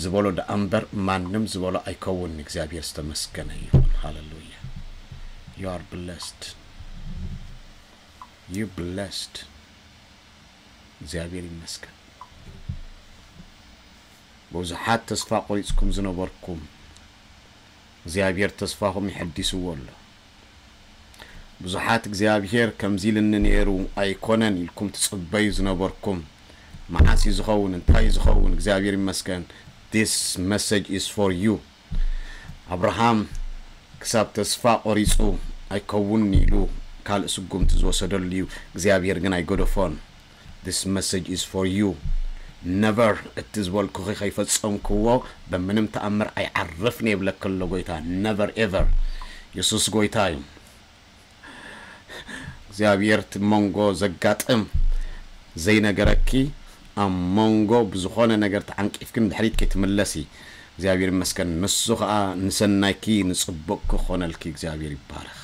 ዝበሎ ደኣ እምበር ማንም ዝበሎ ኣይከውን። እግዚኣብሔር ዝተመስገነ ይኹን። ሃሌሉያ። You are blessed. You blessed. እግዚኣብሔር ይመስገን። ብዙሓት ተስፋ ቆሪጽኩም ዝነበርኩም፣ እግዚኣብሔር ተስፋኹም ይሐዲስዎ ኣሎ። ብዙሓት እግዚኣብሔር ከምዚ ኢልኒ ነይሩ ኣይኮነን ኢልኩም ትጽበዩ ዝነበርኩም፣ መዓስ እዩ ዝኸውን? እንታይ እዩ ዝኸውን? እግዚኣብሔር ይመስገን። This message is for you. ኣብርሃም ክሳብ ተስፋ ቆሪጹ ኣይከውን ኢሉ ካልእ ስጉምቲ ዝወሰደሉ እዩ። እግዚኣብሔር ግን ኣይገደፎን። This message is for you. Never፣ እቲ ዝበልኩኺ ከይፈጸምክዎ በምንም ተኣምር ኣይዓርፍን የብለኪ ኣሎ ጎይታ። Never ever። የሱስ ጎይታ እዩ። እግዚኣብሔር እቲ መንጎ ዘጋጥም ዘይነገረኪ ኣብ መንጎ ብዝኾነ ነገር ተዓንቂፍኪ ንድሕሪት ከይትምለሲ እግዚኣብሔር ይመስገን። ንሱ ኸዓ ንሰናይኪ ንጽቡቕ ክኾነልኪ እግዚኣብሔር ይባረኽ።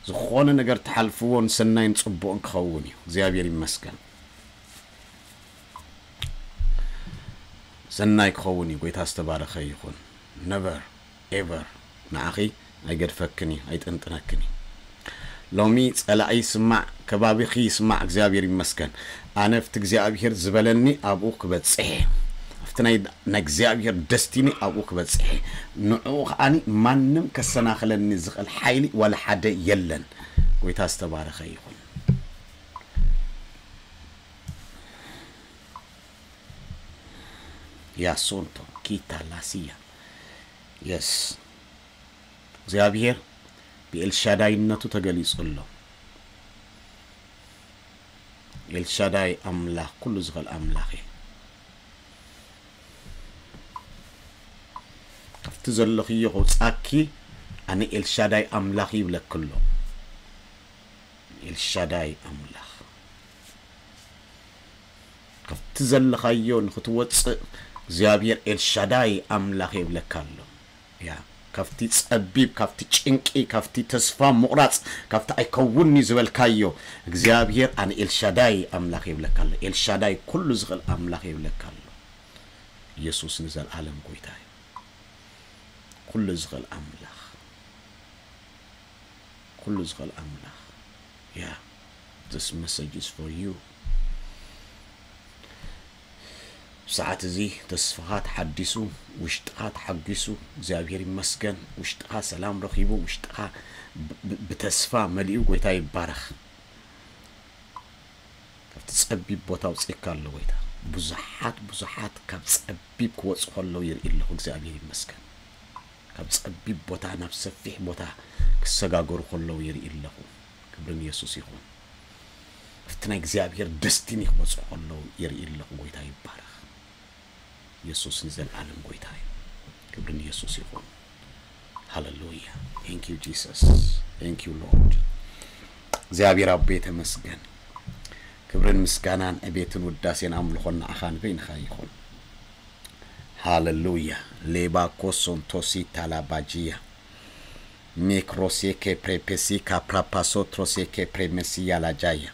ዝኾነ ነገር ትሓልፍዎ ንሰናይን ጽቡቕን ክኸውን እዩ። እግዚኣብሔር ይመስገን። ሰናይ ክኸውን እዩ። ጎይታ ዝተባረኸ ይኹን። Never። ever ንዓኺ ኣይገድፈክን እዩ፣ ኣይጥንጥነክን እዩ። ሎሚ ጸላኢ ይስማዕ፣ ከባቢኺ ይስማዕ፣ እግዚኣብሔር ይመስገን። ኣነ ኣብቲ እግዚኣብሔር ዝበለኒ ኣብኡ ክበጽሕ እየ። ኣብቲ ናይ እግዚኣብሔር ደስቲኒ ኣብኡ ክበጽሕ እየ። ንዕኡ ከዓኒ ማንም ከሰናኽለኒ ዝኽእል ሓይሊ ዋላ ሓደ የለን። ጎይታ ዝተባረኸ ይኹን። ያሶንቶ ኪታ ላሲያ የስ እግዚኣብሔር ብኤልሻዳይነቱ ተገሊጹ ኣሎ። ኤልሻዳይ ኣምላኽ ኩሉ ዝኽእል ኣምላኽ እዩ። ካብቲ ዘለኽዮ ከውጻኪ ኣነ ኤልሻዳይ ኣምላኽ ይብለኪ ኣሎ። ኤልሻዳይ ኣምላኽ ካብቲ ዘለኻዮ ንኽትወጽእ እግዚኣብሔር ኤልሻዳይ ኣምላኽ ይብለካ ኣሎ። ያ ካብቲ ጸቢብ፣ ካብቲ ጭንቂ፣ ካብቲ ተስፋ ምቑራጽ፣ ካብቲ ኣይከውንኒ ዝበልካዮ እግዚኣብሔር ኣነ ኤልሻዳይ ኣምላኽ ይብለካ ኣሎ። ኤልሻዳይ ኩሉ ዝኽእል ኣምላኽ ይብለካ ኣሎ። ኢየሱስ ንዘለዓለም ጎይታ እዩ። ኩሉ ዝኽእል ኣምላኽ ኩሉ ዝኽእል ኣምላኽ yeah this message is for you። ሰዓት እዚ ተስፋኻ ተሓዲሱ፣ ውሽጥኻ ተሓጒሱ፣ እግዚኣብሔር ይመስገን። ውሽጥኻ ሰላም ረኺቡ፣ ውሽጥኻ ብ- ብ- ብተስፋ መሊኡ፣ ጎይታ ይባረኽ። ካብቲ ጸቢብ ቦታ ኣውጺእካ ኣሎ ጎይታ። ብዙሓት ብዙሓት ካብ ጸቢብ ክወጹ ከለዉ ይርኢ ኣለኹ። እግዚኣብሔር ይመስገን። ካብ ጸቢብ ቦታ ናብ ሰፊሕ ቦታ ክሰጋገሩ ከለዉ ይርኢ ኣለኹ። ክብሪ ንየሱስ ይኹን። ኣብቲ ናይ እግዚኣብሔር ደስቲኒ ክበጽሑ ከለዉ ይርኢ ኣለኹ። ጎይታ ይባረኽ። የሱስ ንዘለዓለም ጎይታ እዩ። ክብሪ ንየሱስ ይኹን። ሃለሉያ። Thank you Jesus. Thank you Lord. እግዚኣብሔር ኣቦ የተመስገን። ክብርን ምስጋናን ዕቤትን ውዳሴን ኣምልኾን ንዓኻ ንበይንኻ ይኹን። ሃለሉያ። ሌባ ኮሶን ቶሲ ታላባጂያ ሜክሮሴ ኬፕሬፔሲ ካፕራፓሶ ትሮሴ ኬፕሬመሲ ያላጃያ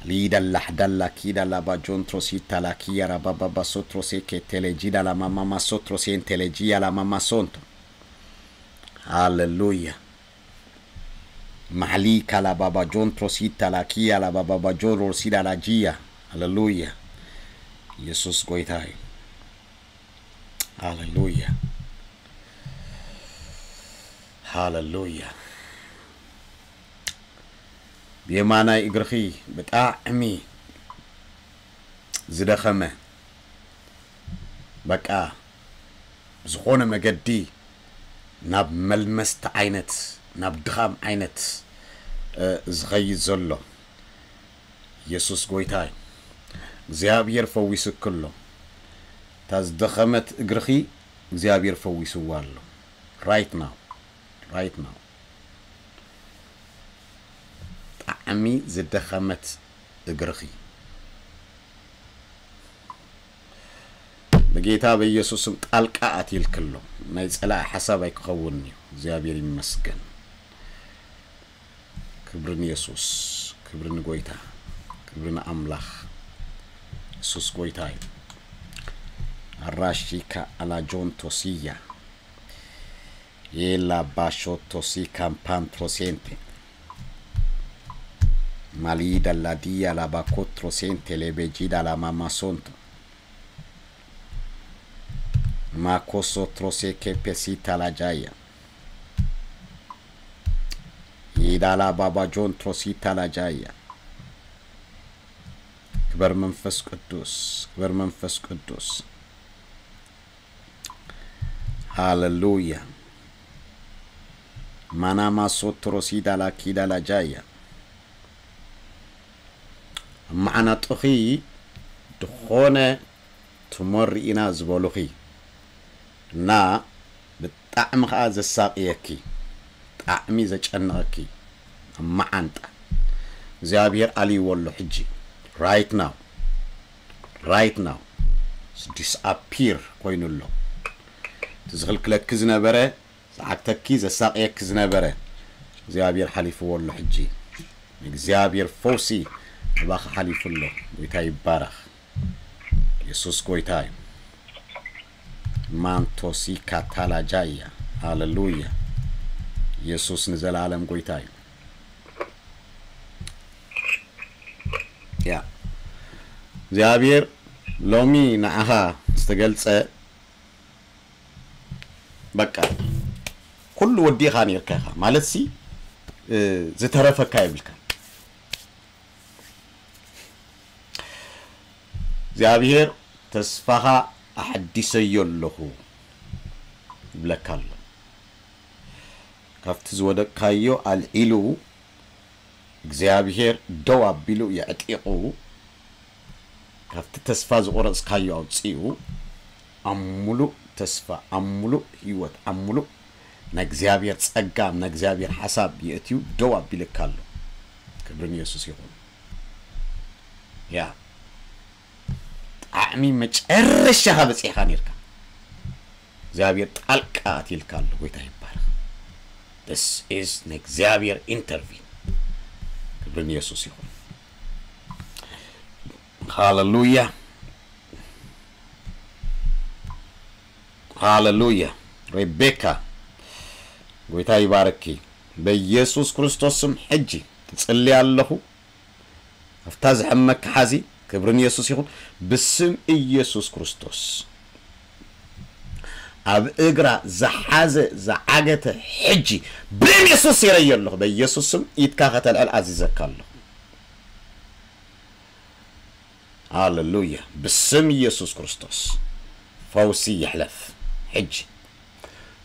ሊዳ ላሕዳላ ኪዳ ላባጆን ትሮሲ ታላኪያ ራባባባሶ ትሮሴ ኬቴሌጂ ዳላማማማሶ ትሮሴ ኢንቴሌጂ ያላማማሶንቶ ሃሌሉያ። ማሕሊ ካላባባጆን ትሮሲ ታላኪያ ላባባባጆን ሮሲ ዳላጂያ ሃሌሉያ። ኢየሱስ ጎይታ እዩ። ሃሌሉያ ሃሌሉያ። ብየማናይ እግርኺ ብጣዕሚ ዝደኸመ በቃ ብዝኾነ መገዲ ናብ መልመስቲ ዓይነት ናብ ድኻም ዓይነት ዝኸይድ ዘሎ ኢየሱስ ጎይታ እዩ። እግዚኣብሔር ፈዊስኪ ኣሎ። እታ ዝደኸመት እግርኺ እግዚኣብሔር ፈዊስዋ ኣሎ። Right now right now ብጣዕሚ ዝደኸመት እግርኺ ብጌታ በኢየሱስም ጣልቃ ኣትይልኪ ኣሎ። ናይ ጸላኢ ሓሳብ ኣይክኸውን እዩ። እግዚኣብሔር ይመስገን። ክብሪ ንየሱስ፣ ክብሪ ንጎይታ፣ ክብሪ ንኣምላኽ። የሱስ ጎይታ እዩ። ኣራሺካ ኣላጆን ቶሲያ የላ ባሾቶ ሲ ካምፓን ትሮሴንቴ ማሊዳ ላዲያ ላባኮ ትሮሴንቴ ሌቤጂዳ ላማማሶንቶ ማኮሶ ትሮሴ ኬፔሲታ ላጃያ ይዳላ ባባጆን ትሮሲታ ላጃያ። ክበር መንፈስ ቅዱስ፣ ክበር መንፈስ ቅዱስ። ሃሌሉያ። ማናማ ሶትሮ ሲዳላ ኪዳላ ጃያ። መዓናጥኺ ድኾነ ትሞሪ ኢና ዝበሉኺ እና ብጣዕሚ ከዓ ዘሳቅየኪ ጣዕሚ ዘጨንቐኪ መዓንጣ እግዚኣብሔር ኣልይዎ ኣሎ ሕጂ right now right now disappear ኮይኑ ኣሎ። እቲ ዝኽልክለኪ ዝነበረ ዝዓግተኪ ዘሳቅየኪ ዝነበረ እግዚኣብሔር ሓሊፍዎ ኣሎ ሕጂ እግዚኣብሔር ፈውሲ እባኺ ሓሊፉ ኣሎ። ጎይታ ይባረኽ። የሱስ ጎይታ እዩ። ማንቶሲ ካታላጃያ። ሃለሉያ። ኢየሱስ ንዘላለም ጎይታ እዩ። ያ እግዚኣብሔር ሎሚ ንዓኻ ዝተገልጸ፣ በቃ ኩሉ ወዲኻ ነርካ ኢኻ ማለት ሲ ዝተረፈካ የብልካ። እግዚኣብሔር ተስፋኻ ኣሐዲሰዮ ኣለኹ ይብለካ ኣሎ። ካብቲ ዝወደቅካዮ ኣልዒሉ እግዚኣብሔር ደው ኣቢሉ የዕጢቑ፣ ካብቲ ተስፋ ዝቆረጽካዮ ኣውጺኡ፣ ኣብ ሙሉእ ተስፋ፣ ኣብ ሙሉእ ህይወት፣ ኣብ ሙሉእ ናይ እግዚኣብሔር ጸጋ፣ ናይ እግዚኣብሔር ሓሳብ የእትዩ ደው ኣቢልካ ኣሎ። ክብሪ ንየሱስ ይኹን። ያ ጣዕሚ መጨረሻኻ በጺሕካ ነርካ። እግዚኣብሔር ጣልቃ ኣትይልካ ኣሎ። ጎይታ ይባረኽ። This is ንእግዚኣብሔር ኢንተርቪን። ክብሪ ንየሱስ ይኹን። ሃለሉያ፣ ሃለሉያ። ሬቤካ፣ ጎይታ ይባርኪ። በኢየሱስ ክርስቶስ ስም ሕጂ ትጽሊ ኣለኹ። ኣብታ ዝሐመካ ሓዚ። ክብሪ ንየሱስ ይኹን። ብስም ኢየሱስ ክርስቶስ ኣብ እግራ ዝሓዘ ዝዓገተ ሕጂ ብደም የሱስ የረዮ ኣለኹ። በኢየሱስ ስም ኢድካ ከተልዕል ኣዚዘካ ኣለኹ። ሃለሉያ። ብስም ኢየሱስ ክርስቶስ ፈውሲ ይሕለፍ ሕጂ።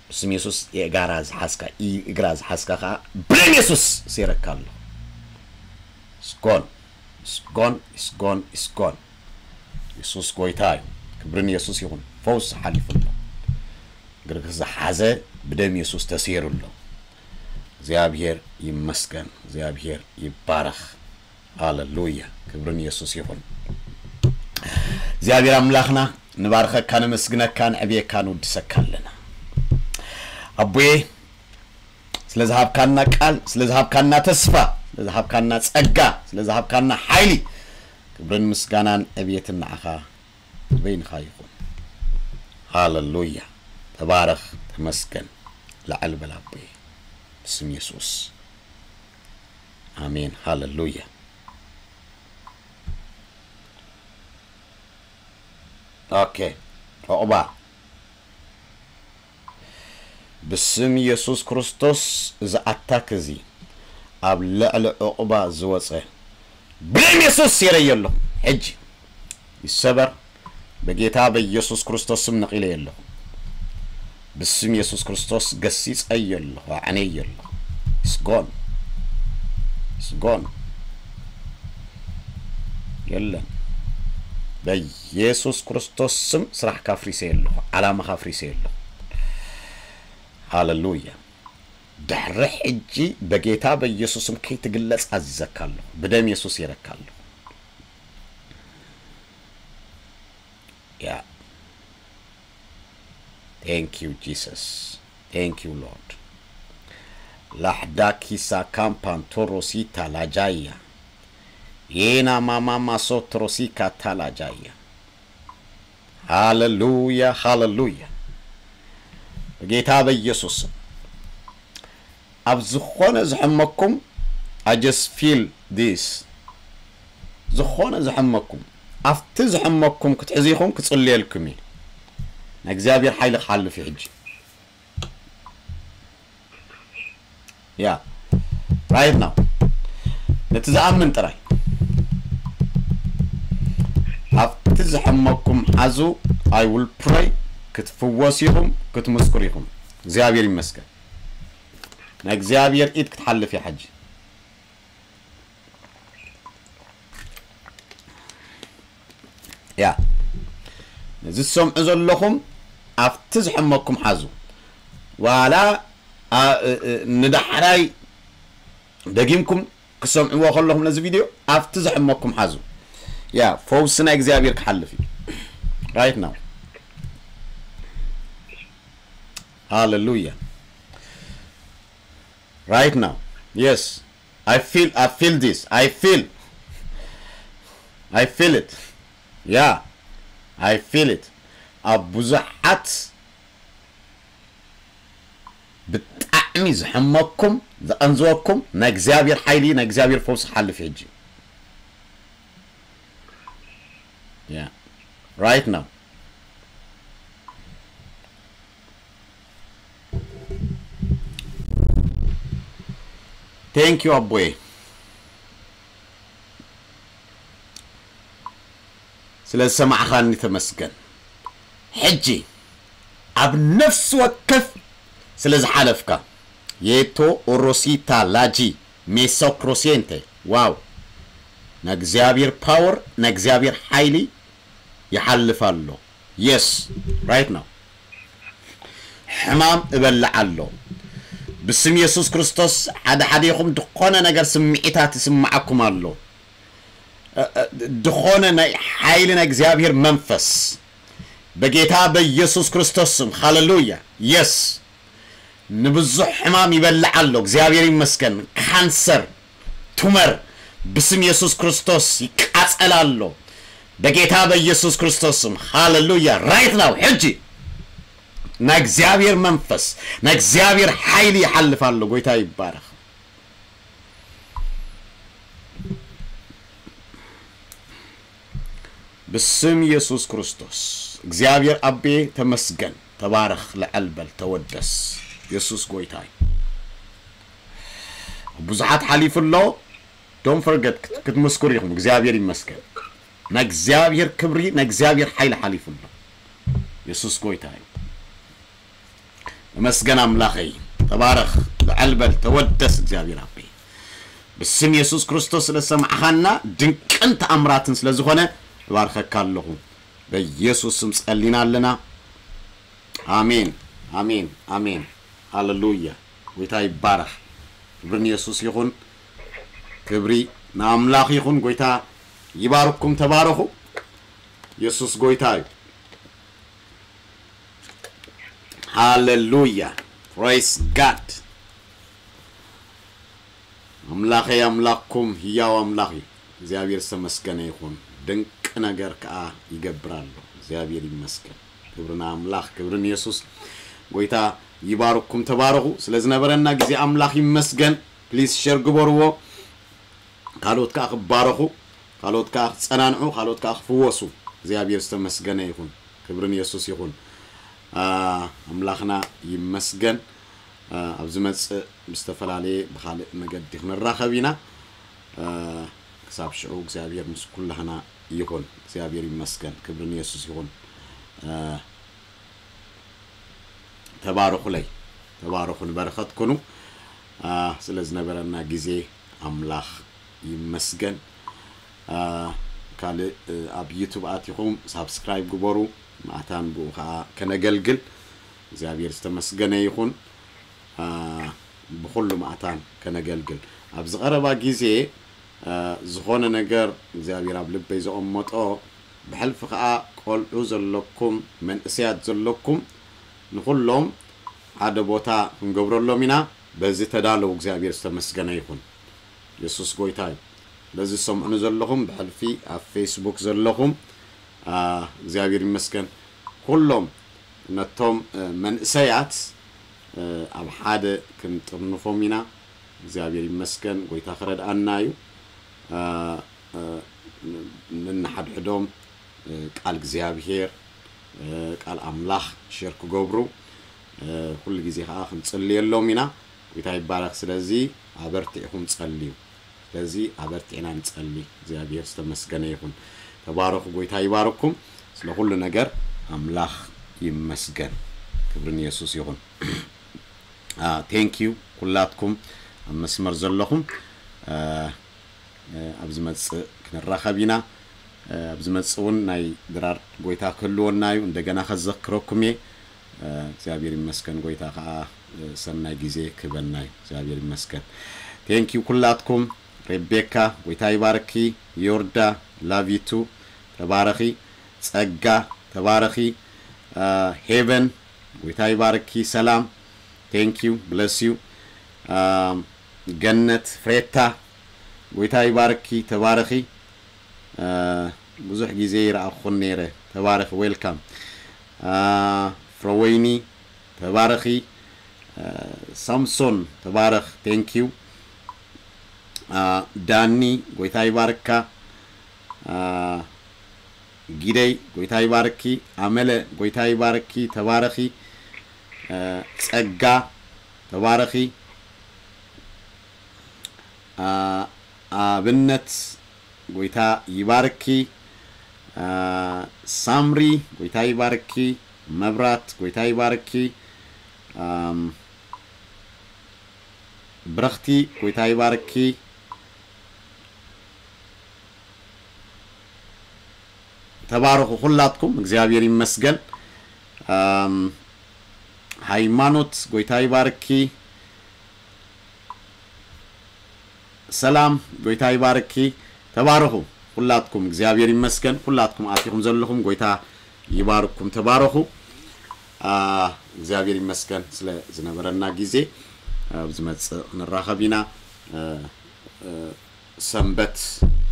ብስም የሱስ የእጋራ ዝሓዝካ፣ ኢ-፣ እግራ ዝሓዝካ ኸዓ ብደም የሱስ ሴረካ ኣሎ። ስጎን፣ ስጎን፣ ስጎን፣ ስጎን። የሱስ ጎይታ እዩ። ክብሪ ንየሱስ ይኹን። ፈውስ ሓሊፉ ኣሎ። እግርክ ዝሓዘ ብደም የሱስ ተሴሩ ኣሎ። እግዚኣብሔር ይመስገን። እግዚኣብሔር ይባረኽ። ሃለሉያ። ክብሪ ንየሱስ ይኹን። እግዚኣብሔር ኣምላኽና ንባርኸካ፣ ነመስግነካ፣ ንዕብየካ፣ ንውድሰካ ኣለና። ኣቦዬ ስለ ዝሃብካና ቃል፣ ስለ ዝሃብካና ተስፋ፣ ስለ ዝሃብካና ጸጋ፣ ስለ ዝሃብካና ሓይሊ ክብርን ምስጋናን ዕብየትን ንዓኻ በይንኻ ይኹን። ሃለሉያ። ተባረኽ፣ ተመስገን። ላዕል በል ኣቦዬ ብስም የሱስ። ኣሜን። ሃለሉያ። ኦኬ። ዑቕባ። ብስም የሱስ ክርስቶስ እዚ ኣታክ እዚ ኣብ ልዕሊ ዑቕባ ዝወፀ ብደም የሱስ ሴረዮ ኣለኹ። ሕጂ ይሰበር። በጌታ በኢየሱስ ክርስቶስ ስም ነቒለዮ ኣለኹ። ብስም የሱስ ክርስቶስ ገሲጸዮ ኣለኹ፣ ኣዕነዮ ኣለኹ። ስጎን፣ ስጎን። የለን። በኢየሱስ ክርስቶስ ስም ስራሕካ ኣፍሪሰዮ ኣለኹ፣ ዓላማኻ ኣፍሪሰዮ ኣለኹ። ሃለሉያ። ድሕሪ ሕጂ በጌታ በኢየሱስ ስም ከይትግለጽ ኣዚዘካ ኣለኹ። ብደም የሱስ ሴረካ ኣለኹ። ያ። Thank you, Jesus. Thank you, Lord. ላሕዳ ኪሳ ካምፓን ቶሮሲታ ላጃያ። የና ማማማ ሶትሮሲካ ታላጃያ። ሃለሉያ፣ ሃለሉያ። በጌታ በኢየሱስ ስም። ኣብ ዝኾነ ዝሐመኩም፣ I just feel this። ዝኾነ ዝሐመኩም፣ ኣብቲ ዝሐመኩም ክትሕዙ ኢኹም፣ ክጽልየልኩም እየ። ናይ እግዚኣብሔር ሓይሊ ክሓልፍ እዩ ሕጂ። ያ፣ right now። ነቲ ዝኣምን ጥራይ። ኣብቲ ዝሐመኩም ሓዙ፣ I will pray። ክትፍወሱ ኢኹም፣ ክትምስክሩ ኢኹም። እግዚኣብሔር ይመስገን። ናይ እግዚኣብሔር ኢድ ክትሓልፍ እያ ሕጂ። ያ፣ ነዚ ትሰምዑ ዘለኹም ኣብቲ ዝሐመኩም ሓዙ። ዋላ፣ ኣ-፣ እ-፣ እ-፣ ንዳሕራይ ደጊምኩም ክሰምዕዎ ከለኹም ነዚ ቪድዮ ኣብቲ ዝሐመኩም ሓዙ። ያ፣ ፈውሲ ናይ እግዚኣብሔር ክሓልፍ እዩ። Right now። ሃለሉያ። Right now. Yes. I feel, I feel this. I feel. I feel it. Yeah. I feel it. ኣብ ብዙሓት ብጣዕሚ ዝሕመኩም፣ ዘቐንዝወኩም፣ ናይ እግዚኣብሔር ሓይሊ፣ ናይ እግዚኣብሔር ፈውሲ ሓልፍ ሕጂ። Yeah. Right now. Thank you ኣቦየ፣ ስለ ዝሰማዕኻኒ ተመስገን። ሕጂ ኣብ ነፍሲ ወከፍ ስለ ዝሓለፍካ፣ የቶ ኦሮሲታ ላጂ ሜሶክሮሴንቴ፣ ዋው፣ ናይ እግዚኣብሔር ፓወር፣ ናይ እግዚኣብሔር ሓይሊ ይሓልፍ ኣሎ። Yes, right now ሕማም እበልዕ ኣሎ። ብስም የሱስ ክርስቶስ ሓደ ሓደኹም ዝኾነ ነገር ስምዒታት ይስምዓኩም ኣሎ። እ፣ እ፣ ዝኾነ ናይ ሓይሊ ናይ እግዚኣብሔር መንፈስ በጌታ በኢየሱስ ክርስቶስ ስም፣ ሃሌሉያ። Yes፣ ንብዙሕ ሕማም ይበልዕ ኣሎ። እግዚኣብሔር ይመስገን። ካንሰር፣ ቱመር ብስም የሱስ ክርስቶስ ይቃጸል ኣሎ በጌታ በኢየሱስ ክርስቶስ ስም። ሃሌሉያ። Right now ሕጂ ናይ እግዚኣብሔር መንፈስ፣ ናይ እግዚኣብሔር ሓይሊ ይሓልፍ ኣሎ። ጎይታ ይባረኽ። ብስም የሱስ ክርስቶስ እግዚኣብሔር ኣቤ ተመስገን። ተባረኽ፣ ልዐል በል፣ ተወደስ። የሱስ ጎይታ እዩ። ብዙሓት ሓሊፉ ኣሎ። Don't forget ክት-፣ ክትምስክሩ ኢኹም። እግዚኣብሔር ይመስገን። ናይ እግዚኣብሔር ክብሪ፣ ናይ እግዚኣብሔር ሓይሊ ሓሊፉ ኣሎ። የሱስ ጎይታ እዩ። ተመስገን ኣምላኸይ። ተባረኽ፣ ልዐል በል፣ ተወደስ እግዚኣብሔር ኣቤ። ብስም የሱስ ክርስቶስ ስለ ዝሰማዕኻና ድንቅን ተኣምራትን ስለ ዝኾነ እባርኸካ ኣለኹ። በኢየሱስ ስም ጸሊና ኣለና። ኣሜን፣ ኣሜን፣ ኣሜን። ሃሌሉያ። ጎይታ ይባረኽ። ክብሪ ንየሱስ ይኹን። ክብሪ ንኣምላኽ ይኹን። ጎይታ ይባርኩም። ተባረኹ። የሱስ ጎይታ እዩ። ሃሌሉያ። Praise God። ኣምላኸይ ኣምላኽኩም፣ ህያው ኣምላኽ እዩ። እግዚኣብሔር ዝተመስገነ ይኹን። ድንቅ ነገር ከኣ ይገብር ኣሎ። እግዚኣብሔር ይመስገን። ክብሪ ንኣምላኽ፣ ክብሪ ንየሱስ። ጎይታ ይባርኩም፣ ተባረኹ። ስለ ዝነበረና ግዜ ኣምላኽ ይመስገን። ፕሊዝ ሸር ግበርዎ። ካልኦት ከኣ ክባረኹ፣ ካልኦት ከኣ ክጸናንዑ፣ ካልኦት ከኣ ክፍወሱ እግዚኣብሔር ዝተመስገነ ይኹን። ክብሪ ንየሱስ ይኹን። ኣ፣ ኣምላኽና ይመስገን። ኣ፣ ኣብ ዝመጽእ ብዝተፈላለየ ብኻልእ መገዲ ክንራኸብ ኢና። ኣ፣ ክሳብ ሽዑ እግዚኣብሔር ምስ ኩላህና ይኹን። እግዚኣብሔር ይመስገን። ክብሪ ንየሱስ ይኹን። ኣ፣ ተባረኹለይ፣ ተባረኹ፣ ንበረኸት ኩኑ። ኣ፣ ስለ ዝነበረና ግዜ ኣምላኽ ይመስገን። ኣ፣ ካልእ፣ እ፣ ኣብ ዩቱብ ኣቲኹም ሳብስክራይብ ግበሩ፣ ማእታን ብኡ ኸኣ ከነገልግል። እግዚኣብሔር ዝተመስገነ ይኹን። ኣ፣ ብኹሉ ማእታን ከነገልግል። ኣብዚ ቀረባ ግዜ፣ ኣ፣ ዝኾነ ነገር እግዚኣብሔር ኣብ ልበይ ዘቐመጦ፣ ብሕልፊ ኸኣ ቆልዑ ዘለኩም፣ መንእሰያት ዘለኩም፣ ንኹሎም ሓደ ቦታ ክንገብረሎም ኢና። በዚ ተዳለዉ። እግዚኣብሔር ዝተመስገነ ይኹን። የሱስ ጎይታ እዩ። በዚ ዝሰምዑኒ ዘለኹም፣ ብሕልፊ ኣብ ፌስቡክ ዘለኹም፣ ኣ፣ እግዚኣብሔር ይመስገን። ኩሎም ነቶም፣ እ፣ መንእሰያት፣ እ፣ ኣብ ሓደ ክንጥርንፎም ኢና። እግዚኣብሔር ይመስገን። ጎይታ ክረድኣና እዩ። ኣ፣ እ፣ ን-፣ ንንሓድሕዶም፣ እ፣ ቃል እግዚኣብሔር፣ እ፣ ቃል ኣምላኽ ሼር ክገብሩ፣ እ፣ ኩሉ ግዜ ኸኣ ክንጽልየሎም ኢና። ጎይታ ይባረኽ። ስለዚ ኣበርቲዕኹም ጸልዩ። ስለዚ ኣበርቲዕና ንጸሊ። እግዚኣብሔር ዝተመስገነ ይኹን። ተባረኹ። ጎይታ ይባርኩም። ስለ ኩሉ ነገር ኣምላኽ ይመስገን። ክብሪ ንየሱስ ይኹን። ኣ፣ ቴንክ ዩ ኩላትኩም ኣብ መስመር ዘለኹም። ኣ፣ እ፣ ኣብ ዝመጽእ ክንራኸብ ኢና። እ፣ ኣብ ዝመጽእ እውን ናይ ድራር ጎይታ ክህልወና እዩ። እንደገና ከዘክረኩም እየ። እ፣ እግዚኣብሔር ይመስገን፣ ጎይታ ኸኣ፣ እ፣ ሰናይ ግዜ ክህበና እዩ። እግዚኣብሔር ይመስገን። ቴንክ ዩ ኩላትኩም። ሬቤካ፣ ጎይታ ይባርኪ። ዮርዳ፣ ላቭ ዩ ቱ። ተባረኺ። ጸጋ፣ ተባረኺ። እ፣ ሄቨን፣ ጎይታ ይባርኪ። ሰላም፣ ቴንክ ዩ፣ ብለስ ዩ። እ፣ ገነት፣ ፍሬታ፣ ጎይታ ይባርኪ፣ ተባረኺ። እ፣ ብዙሕ ግዜ ይረኣኹን ነይረ። ተባረኺ፣ ዌልካም። እ፣ ፍረወይኒ፣ ተባረኺ። ሳምሶን ተባረኽ። Thank you። ዳኒ ጎይታ ይባርካ። ጊደይ ጎይታ ይባርኪ። ኣመለ ጎይታ ይባርኪ። ተባረኺ። ጸጋ ተባረኺ። ኣብነት ጎይታ ይባርኪ። ሳምሪ ጎይታ ይባርኪ። መብራት ጎይታ ይባርኪ። ብረኽቲ ጎይታ ይባርኪ። ተባረኹ ኩላትኩም፣ እግዚኣብሔር ይመስገን። ሃይማኖት ጎይታ ይባርኪ። ሰላም ጎይታ ይባርኪ። ተባረኹ ኩላትኩም፣ እግዚኣብሔር ይመስገን። ኩላትኩም ኣቲኹም ዘለኹም ጎይታ ይባርኩም፣ ተባረኹ። እግዚኣብሔር ይመስገን ስለ ዝነበረና ግዜ። ኣብ ዝመጽእ ክንራኸብ ኢና። ሰንበት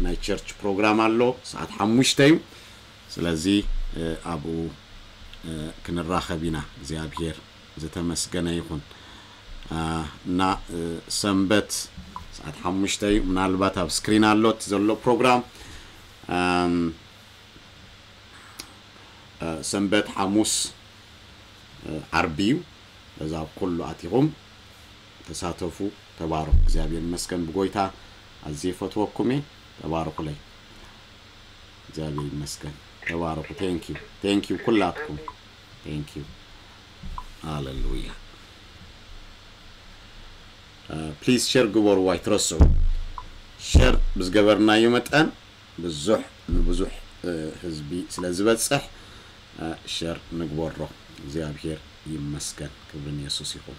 ናይ ቸርች ፕሮግራም ኣሎ፣ ሰዓት ሓሙሽተ እዩ። ስለዚ ኣብኡ ክንራኸብ ኢና። እግዚኣብሔር ዝተመስገነ ይኹን። እና ሰንበት ሰዓት ሓሙሽተ እዩ። ምናልባት ኣብ ስክሪን ኣሎ እቲ ዘሎ ፕሮግራም። ሰንበት፣ ሓሙስ፣ ዓርቢ እዩ። በዛ ኣብ ኩሉ ኣቲኹም ተሳተፉ፣ ተባረኹ። እግዚኣብሔር ይመስገን ብጎይታ ኣዝየ ይፈትወኩም እየ። ተባረኹለይ። እግዚኣብሔር ይመስገን። ተባረኹ። Thank you። Thank you ኩላትኩም። Thank you። ሃሌሉያ። ፕሊዝ ሸር ግበሩ፣ ኣይትረስዑ። ሸር ብዝገበርናዮ መጠን ብዙሕ ንብዙሕ ህዝቢ ስለ ዝበጽሕ ሸር ንግበሮ። እግዚኣብሔር ይመስገን። ክብሪ ንየሱስ ይኹን።